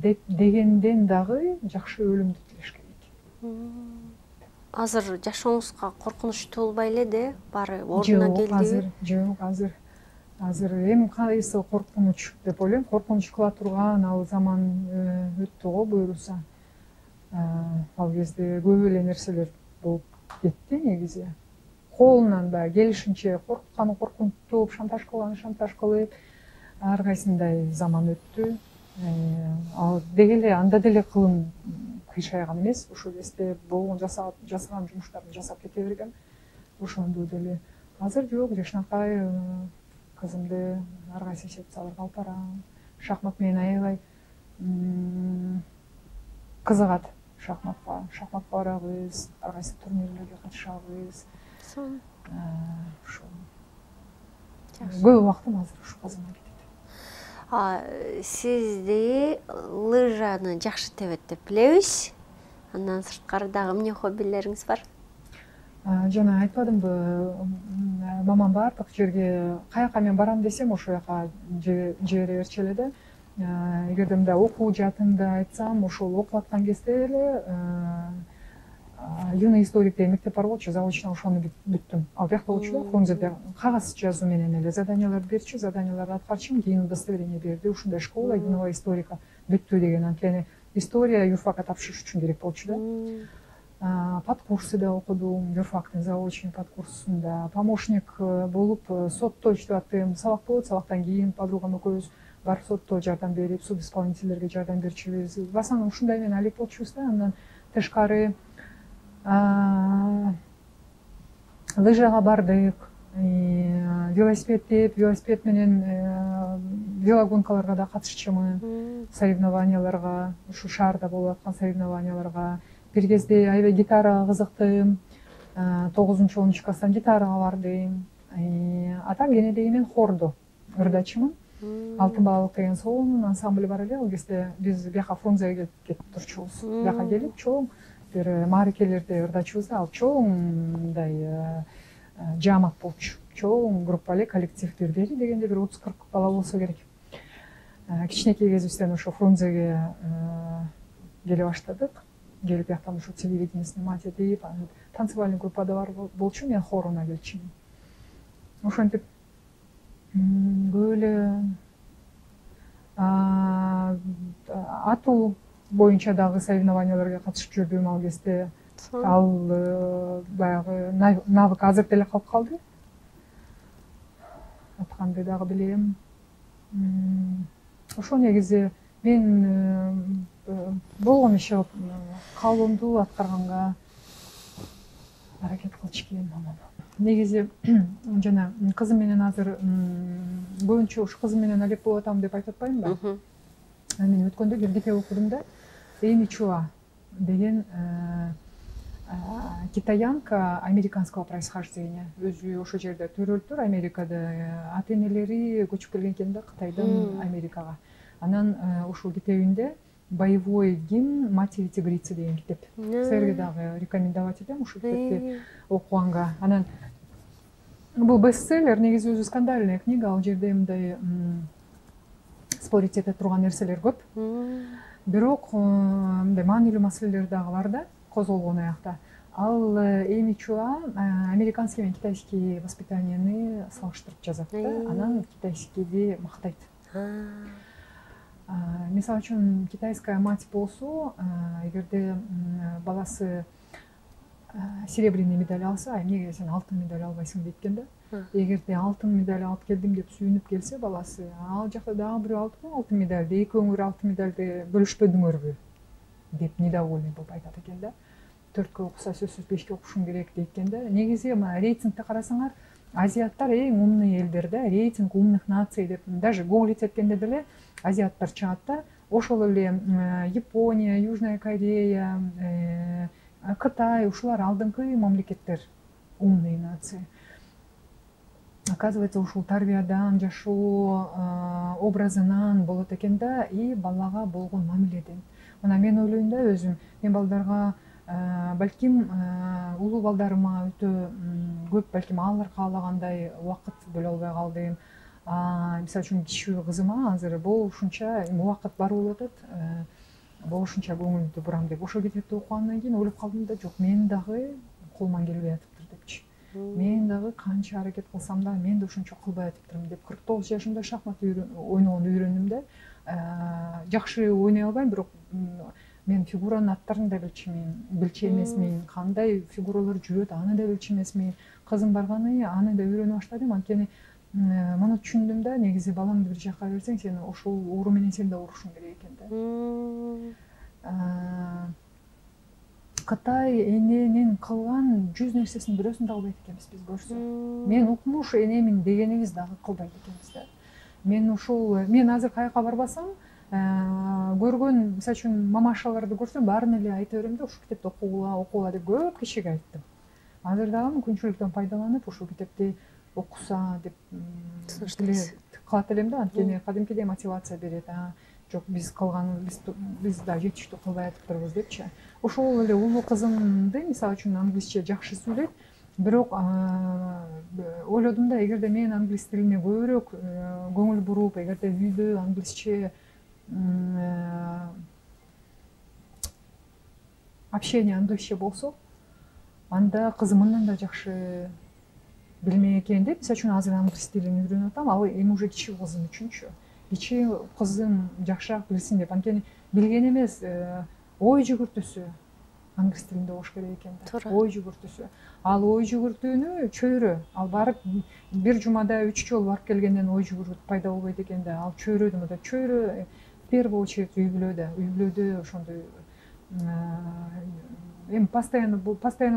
[SPEAKER 1] дегенден дагы жакшы өлүмдү тилеш керек.
[SPEAKER 2] Азыр жашооңузга коркунучтуу болбой эледи, баары ордуна келдиби?
[SPEAKER 1] Жок, азыр эми кайсы коркунуч деп ойлойм. Коркунуч кыла турган ал заман өттү го, буюрса. Ал кезде көп эле нерселер болуп кетти негизи. Колунан баягы келишинче коркутканы коркунтуп, шантаж кылганы шантаж кылып, ар кайсындай заман өттү. Ал деги эле анда деле кылым кыйшайган эмес, ошол кезде болгон жасаган жумуштарын жасап кете бергем. Ошондо деле азыр жок, жакшынакай кызымды ар кайсы секцияларга алып барам. Шахмат менен аябай кызыгат шахматка барабыз, ар кайсы турнирлерге катышабыз. Ошол көп убактым азыр ушу кызымга кетет.
[SPEAKER 2] Сизди лыжаны жакшы тебет деп билебиз. Андан сырткары дагы эмне хоббилериңиз бар?
[SPEAKER 1] Жана айтпадымбы, мамам баардык жерге каяка мен барам десем, ошол жака жибере берчү эле да. Эгерде мындай окуу жаатымды айтсам, ошол окуп аткан кезде эле юный историк деген мектеп бар болчу, заочно ошону бүттүм. Ал бияқта болчу да, Фрунзеде кагаз жазуу менен эле заданияларды берчү, заданияларды аткарчым, кийин удостоверение берди. Ушундай школа юного историка бүттү деген, анткени история юрфакка тапшырыш үчүн керек болчу да. Подкурсы да окудум, юрфактын заочный подкурсунда. Помощник болуп сотто иштеп аттым. Сабак болот, сабактан кийин подругам экөөбүз барып сотто жардам берип, суд исполнительдерге жардам берчүбүз. Басаң ушундай менен алек болчубуз да. Андан тышкары лыжага бардык, велосипед менен велогонкаларга да катышчумун, соревнованияларга, ушу шаарда болуп аткан соревнованияларга. Бир кезде аябай гитарага кызыктым, 9-10 класстан гитарага бардым. Атам кенеде мен хордо ырдачымын. Алтын балык деген сонун ансамбль бар эле. Ал кезде биз бияка Фрунзеге кетип турчубуз. Бияка келип чоң бир мааракелерде ырдачубуз да, ал чоң мындай жаамат болчу. Чоң группа эле, коллектив бери дегенде бир 30-40 бала болсо керек. Кичинекей кезибизден ошо Фрунзеге келе баштадык. Келип бияктан ошо телевидение снимать этип, танцевальный группада бар болчу, мен хоруна келчүмүн. Ошентип көп эле атуу боюнча дагы соревнованияларга катышып жүрдүм ал кезде. Ал баягы навык азыр деле калып калды. Атканды дагы билем. Ошо негизи мен болгон иши каалоомду аткарганга аракет кылчу экен мамам. Негизи жана кызым менен азыр көбүнчө ушу кызым менен алек болуп атам деп айтып атпаймынбы? Мен өткөндө бир китеп окудум да, Эми Чуа деген китаянка американского происхождения. Өзү ошол жерде төрөлүптүр, Америкада. Ата энелери көчүп келген экен да Кытайдан Америкага. Анан ушул китебинде «Боевой гимн матери тигрицы» деген китеп. Силерге дагы рекомендовать этем ушул китепти окуганга. Анан бул бестселлер, негизи өзү скандальная книга. Ал жерде мындай спорить эте турган нерселер көп. Бирок мындай маанилүү маселелер дагы бар да, козголгон аякта. Ал эми чуа американский менен китайский воспитанияны салыштырып жазат да. Анан китайскийди мактайт. Мисалы үчүн китайская мать болсо, эгерде баласы серебряный медаль алса, эмнеге сен алтын медаль албайсың дейт экен да. Эгерде алтын медаль алып келдим деп сүйүнүп келсе баласы, ал жакта дагы бирөө алыптыр алтын медальди, экөөңөр алтын медальди бөлүшпөдүңөрбү деп недовольный болуп айтат экен да. 4-кө окуса сөзсүз 5-ке окушуң керек дейт экен да. Негизи рейтингте карасаңар, азиаттар эң умный элдер да, рейтинг умных наций деп даже гуглить эткенде деле азиаттар чыгат да. Ошол эле Япония, Южная Корея, Кытай, ушулар алдыңкы мамлекеттер, умный нации. Оказывается, ушул тарбиядан, жашоо образынан болот экен да, и балага болгон мамиледен. Мына мен ойлойм да өзүм, мен балдарга балким улуу балдарыма өтө көп, балким алар каалагандай убакыт бөлө албай калдым. Мисалы үчүн кичүү кызыма азыр болушунча убакыт бар болуп атат, болушунча көңүлдү бурам деп ошол китепти окугандан кийин ойлоп калдым да, жок, мен дагы колуман келбей атыптыр депчи. Мен дагы канча аракет кылсам да мен да ошончо кылбай атыптырмын деп 49 жашымда шахмат ойногонду үйрөндүм да. Жакшы ойной албайм, бирок мен фигуранын аттарын да билчү эмесмин, кандай фигуралар жүрөт аны да билчү эмесмин. Кызым барганы аны да үйрөнө баштадым, анткени муну түшүндүм да, негизи балаңды бир жакка берсең, сен ошол оору менен сен да оорушуң керек экен да. Кытай эненин кылган 100 нерсесин бирөөсүн да кылбайт экенбиз биз көрсө. Мен укмуш энемин дегенибиз дагы кылбайт экенбиз да. Мен азыр каяка барбасам, көргөн, мисалы үчүн мамашаларды көрсөм, баарын эле айта берем да, ушул китепти окугула деп көп кишиге айттым. Азыр дагы мүмкүнчүлүктөн пайдаланып ушул китепти окуса деп кылат элем да, анткени кадимкидей мотивация берет. Жок, биз да жетиштүү кылбай атыптырбыз депчи. Ошол эле улуу кызымды, мисалы үчүн, англисче жакшы сүйлөйт, бирок ойлодум да, эгерде мен англис тилине көбүрөөк көңүл буруп, эгерде үйдө англисче общение англисче болсо, анда кызым мындан да жакшы билмек экен деп, мисалы үчүн азыр англис тилин үйрөнүп атам, ал эми уже кичүү кызым үчүнчү. Кичүү кызым жакшыраак билсин деп, анткени билген эмес, ой жүгүртүүсү англис тилинде болуш керек экен да. Ой жүгүртүүсү. Ал ой жүгүртүүнү чөйрө, ал барып бир жумада 3 жолу барып келгенден ой жүгүртүү пайда болбойт экен да. Ал чөйрөдө, мында чөйрө в первую очередь үй-бүлөдө ошондой эми постоянно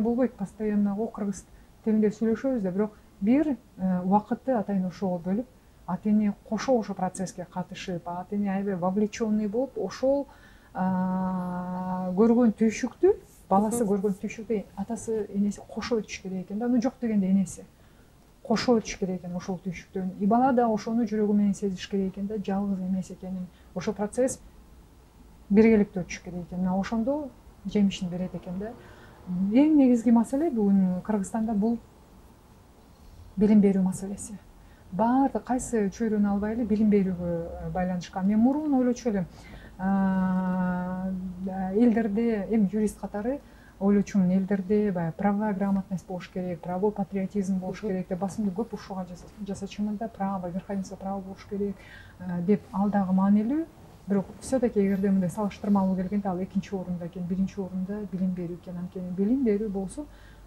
[SPEAKER 1] болбойт, постоянно кыргыз тилинде сүйлөшөбүз да, бирок бир убакытты атайын ошого бөлүп, ата эне кошо ошо процесске катышып, ата эне аябай вовлеченный болуп, ошол көргөн түйшүктү, баласы көргөн түйшүктү атасы энеси кошо өтүш керек экен да. Жок дегенде энеси кошо өтүш керек экен ошол түйшүктөн. И бала да ошону жүрөгү менен сезиш керек экен да, жалгыз эмес экенин. Ошол процесс биргеликте өтүш керек экен. Ошондо жемишин берет экен да. Эң негизги маселе бүгүн Кыргызстанда бул билим берүү маселеси. Баардык кайсы чөйрөнү албайлы билим берүүгө байланышкан. Мен мурун ойлочу элем, элдерде, эми юрист катары ойлочумун, элдерде баягы правовая грамотность болуш керек, правовой патриотизм болуш керек деп басымды көп ушуга жасачумун да, право, верховенство права болуш керек деп. Ал дагы маанилүү, бирок все-таки эгерде мындай салыштырмалуу келгенде ал экинчи орунда экен, биринчи орунда билим берүү экен. Анткени билим берүү болсо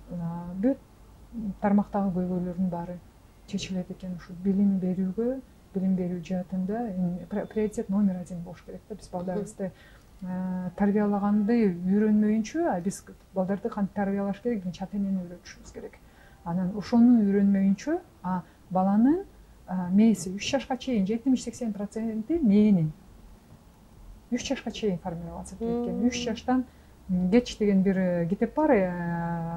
[SPEAKER 1] бүт тармактагы көйгөйлөрдүн баары чечилет экен. Ушу билим берүүгө, билим берүү жаатында приоритет номер 1 болуш керек да. Биз балдарыбызды тарбиялаганды үйрөнмөйүнчө, биз балдарды кантип тарбиялаш керек, биринчи ата энени үйрөтүшүбүз керек. Анан ошону үйрөнмөйүнчө баланын мээси 3 жашка чейин 70-80% мээнин 3 жашка чейин формироваться этет экен. 3 жаштан Кеч деген бир китеп бар,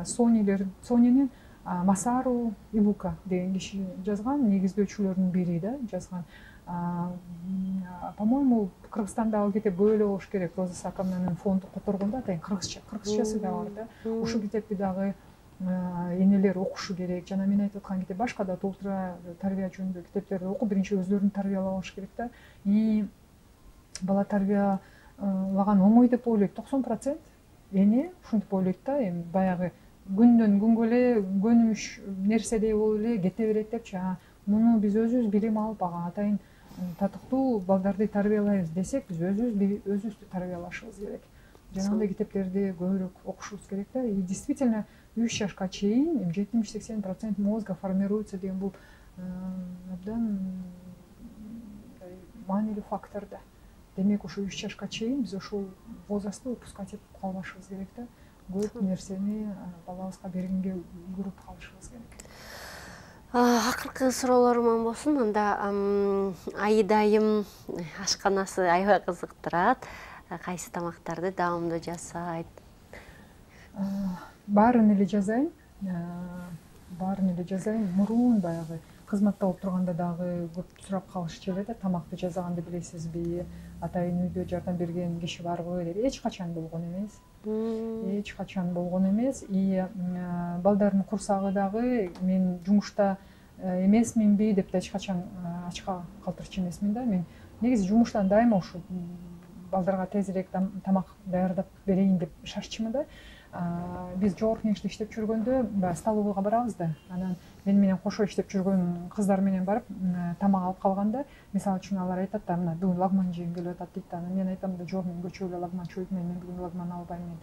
[SPEAKER 1] Сонинин Масару Ибука деген киши жазган, негиздөөчүлөрдүн бири да жазган. По-моему, Кыргызстанда ал китеп бөлө болуш керек. Роза Сакановнун фонду которгондо атайын кыргызчасы да бар да. Ушул китепти дагы энелер окушу керек. Жана мен айтып аткан китеп башка да толтура тарбия жөнүндө китептерди окуп, биринчи өздөрүн тарбиялап алыш керек да. И бала тарбиялаган оңой деп ойлойт 90%. Эне ушинтип ойлойт да, эми баягы күндөн күнгө эле көнүмүш нерседей болуп эле кете берет депчи. Муну биз өзүбүз билим алып, ага атайын татыктуу балдарды тарбиялайбыз десек, биз өзүбүздү тарбиялашыбыз керек. Жанагындай китептерди көбүрөөк окушубуз керек да. И действительно 3 жашка чейин 70-80% мозга формируется деген бул абдан маанилүү фактор да. Демек, ошо 3 жашка чейин биз ошол возрастты упускать этип калбашыбыз керек да. Көп нерсени балабызга бергенге үлгүрүп калышыбыз керек.
[SPEAKER 2] Акыркы суроолорум болсун. Анда Аида айым ашканасы аябай кызыктырат. Кайсы тамактарды даамдуу жасайт?
[SPEAKER 1] Баарын эле жазайын. Мурун баягы кызматта болуп турганда дагы көп сурап калышчу эле да, тамакты жасаганды билесизби, атайын үйдө жардам берген киши барбы деп. Эч качан болгон эмес. И балдардын курсагы дагы мен жумушта эмесминби деп да эч качан ачка калтырчу эмесмин да. Мен негизи жумуштан дайыма ушу балдарга тезирээк тамак даярдап берейин деп шашчумун да. Биз жогорку кеңеште иштеп жүргөндө баягы столовойго барабыз да. Анан мен менен кошо иштеп жүргөн кыздар менен барып тамак алып калганда, мисалы үчүн алар айтат да, мына бүгүн лагман жегим келип атат дейт да. Анан мен айтам да, жок, мен көчөгө эле лагман чөйдүм, мен бүгүн лагман албайм, мен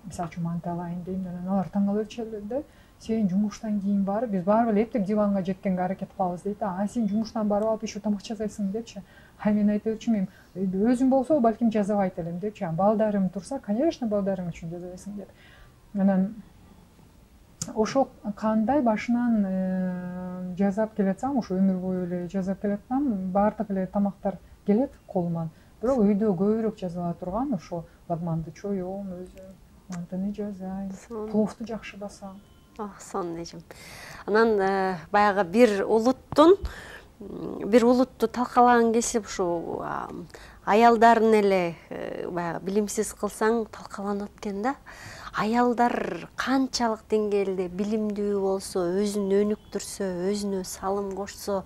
[SPEAKER 1] мисалы үчүн манты алайын дейм. Анан алар таң калып өтүшөт да. Сен жумуштан кийин барып, биз барып эле эптеп диванга жеткенге аракет кылабыз дейт да. Сен жумуштан барып алып еще тамак жасайсың депчи. Мен айтып өтчүмүн, өзүм болсо балким жазабайт элем депчи. Балдарым турса, конечно, балдарың үчүн жазабайсың деп. Анан ошо кандай башынан жазап келатсам, ошо өмүр бою эле жазап келатсам, баардык эле тамактар келет колуман. Бирок үйдө көбүрөөк жазыла турган ошо лагманды чоём өзүм, мантыны жасайм, пловду жакшы басам.
[SPEAKER 2] Сонун эжим. Анан баягы бир улутту талкалаган кесип ушу аялдарын эле баягы билимсиз кылсаң талкаланат экен да. Аялдар канчалык деңгээлде билимдүү болсо, өзүн өнүктүрсө, өзүнө салым кошсо,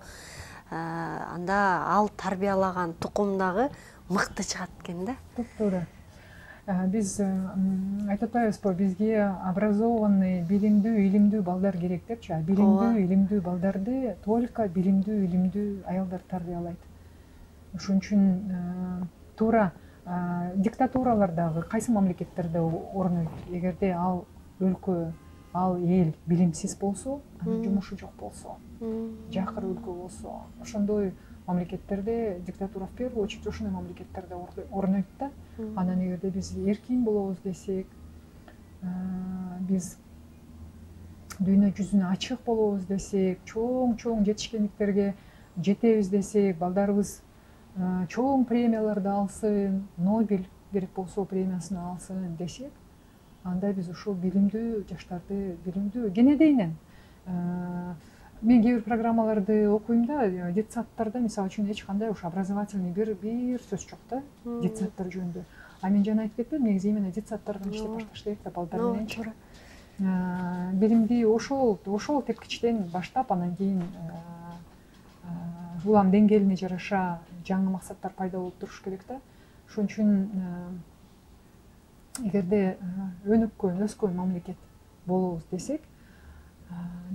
[SPEAKER 2] анда ал тарбиялаган тукум дагы мыкты чыгат экен да.
[SPEAKER 1] Туура. Биз айтып атпайбызбы, бизге образованный, билимдүү, илимдүү балдар керек депчи. Билимдүү, илимдүү балдарды только билимдүү, илимдүү аялдар тарбиялайт. Ошон үчүн туура диктатуралардагы кайсы мамлекеттерде орнойт? Эгерде ал өлкө, ал эл билимсиз болсо, анын жумушу жок болсо, жакыр өлкө болсо, ошондой мамлекеттерде диктатура в первую очередь ошондой мамлекеттерде орнойт да. Анан эгерде биз эркин болобуз десек, биз дүйнө жүзүнө ачык болобуз десек, чоң жетишкендиктерге жетебиз десек, балдарыбыз чоң премияларды алсын, Нобель керек болсо премиясын алсын десек, анда биз ушул билимдүү жаштарды, билимдүү кенедейинен мен кээ бир программаларды окуйм да, детсадтарда мисалы үчүн эч кандай ушу образовательный бир сөз жок да, детсадтар жөнүндө. Мен жана айтып кеттим, негизи именно детсадтардан иштеп башташ керек да, балдар мененчи. Билимди ошол тепкичтен баштап, анан кийин улам деңгээлине жараша жаңы максаттар пайда болуп туруш керек да. Ошон үчүн эгерде өнүккөн, өскөн мамлекет болобуз десек,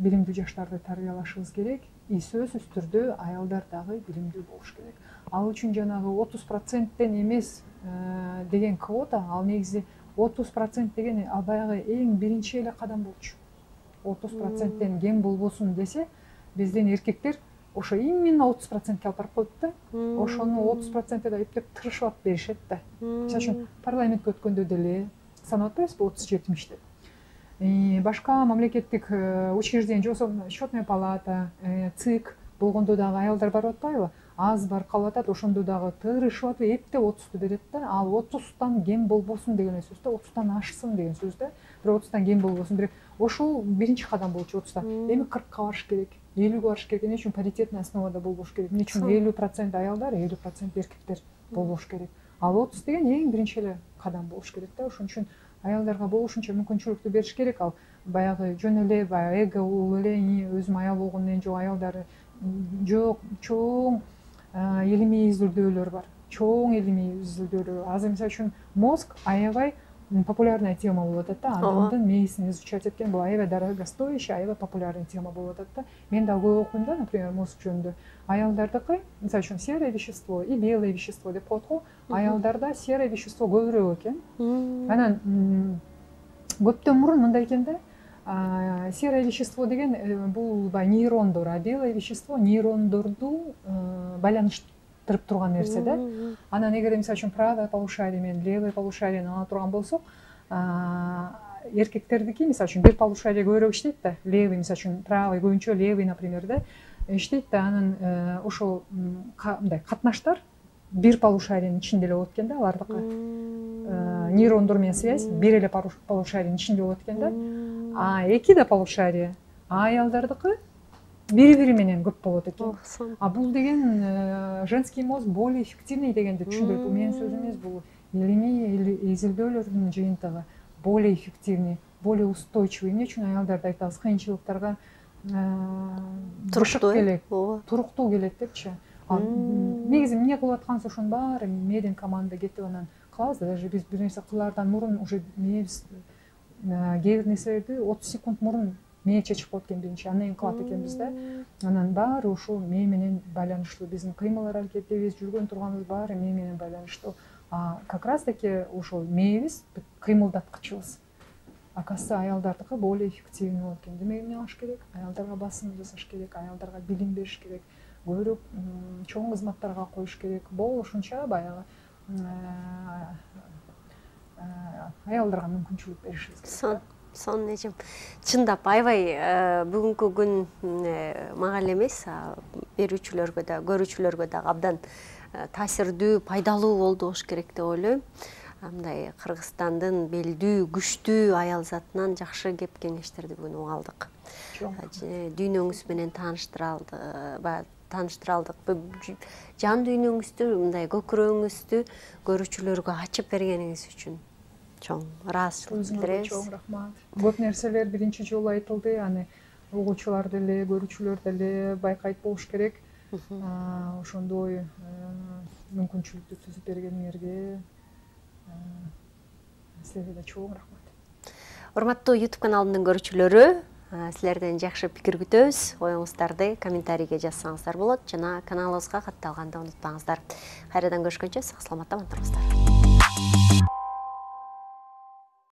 [SPEAKER 1] билимдүү жаштарды тарбиялашыбыз керек. И сөзсүз түрдө аялдар дагы билимдүү болуш керек. Ал үчүн жанагы 30%тен эмес деген квота, ал негизи 30% деген ал баягы эң биринчи эле кадам болчу. 30%тен кем болбосун десе, биздин эркектер ошо именно 30%ке алып барып коет да. Ошону 30%-те да эптеп тырышып беришет да. Мисалы үчүн парламентке өткөндө деле санап атпайбызбы 30-70 деп. Башка мамлекеттик учреждение, счетная палата, ЦИК болгондо дагы аялдар барып атпайбы? аз бар калып атат, ошондо дагы тырышып атып эптеп 30-ту берет да. Ал 30-тан кем болбосун деген сөз да, 30-тан ашсын деген сөз да. Бирок 30-тан кем болбосун. Бирок ошол биринчи кадам болчу 30-та. Эми 40-ка барыш керек, 50-ге барыш керек. Эмне үчүн паритетный основада болбош керек? Эмне үчүн 50% аялдар, 50% эркектер болбош керек? Ал 30 деген эң биринчи эле кадам болуш керек да. Ошон үчүн аялдарга болушунча мүмкүнчүлүктү бериш керек. Ал баягы жөн эле баягы эго эле өзүм аял болгондон кийин жок, аялдары жок, чоң илимий изилдөөлөр бар. Чоң илимий изилдөөлөр. Азыр мисалы үчүн мозг аябай популярная тема болуп атат да. Адамдын мээсин изучать эткен бул аябай дорогостоящий, аябай популярный тема болуп атат да. Мен да көп окуйм да, например, мозг жөнүндө. Аялдардыкы, мисалы үчүн серое вещество и белое вещество деп коет го. Аялдарда серое вещество көбүрөөк экен. Анан көптөн мурун мындай экен да. Серое вещество деген бул нейрондор, а белое вещество нейрондорду байланыштырып турган нерсе да. Анан эгер мисалы үчүн правое полушарие менен левое полушарияны ала турган болсок, эркектердики мисалы үчүн бир полушарие көбүрөөк иштейт да. Левый мисалы үчүн правый көбүнчө левый, например, да иштейт да. Анан ошол мындай катнаштар бир полушариянын ичинде эле болот экен да, алардыкы. Нейрондор менен связь бир эле полушариянын ичинде болот экен да. А эки да полушария аялдардыкы бири-бири менен көп болот экен. А бул деген женский мозг более эффективный дегенди түшүндүрөт. Бул менин сөзүм эмес, бул илимий изилдөөлөрдүн жыйынтыгы. Более эффективный, более устойчивый. Эмне үчүн аялдарды айтабыз кыйынчылыктарга туруктуу келет депчи. Негизи эмне кылып атканбыз ошонун баары медиа команда кетип анан кылабыз да. Даже биз бир нерсе кылаардан мурун уже мээбиз кээ бир нерселерди 30 секунд мурун мээ чечип коет экен биринчи, андан кийин кылат экенбиз да. Анан баары ушул мээ менен байланыштуу. Биздин кыймыл аракетибиз, жүргөн турганыбыз баары мээ менен байланыштуу. Как раз таки ошол мээбиз кыймылдаткычыбыз. Оказывается, аялдардыкы более эффективный болот экен. Демек эмне кылыш керек? Аялдарга басым жасаш керек, аялдарга билим бериш керек, көбүрөөк чоң кызматтарга коюш керек. Болушунча баягы аялдарга мүмкүнчүлүк беришибиз керек.
[SPEAKER 2] Сон эжем. Чындап аябай бүгүнкү күн мага эле эмес, берүүчүлөргө да, көрүүчүлөргө да абдан таасирдүү, пайдалуу болду болуш керек деп ойлойм. Мындай Кыргызстандын белдүү, күчтүү аял затынан жакшы кеп кеңештерди бүгүн уга алдык. Дүйнөңүз менен тааныштыра алдык. Жан дүйнөңүздү, мындай көкүрөгүңүздү көрүүчүлөргө ачып бергениңиз үчүн чоң ыраазычылык билдиребиз.
[SPEAKER 1] Чоң рахмат. Көп нерселер биринчи жолу айтылды, аны угуучулар деле, көрүүчүлөр деле байкайт болуш керек. Ошондой мүмкүнчүлүктү түзүп бергениңерге силерге да чоң рахмат.
[SPEAKER 2] Урматтуу YouTube каналымдын көрүүчүлөрү, силерден жакшы пикир күтөбүз. Оюңуздарды комментарийге жазсаңыздар болот жана каналыбызга катталганды унутпаңыздар. Кайрадан көрүшкөнчө сак саламатта туруңуздар.